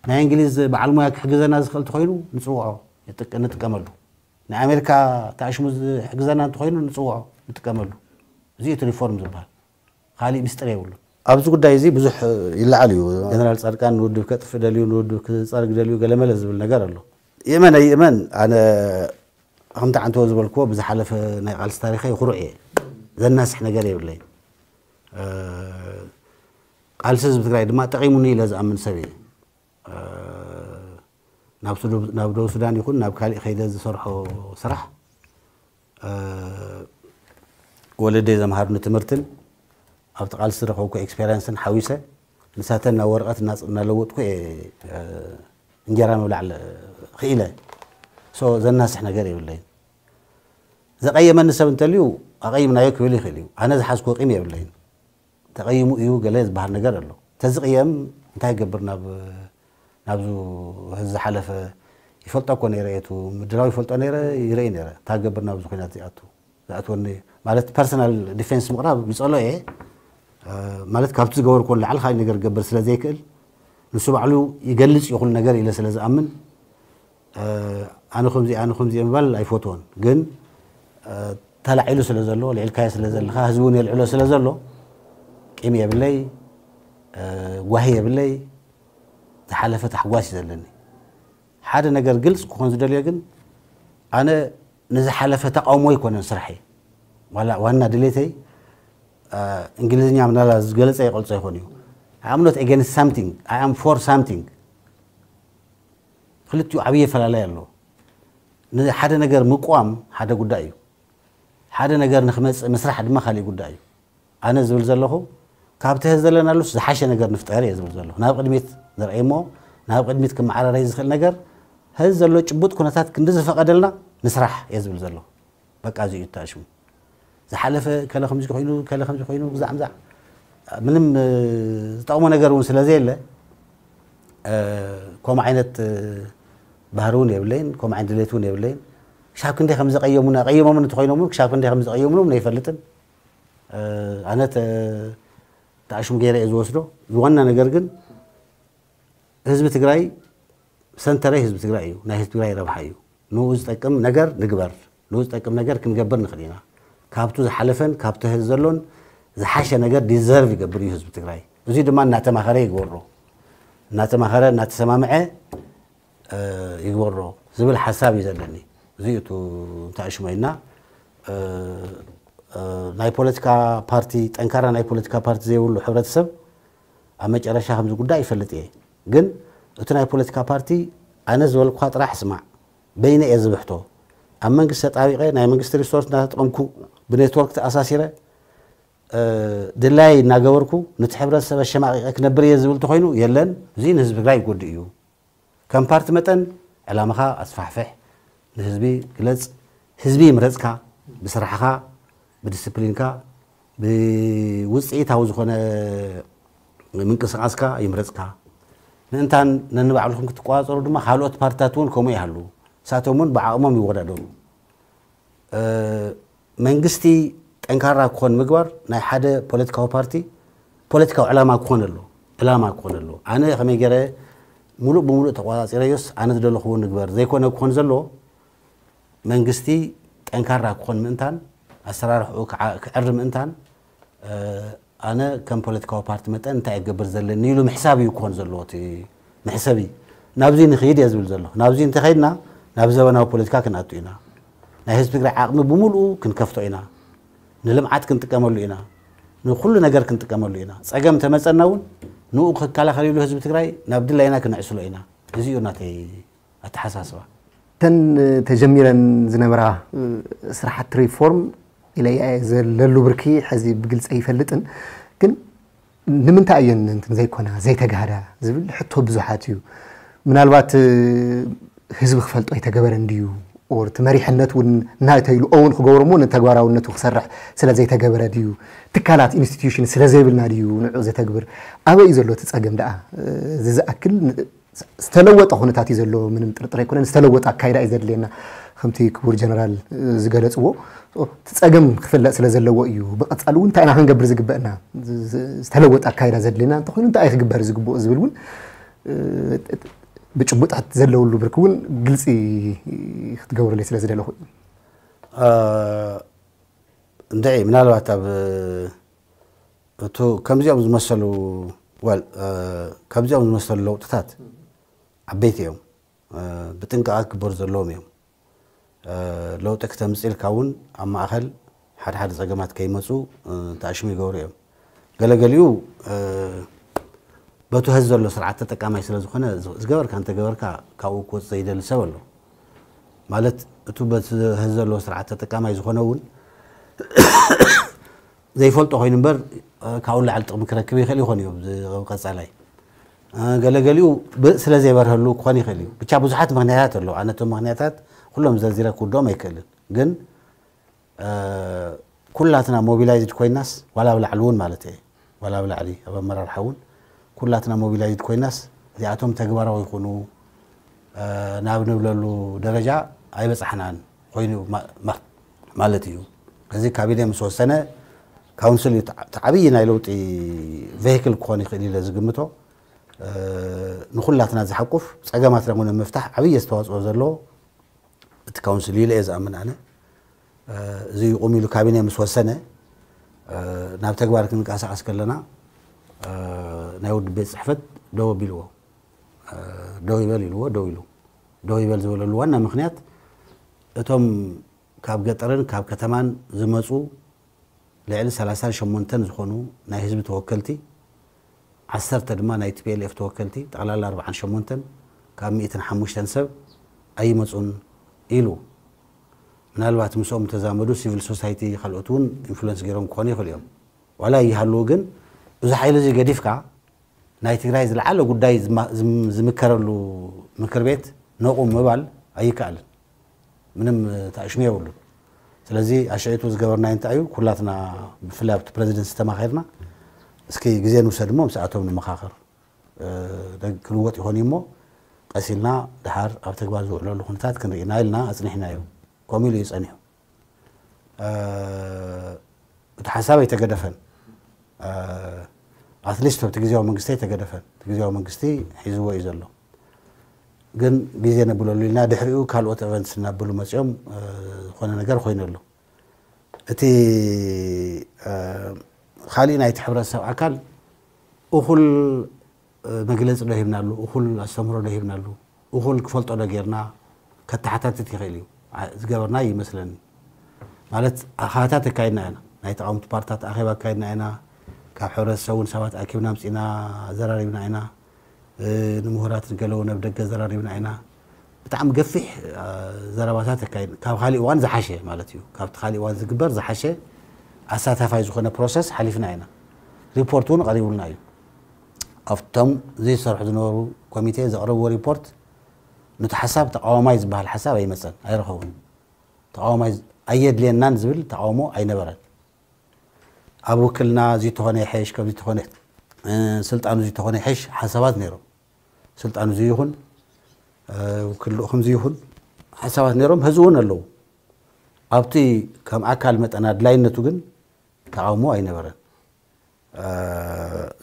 ናይ እንግሊዝ በዓል ሞያ ክሕግዘና ዝኽእል እንተኾይኑ ንፅውዖ፣ ንጥቀመሉ። ናይ ኣሜሪካ ተኣሽሙ ዝሕግዘና እንተኾይኑ ንፅውዖ፣ ንጥቀመሉ። እዚ እቲ ሪፎርም ዝበሃል። ካሊእ ምስጢር የብሉ። ኣብዚ ጉዳይ እዚ ብዙሕ ይለዓል እዩ። ጀነራል ፃድቃን ንውድብ ከጥፍእ ደልዩ፣ ንውድብ ክፀርግ ደልዩ፣ ገለመለ ዝብል ነገር ኣሎ። ይእመን ኣይእመን፣ ኣነ ከምቲ ዓንተወ ዝበልክዎ ብዝሓለፈ ናይ ቃልሲ ታሪኸ ይኹሩዕ እየ። ዘናስሕ ነገር የብለይ። ቃልሲ ህዝቢ ትግራይ ድማ ጠቒሙኒ ኢለ ዝኣምን ሰብ እየ። ናብ ደቡብ ሱዳን ይኹን ናብ ካሊእ ከይደ ዝሰርሖ ስራሕ፣ ወለደይ ዘምሃሩኒ ትምህርትን ኣብቲ ቃልሲ ዝረኸብኩ ኤክስፔሪንስን ሓዊሰ ንሳተን ናብ ወረቐት እናለወጥኩ እየ እንጀራ ምብላዕ ክኢለ። ዘናስሕ ነገር የብለይን። ዘቐየመኒ ሰብ እንተልዩ ኣቐይምናዮ ክብል ይኽእል እዩ። ኣነ ዝሓዝኩ ቂም የብለይን። ተቐይሙ እዩ ገለ ዝበሃል ነገር ኣሎ። ተዝቕየም እንታይ ይገብር ናብ ናብዙ ዝሓለፈ ይፈልጦ እኮ ነይረ እየ፣ ምድላው ይፈልጦ ነይረ፣ ይርኢ ነይረ። እንታይ ክገብር ናብዚ ኩናት ዝኣቱ ዝኣትወኒ ማለት ፐርሰናል ዲፌንስ ምቕራብ ይጸሎ እየ። ማለት ካብቲ ዝገበርኮ ንላዕሊ ካልእ ነገር ክገብር ስለ ዘይክእል ንሱ ባዕሉ ይገልጽ እዩ ኩሉ ነገር ኢለ ስለ ዝኣምን ኣነ ከምዚ ኣነ ከምዚ ምባል ኣይፈትዎን። ግን ተላዒሉ ስለ ዘሎ ልዕልካዮ ስለ ዘለኻ ህዝቢ እውን የልዕሎ ስለ ዘሎ ቂም የብለይ፣ ጓሂ የብለይ። ዝሓለፈ ታሕጓስ እዩ ዘለኒ። ሓደ ነገር ግልጽ ክኾን ዝደልዮ ግን ኣነ ንዝሓለፈ ተቃውሞ ኣይኮነን ስራሐይ። ዋላ ዋና ድሌተይ እንግሊዝኛ ምናላ ዝገለጸ ይቐልጾ ይኾን እዩ። I am not against something, I am for something። ክልቲኡ ዓብዪ ኣፈላለይ ኣሎ። ንሓደ ነገር ምቋም ሓደ ጉዳይ እዩ። ሓደ ነገር ንክመፅእ ምስራሕ ድማ ካሊእ ጉዳይ እዩ። ኣነ ዝብል ዘለኹ ካብቲ ህዝ ዘለናሉስ ዝሓሸ ነገር ንፍጠር እየ ዝብል ዘለኹ። ናብ ቅድሚት ንርአይ እሞ ናብ ቅድሚት ክመዓራረይ ዝኽእል ነገር ህዝ ዘሎ ጭቡጥ ኩነታት ክንዲ ዝፈቐደልና ንስራሕ እየ ዝብል ዘለኹ። በቃ እዚ እዩ ተኣሽሙ። ዝሓለፈ ከለ ከምዚ ኮይኑ ከለ ከምዚ ኮይኑ ግዛዕ ምዛዕ ምንም ዝጠቕሞ ነገር እውን ስለ ዘየለ ከምኡ ዓይነት ባህሪ እውን የብለይን፣ ከምኡ ዓይነት ድሌት እውን የብለይን። ክሻብ ክንደይ ከም ዘቐየሙና ቀይሞምን እንተኮይኖም እውን ክሻብ ክንደይ ከም ዘቐየሙና እውን ኣይፈልጥን። ኣነ ተኣሽሙ ገይረ እየ ዝወስዶ። ዝዋና ነገር ግን ህዝቢ ትግራይ ሰንተረይ ህዝቢ ትግራይ እዩ። ናይ ህዝቢ ትግራይ ረብሓ እዩ። ንኡ ዝጠቅም ነገር ንግበር። ንኡ ዝጠቅም ነገር ክንገብር ንኽእል ኢና። ካብቱ ዝሓለፈን ካብቲ ህዝ ዘሎን ዝሓሸ ነገር ዲዘርቭ ይገብር እዩ ህዝቢ ትግራይ። እዚ ድማ እናተማኸረ ይግበሮ፣ እናተማኸረ እናተሰማምዐ ይግበሮ ዝብል ሓሳብ እዩ ዘለኒ። እዚ እዩ እቲ እንተኣሽሞ ኢልና ናይ ፖለቲካ ፓርቲ፣ ጠንካራ ናይ ፖለቲካ ፓርቲ ዘይብሉ ሕብረተሰብ ኣብ መጨረሻ ከምዚ ጉዳይ ይፈልጥ እየ። ግን እቲ ናይ ፖለቲካ ፓርቲ ኣነ ዝበልኩካ ጥራሕ ስማዕ፣ በይነ እየ ዝብሕቶ። ኣብ መንግስቲ ተጣቢቐ ናይ መንግስቲ ሪሶርስ እናተጠቐምኩ ብኔትወርክ ተኣሳሲረ ድላይ እናገበርኩ ነቲ ሕብረተሰብ ኣሸማቒቐ ክነብር እየ ዝብል ተኾይኑ የለን። እዚ ንህዝቢ ትግራይ ይጎድእ እዩ። ከም ፓርቲ መጠን ዕላማኻ ኣስፋሕፍሕ፣ ንህዝቢ ግለፅ። ህዝቢ ይምረፅካ ብስራሕኻ፣ ብዲስፕሊንካ፣ ብውፅኢታዊ ዝኾነ ምንቅስቃስካ ይምረፅካ። ምእንታን ነንባዕልኹም ክትቆፃፀሩ ድማ ካልኦት ፓርትታት እውን ከምኡ ይሃሉ። ንሳቶም እውን ብዓቕሞም ይወዳደሩ። መንግስቲ ጠንካራ ክኾን ምግባር ናይ ሓደ ፖለቲካዊ ፓርቲ ፖለቲካዊ ዕላማ ክኾን ኣሎ። ዕላማ ክኾን ኣሎ። ኣነ ከመይ ገይረ ሙሉእ ብሙሉእ ተቆፃፂረዮስ ኣነ ዝደለኽዎ ንግበር ዘይኮነ ክኾን ዘለዎ መንግስቲ ጠንካራ ክኾን ምእንታን ኣሰራርሕኡ ክዕሪ ምእንታን ኣነ ከም ፖለቲካዊ ፓርቲ መጠን እንታይ እገብር ዘለኒ ኢሉ ምሕሳብ እዩ ክኾን ዘለዎ እቲ መሕሰቢ። ናብዚ ንኽይድ እየ ዝብል ዘለኹ። ናብዚ እንተኸይድና ናብ ዘበናዊ ፖለቲካ ክንኣቱ ኢና። ናይ ህዝቢ ትግራይ ዓቕሚ ብምሉኡ ክንከፍቶ ኢና። ንልምዓት ክንጥቀመሉ ኢና። ንኩሉ ነገር ክንጥቀመሉ ኢና። ፀገም ተመፀና እውን ንኡ ክከላኸል ኢሉ ህዝቢ ትግራይ ናብ ድላይና ክነዕስሎ ኢና። እዚ እዩ ናተይ ኣተሓሳስባ። እተን ተጀሚረን ዝነበራ ስራሕቲ ሪፎርም ኢለያ ዘለሉ ብርኪ ሕዚ ብግልፂ ኣይፈልጥን፣ ግን ንምንታይ እየን እንትን ዘይኮና ዘይተጋህዳ ዝብል ሕቶ ብዙሓት እዩ። ምናልባት ህዝቢ ክፈልጦ ኣይተገበረን ድዩ? or እቲ መሪሕነት እውን ናተይሉ እውን ክገብሮ እሞ ንተግባራውነቱ ክሰርሕ ስለ ዘይተገበረ ድዩ? ትካላት ኢንስቲትዩሽን ስለ ዘይብልና ድዩ ንዑ ዘተግብር? ኣበይ እዩ ዘሎ እቲ ጸገም ደኣ? እዚ ዝኣክል ዝተለወጠ ኩነታት እዩ ዘሎ፣ ምንም ጥርጥር ኣይኮነን። ዝተለወጠ ኣካይዳ እዩ ዘድልየና። ከምቲ ክቡር ጀነራል ዝገለጽዎ እቲ ጸገም ክፍለጥ ስለ ዘለዎ እዩ። ብቐጻሊ እውን እንታይ ኢና ክንገብር ዝግበአና? ዝተለወጠ ኣካይዳ ዘድልየና እንተኾይኑ እንታይ እዩ ክግበር ዝግብኦ ዝብል እውን ብጭቡጣት ዘለውሉ ብርክ እውን ግልጺ ክትገብርለይ ስለ ዝደለኹ እዩ። እንድዒ ምናልባት ኣብ እቱ ከምዚኦም ዝመሰሉ ወል ከምዚኦም ዝመሰሉ ለውጥታት ዓበይቲ እዮም። ብጥንቃቐ ክግበሩ ዘለዎም እዮም። ለውጢ ክተምፅእ ኢልካ እውን ኣብ ማእኸል ሓደ ሓደ ፀገማት ከይመፁ ተኣሽሙ ይገብሩ እዮም። ገለገሊኡ በቱ ሀዚ ዘሎ ስርዓት ተጠቃማይ ስለ ዝኾነ ዝገበርካ እንተገበርካ ካብኡ ክወፅእ ዘይደሊ ሰብ ኣሎ። ማለት እቱ በቲ ሀዚ ዘሎ ስርዓት ተጠቃማይ ዝኾነ እውን ዘይፈልጦ ኮይኑ እምበር ካብኡ ላዕሊ ጥቕሚ ክረክብ ይኽእል ይኾን እዩ ቀፃላይ። ገለገሊኡ ስለ ዘይበርሀሉ ክኾን ይኽእል እዩ። ብቻ ብዙሓት ምክንያታት ኣለዉ። ኣነ እቶም ምክንያታት ኩሎም ዘርዚረ ክውድኦም ኣይክእልን። ግን ኩላትና ሞቢላይዝድ ኮይናስ ዋላ ኣብ ላዕሊ እውን ማለት እየ ዋላ ኣብ ላዕሊ ኣብ ኣመራርሓ እውን ኩላትና ሞቢላይዝድ ኮይናስ እዚኣቶም ተግባራዊ ይኹኑ ናብ ንብለሉ ደረጃ ኣይበፃሕናን ኮይኑ ማለት እዩ። እዚ ካቢኔ ምስ ወሰነ ካውንስል እዩ ዓብዪ ናይ ለውጢ ቬሂክል ክኾን ይኽእል ኢለ ዝግምቶ። ንኩላትና ዝሓቁፍ ፀገማትና እውን ንምፍታሕ ዓብዪ ኣስተዋፅኦ ዘለዎ እቲ ካውንስል እዩ ኢለ እየ ዝኣምን ኣነ። እዚ ይቑም ኢሉ ካቢኔ ምስ ወሰነ ናብ ተግባር ክንንቀሳቐስ ከለና ናይ ውድብ ቤት ፅሕፈት ደው ኣቢልዎ። ደው ይበል ኢልዎ፣ ደው ኢሉ። ደው ይበል ዝበለሉ ዋና ምክንያት እቶም ካብ ገጠርን ካብ ከተማን ዝመፁ ልዕሊ ሰላሳን ሸሞንተን ዝኾኑ ናይ ህዝቢ ተወከልቲ፣ ዓሰርተ ድማ ናይ ቲ ፒ ኤል ኤፍ ተወከልቲ፣ ጠቕላላ ኣርብዓን ሸሞንተን ካብ ሚእትን ሓሙሽተን ሰብ ኣይመፁን ኢሉ። ምናልባት ምስኦም ዝተዛመዱ ሲቪል ሶሳይቲ ካልኦት እውን ኢንፍሉንስ ገይሮም ክኾኑ ይኽእሉ እዮም። ዋላ ይሃልዉ ግን እዚ ሓይሊ እዚ ገዲፍካ ናይ ትግራይ ዝለዓለ ጉዳይ ዝምከረሉ ምክር ቤት ነቑም ምባል ኣይከኣልን። ምንም ተኣሽሙ የብሉን። ስለዚ ኣሽዒቱ ዝገበርናዮ እንታይ እዩ? ኩላትና ብፍላይ ኣብቲ ፕረዚደንት ዝተማኸርና እስኪ ግዜ ንውሰድ እሞ ምስኣቶም ንመኻኸር ክልወጥ ይኾን እዩ እሞ ቀስ ኢልና ድሓር ኣብ ተግባር ዝውዕለሉ ኩነታት ክንርኢ ኢና ኢልና ኣፅኒሕናዮ። ከምኡ ኢሉ እዩ ፀኒሑ። እቲ ሓሳብ ኣይተገደፈን። ኣትሊስት ኣብቲ ግዜያዊ መንግስቲ ኣይተገደፈን። እቲ ግዜያዊ መንግስቲ ሒዝዎ እዩ ዘሎ። ግን ግዜ ነብለሉ ኢልና ድሕሪኡ ካልኦት ኤቨንትስ እናበሉ መፂኦም ዝኾነ ነገር ኮይኑ ኣሎ። እቲ ካሊእ ናይቲ ሕብረተሰብ ኣካል እኹል መግለፂ ዶ ሂብናሉ፣ እኹል ኣስተምህሮ ዶ ሂብናሉ፣ እኹል ክፈልጦ ዶ ጌርና ከተሓታትት ይኽእል እዩ። ዝገበርና ይመስለኒ። ማለት ኣኻታት ኣካይድና ኢና። ናይ ተቃወምቲ ፓርትታት ኣኼባ ኣካይድና ኢና። ካብ ሕብረተሰብ እውን ሰባት ኣኪብና ኣምፂና ኣዘራሪብና ኢና። ንምሁራት ንገለዉ ናብ ደገ ኣዘራሪብና ኢና። ብጣዕሚ ገፊሕ ዘረባታት ኣካይድና። ካብ ካሊእ እዋን ዝሓሸ ማለት እዩ። ካብቲ ካሊእ እዋን ዝግበር ዝሓሸ ኣሳታፋይ ዝኾነ ፕሮሰስ ሓሊፍና ኢና። ሪፖርት እውን ቀሪቡልና እዩ። ኣብቶም ዘይሰርሑ ዝነበሩ ኮሚቴ ዘቕረብዎ ሪፖርት ነቲ ሓሳብ ተቃዋማይ ዝበሃል ሓሳብ ኣይመፀን ኣይረኸቡን። ተቃዋማይ ኣየድልየናን ዝብል ተቃውሞ ኣይነበረን። ኣብ ውክልና እዚ ተኾነ ይሐሽ ከምዚ ተኾነ ስልጣኑ እዚ ተኾነ ይሐሽ ሓሳባት ነይሮም። ስልጣኑ እዚ ይኹን ውክልኡ ከምዚ ይኹን ሓሳባት ነይሮም፣ ህዚ እውን ኣለዉ። ኣብቲ ከም ኣካል መጠን ኣድላይነቱ ግን ተቃውሞ ኣይነበረን።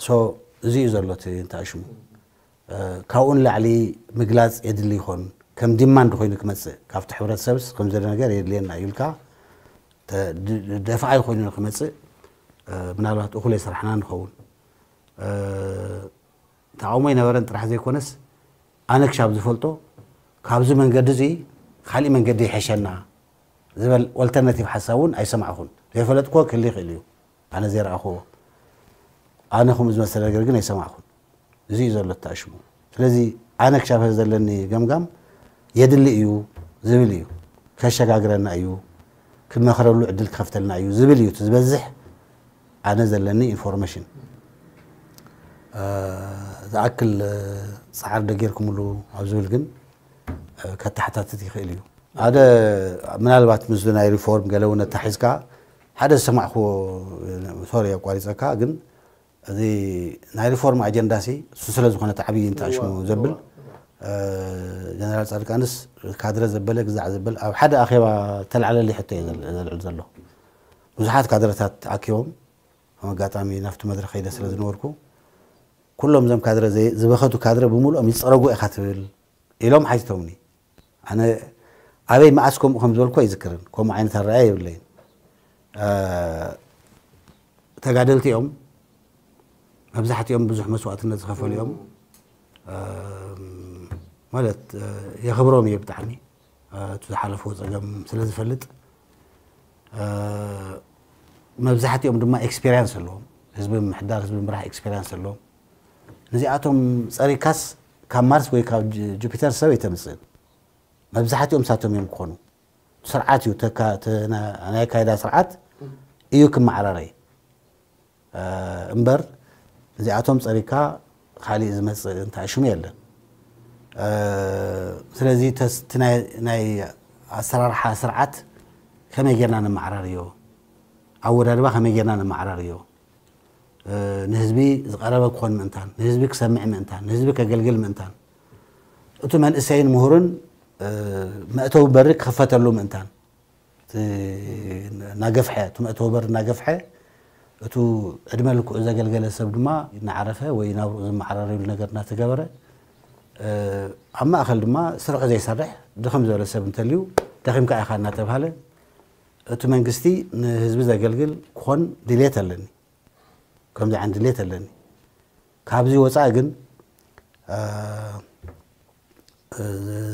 ሶ እዚ እዩ ዘሎ እቲ እንታይ ሽሙ ካብኡ ንላዕሊ ምግላፅ የድሊ ይኾን ከም ዲማንድ ኮይኑ ክመፅእ ካብቲ ሕብረተሰብስ ከምዚ ነገር የድልየና እዩ ኢልካ ደፋኣይ ኮይኑ ክመፅእ ምናልባት እኹል የስራሕና ንኸውን። ተቃውሞ ኣይነበረን ጥራሕ ዘይኮነስ ኣነ ክሻብ ዝፈልጦ ካብዚ መንገዲ እዚ ካሊእ መንገዲ ይሐሸና ዝበል ኦልተርናቲቭ ሓሳብ እውን ኣይሰማዕኹን። ዘይፈለጥክዎ ክህሊ ይኽእል እዩ ኣነ ዘይረኣኽዎ። ኣነ ከምኡ ዝመሰለ ነገር ግን ኣይሰማዕኹን። እዚ እዩ ዘሎ ተኣሽሙ። ስለዚ ኣነ ክሻብ ዘለኒ ገምጋም የድሊ እዩ ዝብል እዩ። ከሸጋግረና እዩ፣ ክንመኽረሉ ዕድል ክኸፍተልና እዩ ዝብል እዩ እቲ ዝበዝሕ ኣነ ዘለኒ ኢንፎርሜሽን። ዝኣክል ፃዕሪ ዶ ጌርኩምሉ ኣብ ዝብል ግን ከተሓታትት ይኽእል እዩ። ሓደ ምናልባት ምስ ናይ ሪፎርም ገለ እውን ኣታሒዝካ ሓደ ዝሰማዕኩዎ፣ ሶሪ ኣቋሪፀካ፣ ግን እዚ ናይ ሪፎርም ኣጀንዳ ሲ እሱ ስለ ዝኾነ እቲ ዓብዪ እንተኣሽሙ ዘብል ጀነራል ፃድቃንስ ካድረ ዘበለ ግዛዕ ዘበል ኣብ ሓደ ኣኼባ ተላዕለሊ ሕቶ እየ ዘልዕል ዘሎ። ብዙሓት ካድረታት ኣኪቦም፣ ከም ኣጋጣሚ ናብቲ መድረኽ ከይደ ስለ ዝነበርኩ ኩሎም እዞም ካድረ ዝበኸቱ ካድረ ብምሉኦም ይፀረጉ ኢኻ ትብል ኢሎም ሓቲቶምኒ። ኣነ ኣበይ መኣስ ከምኡ ከም ዝበልኩ ኣይዝክርን። ከምኡ ዓይነት ኣረኣያ የብለይን። ተጋደልቲ እዮም። መብዛሕትኦም ብዙሕ መስዋእትነት ዝኸፈሉ እዮም። ማለት የኽብሮም እየ ብጣዕሚ፣ እቲ ዝሓለፍዎ ፀገም ስለ ዝፈልጥ። መብዛሕትኦም ድማ ኤክስፔሪንስ ኣለዎም። ህዝቢ ምሕዳር፣ ህዝቢ ምራሕ ኤክስፔሪንስ ኣለዎም። ነዚኣቶም ፀሪካስ ካብ ማርስ ወይ ካብ ጁፒተር ሰብ ኣይተምፅእን። መብዛሕትኦም ሳቶም እዮም ክኾኑ። ስርዓት እዩ ናይ ኣካይዳ ስርዓት እዩ ክመዓራረይ እምበር እዚኣቶም ፀሪካ ካሊእ ዝመፅእ እንታይ ሽሙ የለን። ስለዚ ናይ ኣሰራርሓ ስርዓት ከመይ ጌርና ነመዓራርዮ፣ ኣወዳድባ ከመይ ጌርና ነመዓራርዮ፣ ንህዝቢ ዝቐረበ ክኾን ምእንታን፣ ንህዝቢ ክሰምዕ ምእንታን፣ ንህዝቢ ከገልግል ምእንታን፣ እቲ መንእሰይን ምሁርን መእተዊ በሪ ክኽፈተሉ ምእንታን፣ እናገፍሐ፣ እቲ መእተዊ በሪ እናገፍሐ፣ እቱ ዕድመ ልክዑ ዘገልገለ ሰብ ድማ እናዓረፈ ወይ ናብርኡ ዝመዓራረዩሉ ነገር እናተገበረ፣ ኣብ ማእኸል ድማ ስርሑ ዘይሰርሕ ድኽም ዝበለ ሰብ እንተልዩ፣ ደኺምካ ኢኻ እናተብሃለ፣ እቲ መንግስቲ ንህዝቢ ዘገልግል ክኾን ድልየት ኣለኒ። ከምዚ ዓይነት ድሌት ኣለኒ። ካብዚ ወፃኢ ግን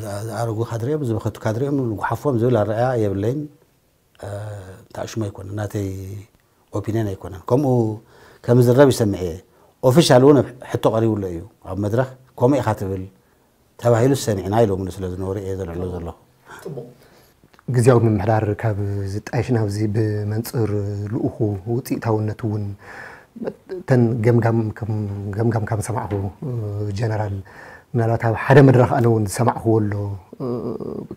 ዝኣረጉ ካድሬኦም፣ ዝበኸቱ ካድሬኦም ንጉሓፎም ዝብል ኣረኣያ የብለይን። ታሽሙ ኣይኮነን፣ ናተይ ኦፒንየን ኣይኮነን። ከምኡ ከም ዝረብ ይሰምዕ እየ። ኦፊሻል እውን ሕቶ ቀሪቡሎ እዩ ኣብ መድረኽ። ከምኡ ኢኻ ትብል ተባሂሉ ሰሚዕና ኢሎምኒ ስለ ዝነበሩ እየ ዘልዕሎ ዘለኹ። ግዝያዊ ምምሕዳር ካብ ዝጣየሽ ናብዚ ብመንፅር ልኡኹ ውፅኢታውነት እውን ተን ገምጋም ከም ሰማዕኹ ጀነራል ምናልባት ኣብ ሓደ መድረኽ ኣነ እውን ዝሰማዕኹዎ ኣሎ።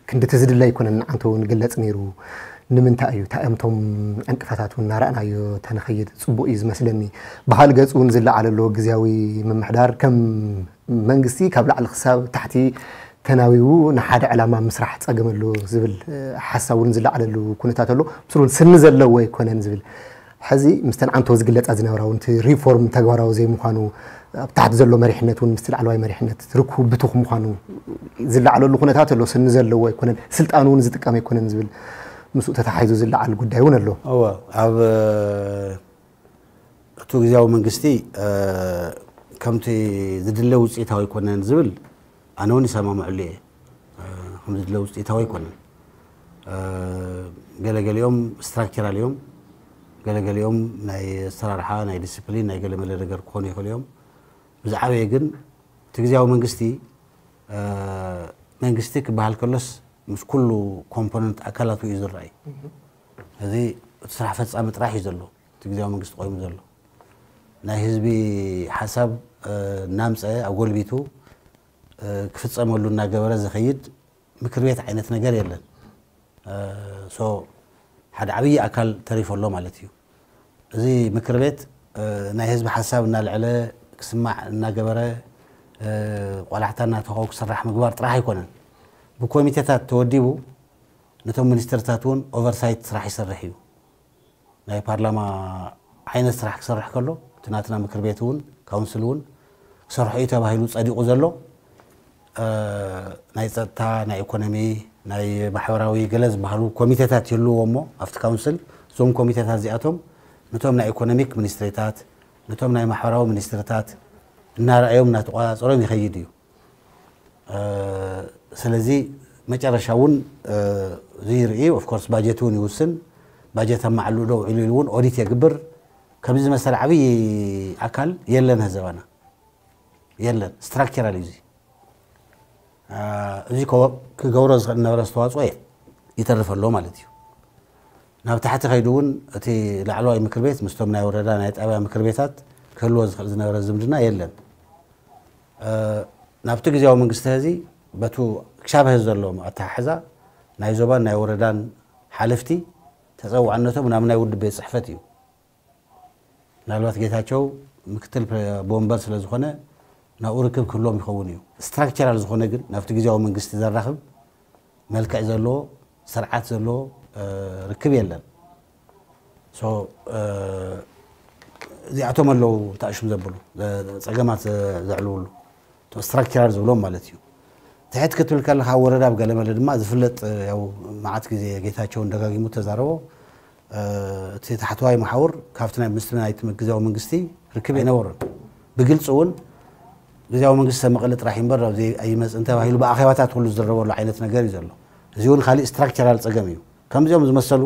ክንድቲ ዝድለ ኣይኮነን ንዓንተ እውን ግለፅ ነይሩ። ንምንታይ እዩ እንታይ እዮም እቶም ዕንቅፋታት እውን እናረኣናዮ ተንኸይድ ፅቡቅ እዩ ዝመስለኒ። ብካል ገፅ እውን ዝለዓለ ኣሎ ግዝያዊ ምምሕዳር ከም መንግስቲ ካብ ላዕሊ ክሳብ ታሕቲ ተናዊቡ ንሓደ ዕላማ ምስራሕ ፀገም ኣሎ ዝብል ሓሳብ እውን ዝለዓለሉ ኩነታት ኣሎ። ምስሉ እውን ስኒ ዘለዎ ኣይኮነን ዝብል ሕዚ ምስተን ዓንቶ ዝግለፃ ዝነበራ እውን እቲ ሪፎርም ተግባራዊ ዘይምዃኑ ኣብ ታሕቲ ዘሎ መሪሕነት እውን ምስቲ ላዕለዋይ መሪሕነት ርክቡ ብቱኽ ምዃኑ ዝለዓለሉ ኩነታት ኣሎ። ስኒ ዘለዎ ኣይኮነን፣ ስልጣኑ እውን ዝጥቀም ኣይኮነን ዝብል ምስኡ ተተሓሒዙ ዝለዓል ጉዳይ እውን ኣሎ። እወ ኣብ እቲ ግዜያዊ መንግስቲ ከምቲ ዝድለ ውፅኢታዊ ኣይኮነን ዝብል ኣነ እውን ይሰማምዐሉ እየ። ከም ዝድለ ውፅኢታዊ ኣይኮነን። ገለገሊኦም ስትራክቸራል እዮም፣ ገለገሊኦም ናይ ኣሰራርሓ ናይ ዲስፕሊን ናይ ገለመለ ነገር ክኾኑ ይኽእሉ እዮም። ብዝዓበየ ግን እቲ ግዜያዊ መንግስቲ መንግስቲ ክበሃል ከሎስ ምስ ኩሉ ኮምፖነንት ኣካላቱ እዩ ዝረኣይ። እዚ እቲ ስራሕ ፈፃሚ ጥራሕ እዩ ዘሎ እቲ ግዜያዊ መንግስቲ ቆይሙ ዘሎ። ናይ ህዝቢ ሓሳብ እናምፀ ኣጎልቢቱ ክፍፀመሉ እናገበረ ዝኸይድ ምክር ቤት ዓይነት ነገር የለን። ሶ ሓደ ዓብዪ ኣካል ተሪፎ ኣሎ ማለት እዩ። እዚ ምክር ቤት ናይ ህዝቢ ሓሳብ እናልዐለ ክስማዕ እናገበረ ቆላሕታ እናተኸው ክስራሕ ምግባር ጥራሕ ኣይኮነን። ብኮሚቴታት ተወዲቡ ነቶም ሚኒስትርታት እውን ኦቨርሳይት ስራሕ ይሰርሕ እዩ። ናይ ፓርላማ ዓይነት ስራሕ ክሰርሕ ከሎ እቲ ናትና ምክር ቤት እውን ካውንስል እውን ክሰርሖ እዩ ተባሂሉ ፀዲቑ ዘሎ ናይ ፀጥታ፣ ናይ ኢኮኖሚ፣ ናይ ማሕበራዊ ገለ ዝበሃሉ ኮሚቴታት ይህልዎ እሞ ኣብቲ ካውንስል እዞም ኮሚቴታት እዚኣቶም ነቶም ናይ ኢኮኖሚክ ሚኒስትሪታት ነቶም ናይ ማሕበራዊ ሚኒስትሪታት እናረኣዮም እናተቆፃፀሮም ይኸይድ እዩ። ስለዚ መጨረሻ እውን እዚ ይርኢ ኦፍኮርስ ባጀት እውን ይውስን። ባጀት ኣብ ማዕልኡ ዶ ውዒሉ ኢሉ እውን ኦዲት የግብር። ከምዚ ዝመሰለ ዓብዪ ኣካል የለን ህዘባና የለን። ስትራክቸራል እዩ እዚ። እዚ ክገብሮ ዝኽእል ነበረ ኣስተዋፅኦ ይተርፍ ኣሎ ማለት እዩ። ናብ ታሕቲ ከይዱ እውን እቲ ላዕለዋይ ምክር ቤት ምስቶም ናይ ወረዳ ናይ ጣብያ ምክር ቤታት ክህልዎ ዝኽእል ዝነበረ ዝምድና የለን። ናብቲ ግዜያዊ መንግስቲ ህዚ በቱ ክሻብ ህዚ ዘሎ ኣተሓሕዛ ናይ ዞባን ናይ ወረዳን ሓለፍቲ ተፀዋዕነቶም ናብ ናይ ውድብ ቤት ፅሕፈት እዩ። ምናልባት ጌታቸው ምክትል ፕረ- ቦምበር ስለ ዝኾነ ናብኡ ርክብ ክህልዎም ይኸውን እዩ። ስትራክቸራል ዝኾነ ግን ናብቲ ግዜያዊ መንግስቲ ዘራኽብ መልክዕ ዘለዎ ስርዓት ዘለዎ እ፣ ርክብ የለን። ሶ እ፣ እዚኣቶም ኣለዉ ተኣሽም ዘብሉ እ፣ ፀገማት ዘ- ዘዕልውሉ እቶም ስትራክቸራል ዝብሎም ማለት እዩ። ትሕት ክትብል ከለካ ወረዳ ኣብ ገለመለ ድማ ዝፍለጥ እ፣ ያው መዓት ግዜ ጌታቸውን ደጋጊሙ ተዛረቦ እ፣ እቲ ታሕተዋይ መሓውር ካብቲ ናይ ምስ ናይቲ ግዜያዊ መንግስቲ ርክብ ኣይነበሮን። ብግልፂ እውን ግዜያዊ መንግስቲ ሰብ መቐለ ጥራሕ እምበር ኣብዚ ኣይመፅእን ተባሂሉ ብኣኼባታት ኩሉ ዝዝረበሉ ዓይነት ነገር እዩ ዘሎ። እዚ እውን ካሊእ ስትራክቸራል ፀገም እዩ። ከምዚኦም ዝመሰሉ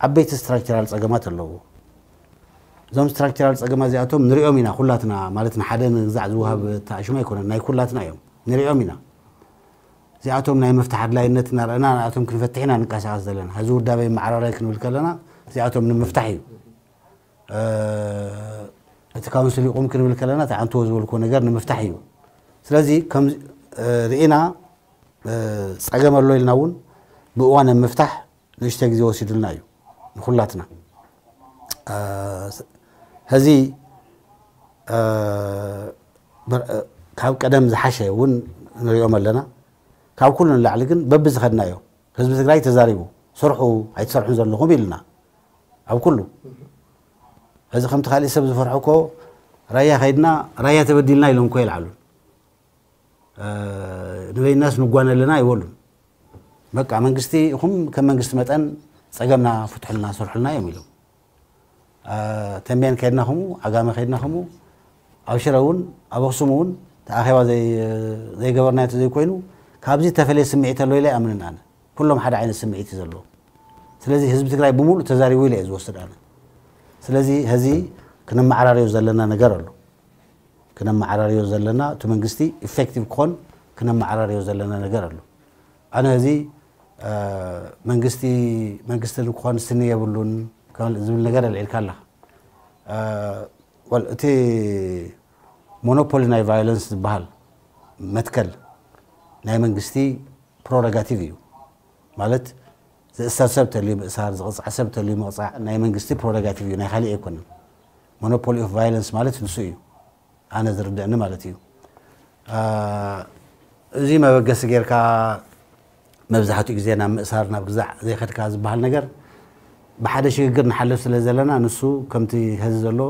ዓበይቲ ስትራክቸራል ፀገማት ኣለዎ። እዞም ስትራክቸራል ፀገማት እዚኣቶም ንሪኦም ኢና ኩላትና፣ ማለት ንሓደ ንግዛዕ ዝወሃብ ተኣሽሙ ኣይኮነን፣ ናይ ኩላትና እዮም፣ ንሪኦም ኢና። እዚኣቶም ናይ ምፍታሕ ኣድላይነት እናረኣና ንኣቶም ክንፈትሕ ኢና ንንቀሳቐስ ዘለና። ሕዚ ውዳበ መዓራራይ ክንብል ከለና እዚኣቶም ንምፍታሕ እዩ። እ፣ እቲ ካውንስል ይቑም ክንብል ከለና እቲ ኣንትዎ ዝበልኩዎ ነገር ንምፍታሕ እዩ። ስለዚ ከም እ፣ ርኢና እ፣ ፀገም ኣሎ ኢልና እውን ብእዋን ኣብ ምፍታሕ ንእሽተ ግዜ ወሲዱልና እዩ ንኩላትና። እ፣ ስ- ሕዚ እ፣ በር- እ፣ ካብ ቀደም ዝሓሸ እውን ንሪኦም ኣለና። ካብ ኩሉ ንላዕሊ ግን በቢ ዝኸድናዮ ህዝቢ ትግራይ ተዛሪቡ ስርሑ ኣይትሰርሑን ዘለኹም ኢልና ኣብ ኩሉ። ሕዚ ከምቲ ካሊእ ሰብ ዝፈርሑ እኮ ራያ ከይድና ራያ ተበዲልና ኢሎም እኮ ይልዓሉ። እ፣ ንበይናስ ንጓነ ኣለና ኣይበሉን። በቃ መንግስቲ ኢኹም ከም መንግስቲ መጠን ፀገምና ፍትሑልና ስርሑልና እዮም ኢሎም። እ፣ ተንቤን ከይድና ከምኡ፣ ዓጋመ ከይድና ከምኡ፣ ኣብ ሽረ እውን ኣብ ኣኽሱም እውን ተኣኼባ ዘይ- ዘይገበርናዮ እንተዘይኮይኑ ካብዚ ተፈለየ ስምዒት ኣሎ ኢለ ኣይኣምንን ኣነ። ኩሎም ሓደ ዓይነት ስምዒት እዩ ዘለዎ። ስለዚ ህዝቢ ትግራይ ብምሉእ ተዛሪቡ ኢለ እየ ዝወስድ ኣነ። ስለዚ ሕዚ ክነመዓራርዮ ዘለና ነገር ኣሎ። ክነመዓራርዮ ዘለና እቲ መንግስቲ ኢፌክቲቭ ክኾን ክነመዓራርዮ ዘለና ነገር ኣሎ። ኣነ እዚ እ፣ መንግስቲ መንግስቲ ክኾን ስኒ የብሉን ዝብል ነገር ኣልዒልካ ኣለኻ። እ፣ ወል- እቲ ሞኖፖሊ ናይ ቫዮለንስ ዝበሃል መትከል ናይ መንግስቲ ፕሮረጋቲቭ እዩ። ማለት ዝእሰር ሰብ ተልዩ ምእሳር፣ ዝቕፃዕ ሰብ ተልዩ ምቕፃዕ ናይ መንግስቲ ፕሮረጋቲቭ እዩ፣ ናይ ካሊእ ኣይኮነን። ሞኖፖሊ ኦፍ ቫዮለንስ ማለት ንሱ እዩ። ኣነ ዝርድእኒ ማለት እዩ። እ፣ እዚ መበገሲ ጌርካ መብዛሕትኡ ግዜ ናብ ምእሳር ናብ ግዛዕ ዘይኸድካ ዝበሃል ነገር ብሓደ ሽግግር ንሓልፍ ስለ ዘለና ንሱ ከምቲ ሐዚ ዘሎ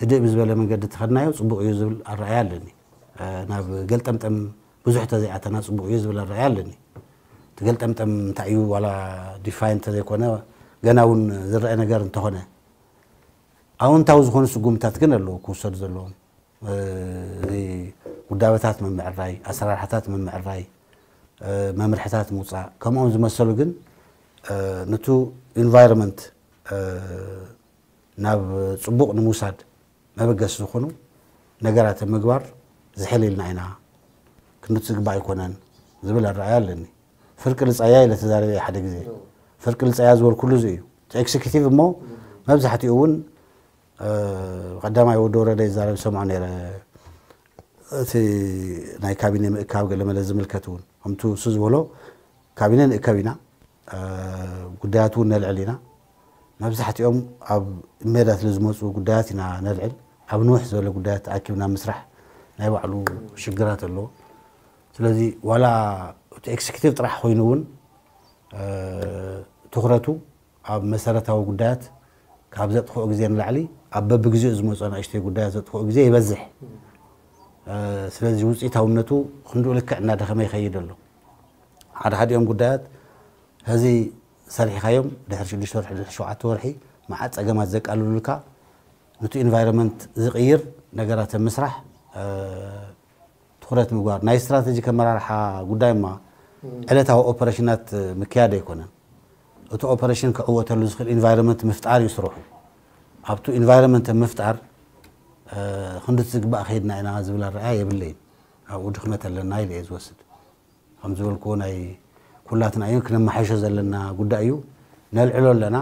ህድእ ብዝበለ መንገዲ ተኸድናዮ ፅቡቕ እዩ ዝብል ኣረኣያ ኣለኒ። እ፣ ናብ ገልጠምጠም ብዙሕ ተዘይኣተና ፅቡቕ እዩ ዝብል ኣረኣያ ኣለኒ። እቲ ገልጠምጠም እንታይ እዩ ዋላ ዲፋይን እንተዘይኮነ ገና እውን ዝረአ ነገር እንተኾነ ኣውንታዊ ዝኾኑ ስጉምታት ግን ኣለዉ ክውሰዱ ዘለዎም። እ፣ እዚ ውዳበታት ምምዕራይ፣ ኣሰራርሓታት ምምዕራይ፣ እ፣ መምርሕታት ምውፃእ ከምኦም ዝመሰሉ ግን እ፣ ንቱ ኢንቫይሮንመንት እ፣ ናብ ፅቡቕ ንምውሳድ መበገሲ ዝኾኑ ነገራት ኣብ ምግባር ዝሕል ኢልና ኢና ክንድቲ ዝግባእ ኣይኮነን ዝብል ኣረኣያ ኣለኒ። ፍርቂ ልፃያ ኢለ ተዛሪበ ሓደ ግዜ። ፍርቂ ልፃያ ዝበልኩሉ እዚ እዩ። እቲ ኤክስኪቲቭ እሞ መብዛሕትኡ እውን እ፣ ቀዳማይ ወዲ ወረደ ይዛረብ ሰምዖ ነይረ። እቲ ናይ ካቢኔ ምእካብ ገለመለ ዝምልከት እውን ከምቲ እሱ ዝበሎ ካቢነ ንእከብ ኢና፣ እ፣ ጉዳያት እውን ነልዕል ኢና። መብዛሕትኦም ኣብ ሜዳ ስለ ዝመፁ ጉዳያት ኢና ነልዕል። ኣብ ንውሕ ዝበለ ጉዳያት ተኣኪብና ምስራሕ ናይ ባዕሉ ሽግራት ኣለዎ። ስለዚ ዋላ እቲ ኤክስኪቲቭ ጥራሕ ኮይኑ እውን እ፣ ትኹረቱ ኣብ መሰረታዊ ጉዳያት ካብ ዘጥፍኦ ግዜ ንላዕሊ ኣብ በብግዜኡ ዝመፁ ኣናእሽተይ ጉዳያት ዘጥፍኦ ግዜ ይበዝሕ። እ፣ ስለዚ ውፅኢታውነቱ ክንድኡ ልክዕ እናደኸመ ይኸይድ ኣሎ። ሓደ ሓዲኦም ጉዳያት ሕዚ ሰሪሕካዮም ድሕሪ ሽዱሽተ ወርሒ ድሕሪ ሸውዓተ ወርሒ መዓት ፀገማት ዘቃልሉልካ ነቲ ኢንቫይሮንመንት ዝቕይር ነገራት ኣብ ምስራሕ እ፣ ትኹረት ምግባር ናይ ስትራተጂክ ኣመራርሓ ጉዳይ እማ ዕለታዊ ኦፐሬሽናት ምክያድ ኣይኮነን። እቲ ኦፐሬሽን ክዕወተሉ ዝኽእል ኢንቫይሮንመንት ምፍጣር እዩ ስርሑ። ኣብቱ ኢንቫይሮንመንት ምፍጣር እ፣ ክንድቲ ዝግባእ ከይድና ኢና ዝብል ኣረኣያ የብለይን። ኣብኡ ድኽመት ኣለና ኢለ እየ ዝወስድ። ከም ዝበልክዎ ናይ ኩላትና እዩ ክነመሓይሾ ዘለና ጉዳይ እዩ። ነልዕሎ ኣለና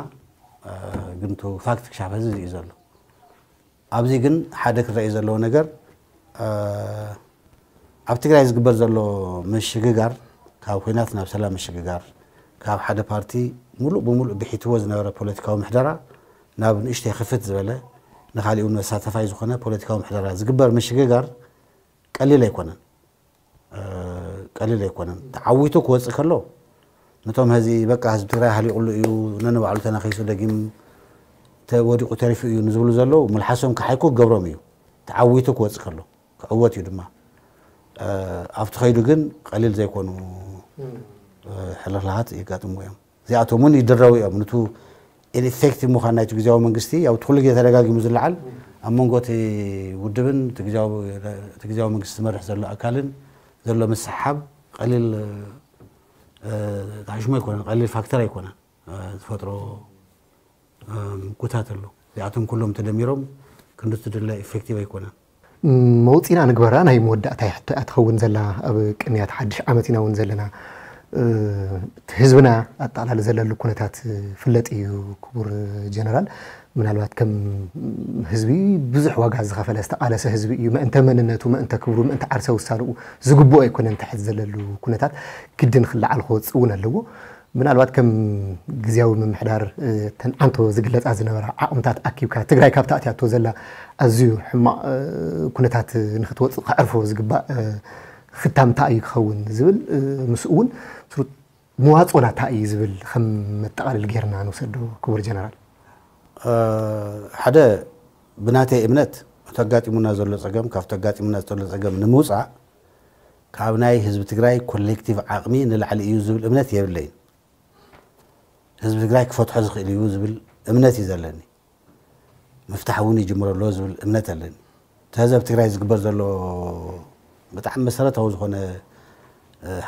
እ፣ ግን ቱ ፋክት ክሻብ ሕዚ እዩ ዘሎ። ኣብዚ ግን ሓደ ክረኣይ ዘለዎ ነገር እ፣ ኣብ ትግራይ ዝግበር ዘሎ ምሽግጋር ካብ ኩናት ናብ ሰላም ምሽግጋር ካብ ሓደ ፓርቲ ሙሉእ ብሙሉእ ብሒትዎ ዝነበረ ፖለቲካዊ ምሕደራ ናብ ንእሽተይ ክፍት ዝበለ፣ ንኻሊእ እውን መሳተፋይ ዝኾነ ፖለቲካዊ ምሕደራ ዝግበር ምሽግጋር ቀሊል ኣይኮነን። ቀሊል ኣይኮነን። ተዓዊቱ ክወፅእ ከሎ፣ ነቶም ህዚ በቃ ህዝቢ ትግራይ ሃሊቑሉ እዩ፣ ነንባዕሉ ተነኺሱ ደጊም ተወዲቑ ተሪፉ እዩ ንዝብሉ ዘለዉ፣ ምልሓሶም ክሓይኩ ክገብሮም እዩ። ተዓዊቱ ክወፅእ ከሎ ክዕወት እዩ ድማ። ኣብቲ ኸይዱ ግን ቀሊል ዘይኮኑ ሕልኽላኻት የጋጥሙ እዮም። እዚኣቶም እውን ይድረው እዮም። ንቱ ኢንኢፌክቲቭ ምዃን ናይቲ ግዜያዊ መንግስቲ፣ ያው እቲ ኩሉ ግዜ ተደጋጊሙ ዝለዓል፣ ኣብ መንጎ እቲ ውድብን እቲ ግዜያዊ እቲ ግዜያዊ መንግስቲ ዝመርሕ ዘሎ ኣካልን ዘሎ ምስሓብ ቀሊል ታሽሞ ኣይኮነን፣ ቀሊል ፋክተር ኣይኮነን። ዝፈጥሮ ምጉታት ኣሎ። እዚኣቶም ኩሎም ተደሚሮም ክንዲ ትድለ ኢፌክቲቭ ኣይኮነን። መውፂና ንግበራ ናይ መወዳእታ ሕቶ እያ ትኸውን ዘላ። ኣብ ቅንያት ሓድሽ ዓመት ኢና እውን ዘለና። ህዝብና ኣጠቓላሊ ዘለሉ ኩነታት ፍለጥ እዩ። ክቡር ጀነራል፣ ምናልባት ከም ህዝቢ ብዙሕ ዋጋ ዝኸፈለ ዝተቓለሰ ህዝቢ እዩ። ምእንተ መንነቱ፣ ምእንተ ክብሩ፣ ምእንተ ዓርሰ ውሳንኡ ዝግብኦ ኣይኮነን። ትሕት ዘለሉ ኩነታት ግድን ክለዓል ክወፅእ እውን ኣለዎ። ምናልባት ከም ግዜያዊ ምምሕዳር ተን ዓንቶ ዝግለፃ ዝነበራ ዓቕምታት ኣኪብካ ትግራይ ካብ ተኣትያቶ ዘላ ኣዝዩ ሕማቕ ኩነታት ንክትወፅእ ከዕርፎ ዝግባእ ክታምታ እዩ ክኸውን ዝብል፣ ምስኡ እውን መዋፅኦና እንታይ እዩ ዝብል ከም መጠቓለሊ ጌርና ንውሰዶ። ክቡር ጀነራል፣ ሓደ ብናተይ እምነት እቲ ኣጋጢሙና ዘሎ ፀገም ካብቲ ኣጋጢሙና ዘሎ ፀገም ንምውፃእ ካብ ናይ ህዝቢ ትግራይ ኮሌክቲቭ ዓቕሚ ንላዕሊ እዩ ዝብል እምነት የብለይን። ህዝቢ ትግራይ ክፈትሖ ዝኽእል እዩ ዝብል እምነት እዩ ዘለኒ። ምፍታሕ እውን ይጅምሮ ኣሎ ዝብል እምነት ኣለኒ። እቲ ህዝብ ትግራይ ዝግበር ዘሎ ብጣዕሚ መሰረታዊ ዝኾነ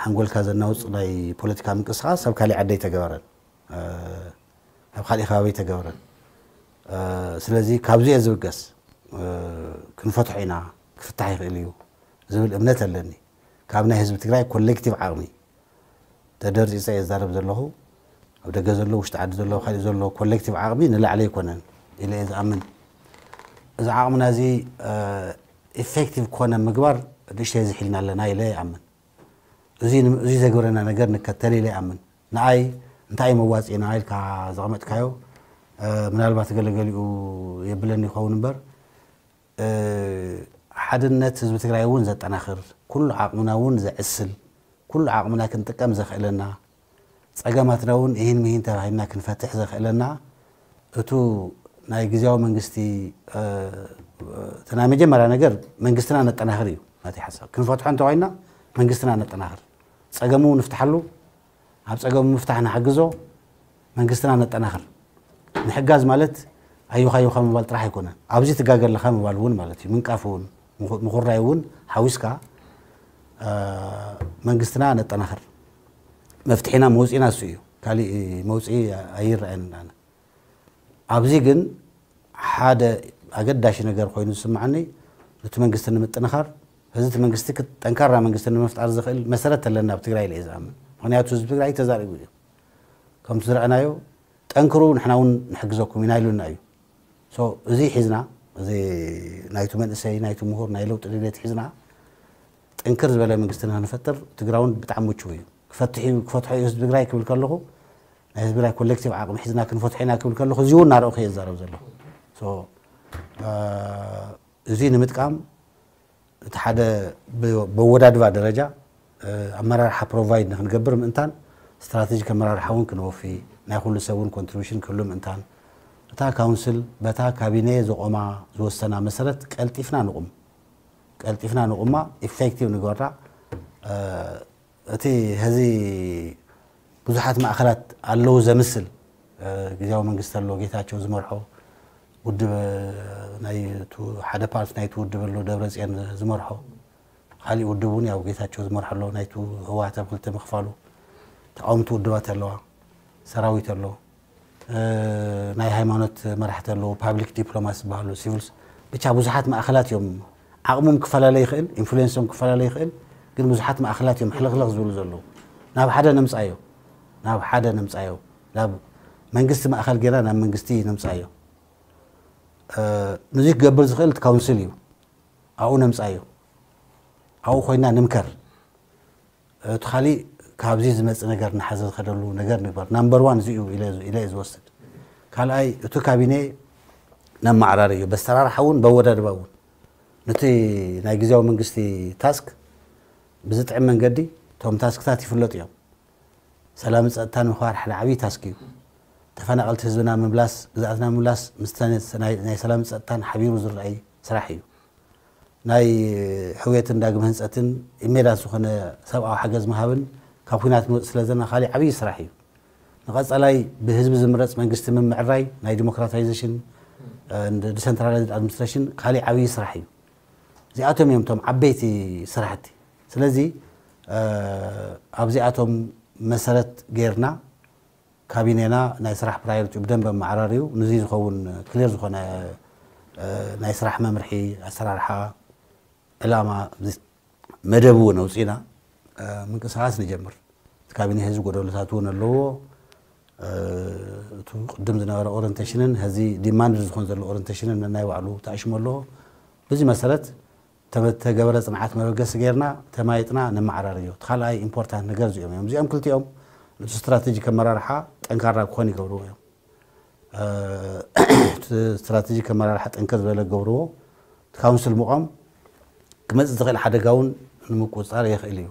ሓንጎልካ ዘናውፅ ናይ ፖለቲካ ምንቅስቃስ ኣብ ካሊእ ዓዲ ኣይተገበረን፣ ኣብ ካሊእ ከባቢ ኣይተገበረን። ስለዚ ካብዚ እየ ዝብገስ። ክንፈትሖ ኢና፣ ክፍታሕ ይኽእል እዩ ዝብል እምነት ኣለኒ። ካብ ናይ ህዝቢ ትግራይ ኮሌክቲቭ ዓቕሚ ተደርፂፀ እየ ዝዛረብ ዘለኹ። ኣብ ደገ ዘሎ፣ ውሽጢ ዓዲ ዘሎ፣ ካሊእ ዘሎ ኮሌክቲቭ ዓቕሚ ንላዕሊ ኣይኮነን ኢለ እየ ዝኣምን። እዚ ዓቕምና እዚ ኢፌክቲቭ ኮነ ምግባር ንእሽተይ ዝሒልና ኣለና ኢለ ይኣምን። እዚ ዘግብረና ነገር ንከተል ኢለ ይኣምን። ንኣይ እንታይ መዋፅኢና ኢልካ ዘቐመጥካዮ ምናልባት ገለገሊኡ የብለኒ ይኸውን እምበር፣ ሓድነት ህዝቢ ትግራይ እውን ዘጠናኽር፣ ኩሉ ዓቕምና እውን ዘዕስል፣ ኩሉ ዓቕምና ክንጥቀም ዘኽእለና፣ ፀገማትና እውን ይህን ምሂን ተባሂልና ክንፈትሕ ዘኽእለና እቱ ናይ ግዜያዊ መንግስቲ እቲ ናይ መጀመርያ ነገር መንግስትና ነጠናኽር እዩ ናተይ ሓሳብ። ክንፈትሖ እንተኮይና መንግስትና ነጠናኽር፣ ፀገሙ ንፍትሓሉ፣ ኣብ ፀገሙ ምፍታሕ ንሓግዞ፣ መንግስትና ነጠናኽር። ምሕጋዝ ማለት ኣዩኻ ኣዩኻ ምባል ጥራሕ ኣይኮነን፣ ኣብዚ ትጋገ ኣለኻ ምባል እውን ማለት እዩ። ምንቃፍ እውን ምኹራይ እውን ሓዊስካ መንግስትና ነጠናኽር። መፍትሒና መውፅኢና እሱ እዩ፣ ካሊእ መውፅኢ ኣይረኣየንን ኣነ። ኣብዚ ግን ሓደ ኣገዳሺ ነገር ኮይኑ ዝስማዓኒ፣ ነቲ መንግስቲ ንምጥንኻር፣ እዚ እቲ መንግስቲ ክት- ጠንካራ መንግስቲ ንምፍጣር ዝኽእል መሰረት ኣለና ኣብ ትግራይ ኢለ እየ ዝኣምን። ምኽንያቱ ህዝቢ ትግራይ ተዛሪቡ እዩ። ከምቲ ዝረኣናዮ ጠንክሩ፣ ንሕና እውን ንሕግዘኩም ኢና ኢሉና እዩ። So እዚ ሒዝና፣ እዚ ናይቱ መንእሰይ፣ ናይቱ ምሁር፣ ናይ ለውጢ ድሌት ሒዝና ጥንክር ዝበለ መንግስቲ ንክንፈጥር ትግራውን ብጣዕሚ ምቹው እዩ። ክፈትሕ እዩ፣ ክፈትሖ እዩ ህዝቢ ትግራይ ክብል ከለኹ፣ ናይ ህዝቢ ትግራይ ኮሌክቲቭ ዓቕሚ ሒዝና ክንፈትሖ ኢና ክብል ከለኹ፣ እዚ እውን እናረእኹ እየ ዝዛረብ ዘለኹ። So እዚ ንምጥቃም እቲ ሓደ ብወዳድባ ደረጃ ኣመራርሓ ፕሮቫይድ ንክንገብር ምእንታን፣ ስትራቴጂክ ኣመራርሓ እውን ክንወፊ፣ ናይ ኩሉ ሰብ እውን ኮንትሪቢሽን ክህሉ ምእንታን፣ እታ ካውንስል በታ ካቢኔ ዘቆማ ዝወሰና መሰረት ቀልጢፍና ንቁም። ቀልጢፍና ንቁማ፣ ኢፌክቲቭ ንግበራ። እቲ ሕዚ ብዙሓት ማእኸላት ኣለዉ ዘምስል፣ ግዜያዊ መንግስቲ ኣሎ፣ ጌታቸው ዝመርሖ ውድብ፣ ናይ ሓደ ፓርቲ ናይቲ ውድብ ኣሎ፣ ደብረፅዮን ዝመርሖ። ካሊእ ውድብ እውን ያው ጌታቸው ዝመርሖ ኣሎ፣ ናይቲ ህወሓት ኣብ ክልተ ምኽፋሉ። ተቃወምቲ ውድባት ኣለዋ፣ ሰራዊት ኣሎ፣ ናይ ሃይማኖት መራሕቲ ኣለዉ፣ ፓብሊክ ዲፕሎማት ዝበሃሉ፣ ሲቪልስ፣ ብቻ ብዙሓት ማእኸላት እዮም። ዓቕሞም ክፈላለ ይኽእል፣ ኢንፍሉዌንሶም ክፈላለ ይኽእል፣ ግን ብዙሓት ማእኸላት እዮም ሕልኽልኽ ዝብሉ ዘለዉ። ናብ ሓደ ነምፃዮ፣ ናብ ሓደ ነምፃዮ፣ ናብ መንግስቲ ማእኸል ጌርና ናብ መንግስቲ ነምፃዮ። ንዚ ክገብር ዝኽእል እቲ ካውንስል እዩ። ኣብኡ ነምፃዮ፣ ኣብኡ ኮይና ንምከር። እቲ ካሊእ ካብዚ ዝመጽእ ነገር እናሓዘ ዝኸደሉ ነገር ንግበር። ናምበር ዋን እዚ እዩ ኢለ ኢለ እየ ዝወስድ። ካልኣይ፣ እቲ ካቢኔ ነመዓራሪ እዩ። በስተራርሓ እውን በወዳድባ እውን ነቲ ናይ ግዜያዊ መንግስቲ ታስክ ብዝጥዕም መንገዲ እቶም ታስክታት ይፍለጡ እዮም። ሰላምን ጸጥታን ምኽባር ሓደ ዓብዪ ታስክ እዩ። ተፈናቐልቲ ህዝብና ምምላስ፣ ግዝኣትና ምምላስ ምስ ናይ ሰላምን ጸጥታን ሓቢሩ ዝረኣይ ስራሕ እዩ። ናይ ሕውየትን ዳግመ ህንጸትን ኢሜዳት ዝኾነ ሰብኣዊ ሓገዝ ምሃብን ካብ ኲናት ንወጽእ ስለ ዘለና ካሊእ ዓብዪ ስራሕ እዩ። ንቐጸላይ ብህዝቢ ዝምረጽ መንግስቲ ምምዕራይ ናይ ዲሞክራታይዜሽን ዲሰንትራላይዝድ ኣድሚኒስትሬሽን ካሊእ ዓብዪ ስራሕ እዩ። እዚኣቶም እዮም እቶም ዓበይቲ ስራሕቲ። ስለዚ ኣብዚኣቶም መሰረት ጌርና ካቢኔና ናይ ስራሕ ፕራዮሪቲ ብደንብ ኣመዓራርዩ ንዚ ዝኸውን ክሊር ዝኾነ ናይ ስራሕ መምርሒ ኣሰራርሓ ዕላማ መደብ እውን ኣውፂና ምንቅስቃስ ንጀምር። እቲ ካቢኔ ህዝቢ ጎደሎታት እውን ኣለዎ። እቲ ቅድም ዝነበረ ኦሪንቴሽንን ህዚ ዲማንድ ዝኾን ዘሎ ኦሪንቴሽንን ነናይ ባዕሉ ተኣሽሞ ኣለዎ። በዚ መሰረት ተገበረ ፅንዓት መበገሲ ጌርና ተማይጥና ነመዓራርዮ። እቲ ካልኣይ ኢምፖርታንት ነገር እዚኦም እዮም። እዚኦም ክልቲኦም እቲ ስትራቴጂክ ኣመራርሓ ጠንካራ ክኾን ይገብርዎ እዮም። እቲ ስትራቴጂክ ኣመራርሓ ጠንከር ዝበለ ክገብርዎ። እቲ ካውንስል ምቖም ክመፅእ ዝኽእል ሓደጋ እውን ንምቁፅፃር የኽእል እዩ።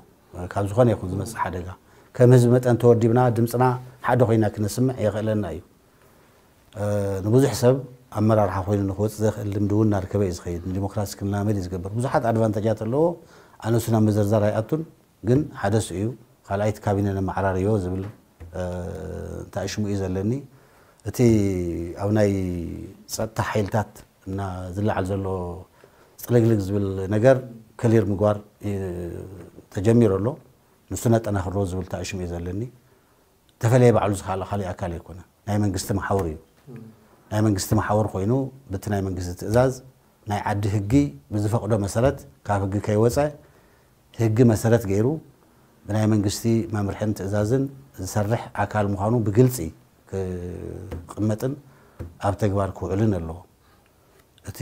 ካብ ዝኾነ ይኹን ዝመፅእ ሓደጋ ከም ህዝቢ መጠን ተወዲብና ድምፅና ሓደ ኮይና ክነስምዕ የኽእለና እዩ። ንብዙሕ ሰብ ኣመራርሓ ኮይኑ ንክወፅእ ዘኽእል ልምዲ እውን እናርከበ እዩ ዝኸይድ። ንዲሞክራሲ ክላመድ እዩ ዝገብር። ብዙሓት ኣድቫንተጃት ኣለዎ። ኣነሱ ናብ ምዝርዛር ኣይኣቱን፣ ግን ሓደ እሱ እዩ። ካልኣይቲ ካቢነ ነመዓራርዮ ዝብል ተኣሽሙ እዩ ዘለኒ። እቲ ኣብ ናይ ፀጥታ ሓይልታት እና ዝለዓል ዘሎ ፅልግልግ ዝብል ነገር ክሊር ምግባር ተጀሚሩ ኣሎ። ንሱ ነጠናኽሮ ዝብል ተኣሽሙ እዩ ዘለኒ። ተፈለየ ባዕሉ ዝኸኣለ ካልእ ኣካል ኣይኮነ። ናይ መንግስቲ መሓውር እዩ። ናይ መንግስቲ መሓውር ኮይኑ ብቲ ናይ መንግስቲ ትእዛዝ ናይ ዓዲ ህጊ ብዝፈቕዶ መሰረት ካብ ህጊ ከይወፀ ህጊ መሰረት ገይሩ ብናይ መንግስቲ መምርሕን ትእዛዝን ዝሰርሕ ኣካል ምዃኑ ብግልፂ ክቕመጥን ኣብ ተግባር ክውዕልን ኣለዎ። እቲ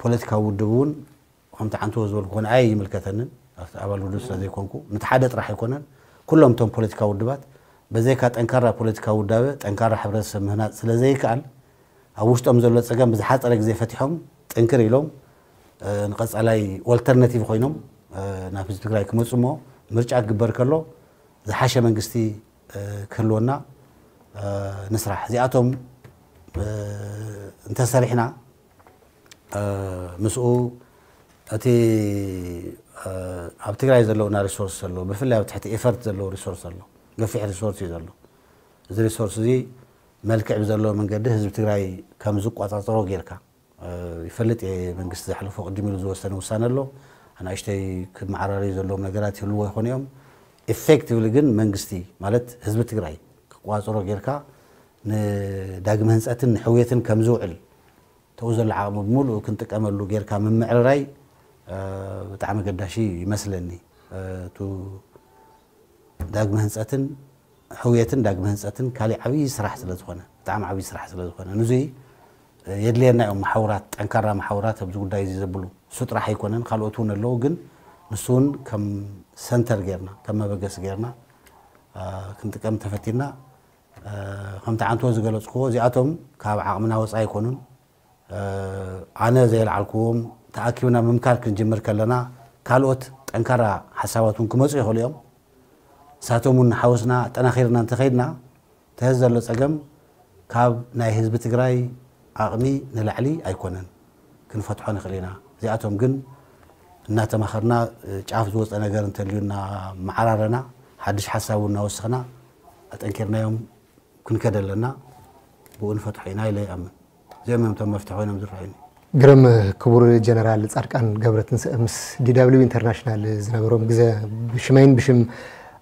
ፖለቲካዊ ውድብ እውን ከምቲ ዓንተዎ ዝበልኩ ኮነ ኣይ ይምልከተንን ኣብቲ ኣባል ውድብ ስለ ዘይኮንኩ ነቲ ሓደ ጥራሕ ኣይኮነን። ኩሎም እቶም ፖለቲካዊ ውድባት በዘይካ ጠንካራ ፖለቲካዊ ውዳበ ጠንካራ ሕብረተሰብ ምህናፅ ስለ ዘይከኣል ኣብ ውሽጦም ዘሎ ፀገም ብዝሓፀረ ግዜ ፈቲሖም ጥንክር ኢሎም ንቐፃላይ ኦልተርናቲቭ ኮይኖም ናብ ህዝቢ ትግራይ ክመፁ እሞ ምርጫ ክግበር ከሎ ዝሓሸ መንግስቲ ክህልወና ንስራሕ። እዚኣቶም እንተሰሪሕና ምስኡ እቲ ኣብ ትግራይ ዘለውና ሪሶርስ ዘሎ ብፍላይ ኣብ ትሕቲ ኤፈርት ዘለዎ ሪሶርስ ዘሎ ገፊሕ ሪሶርስ እዩ ዘሎ። እዚ ሪሶርስ እዚ መልክዕ ብዘለዎ መንገዲ ህዝቢ ትግራይ ከም ዝቆፃፀሮ ጌርካ ይፈልጥ እየ። መንግስቲ ዘሕለፎ ቅድም ኢሉ ዝወሰነ ውሳነ ኣሎ። ኣናእሽተይ ክመዓራረዩ ዘለዎም ነገራት ይህልዎ ይኾኑ እዮም። ኢፌክቲቭሊ ግን መንግስቲ ማለት ህዝቢ ትግራይ ክቋፅሮ ጌርካ ንዳግመ ህንፀትን ንሕውየትን ከም ዝውዕል ተኡ ዘሎ ዓቕሚ ብምሉእ ክንጥቀመሉ ጌርካ ምምዕርራይ ብጣዕሚ ገዳሺ ይመስለኒ። ዳግመ ህንፀትን ሕውየትን ዳግመ ህንፀትን ካሊእ ዓብዪ ስራሕ ስለ ዝኾነ ብጣዕሚ ዓብዪ ስራሕ ስለ ዝኾነ ንዙይ የድልየና እዮም መሓውራት፣ ጠንካራ መሓውራት ኣብዚ ጉዳይ እዚ ዘብሉ። እሱ ጥራሕ ኣይኮነን፣ ካልኦት እውን ኣለዉ፣ ግን ንሱ እውን ከም ሰንተር ጌርና ከም መበገሲ ጌርና ክንጥቀም ተፈቲና። ከምቲ ዓንቶ ዝገለፅክዎ እዚኣቶም ካብ ዓቕምና ወፃኢ ኣይኮኑን። ኣነ ዘየልዓልክዎም ተኣኪብና ምምካር ክንጅምር ከለና ካልኦት ጠንካራ ሓሳባት እውን ክመፁ ይኽእሉ እዮም። ንሳቶም እውን ንሓወስና ኣጠናኺርና እንተኸይድና ተህዝ ዘሎ ፀገም ካብ ናይ ህዝቢ ትግራይ ዓቕሚ ንላዕሊ ኣይኮነን፣ ክንፈትሖ ንኽእል ኢና። እዚኣቶም ግን እናተማኸርና ጫፍ ዝወፀ ነገር እንተልዩ እናመዓራረና ሓድሽ ሓሳብ እውን እናወሰኽና ኣጠንኪርናዮም ክንከደ ኣለና። ብኡ ንፈትሖ ኢና ኢለ ይኣምን። እዚኦም እዮም እቶም መፍትሒ ኮይኖም ዝረኣዩኒ። ግርም። ክቡር ጀነራል ፃድቃን ገብረትንሳኤ ምስ ዲ ደብሊው ኢንተርናሽናል ዝነበሮም ግዘ ብሽመይን ብሽም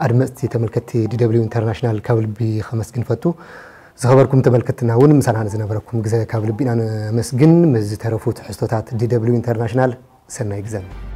ኣድመፅቲ ተመልከትቲ ዲ ደብሊው ኢንተርናሽናል ካብ ልቢ ከመስግን ፈቱ። ዝኸበርኩም ተመልከትትና እውን ምሳና ንዝነበረኩም ግዘ ካብ ልቢ ኢና ነመስግን። ምስ ዝተረፉ ትሕዝቶታት ዲ ደብሊው ኢንተርናሽናል ሰናይ ግዘ።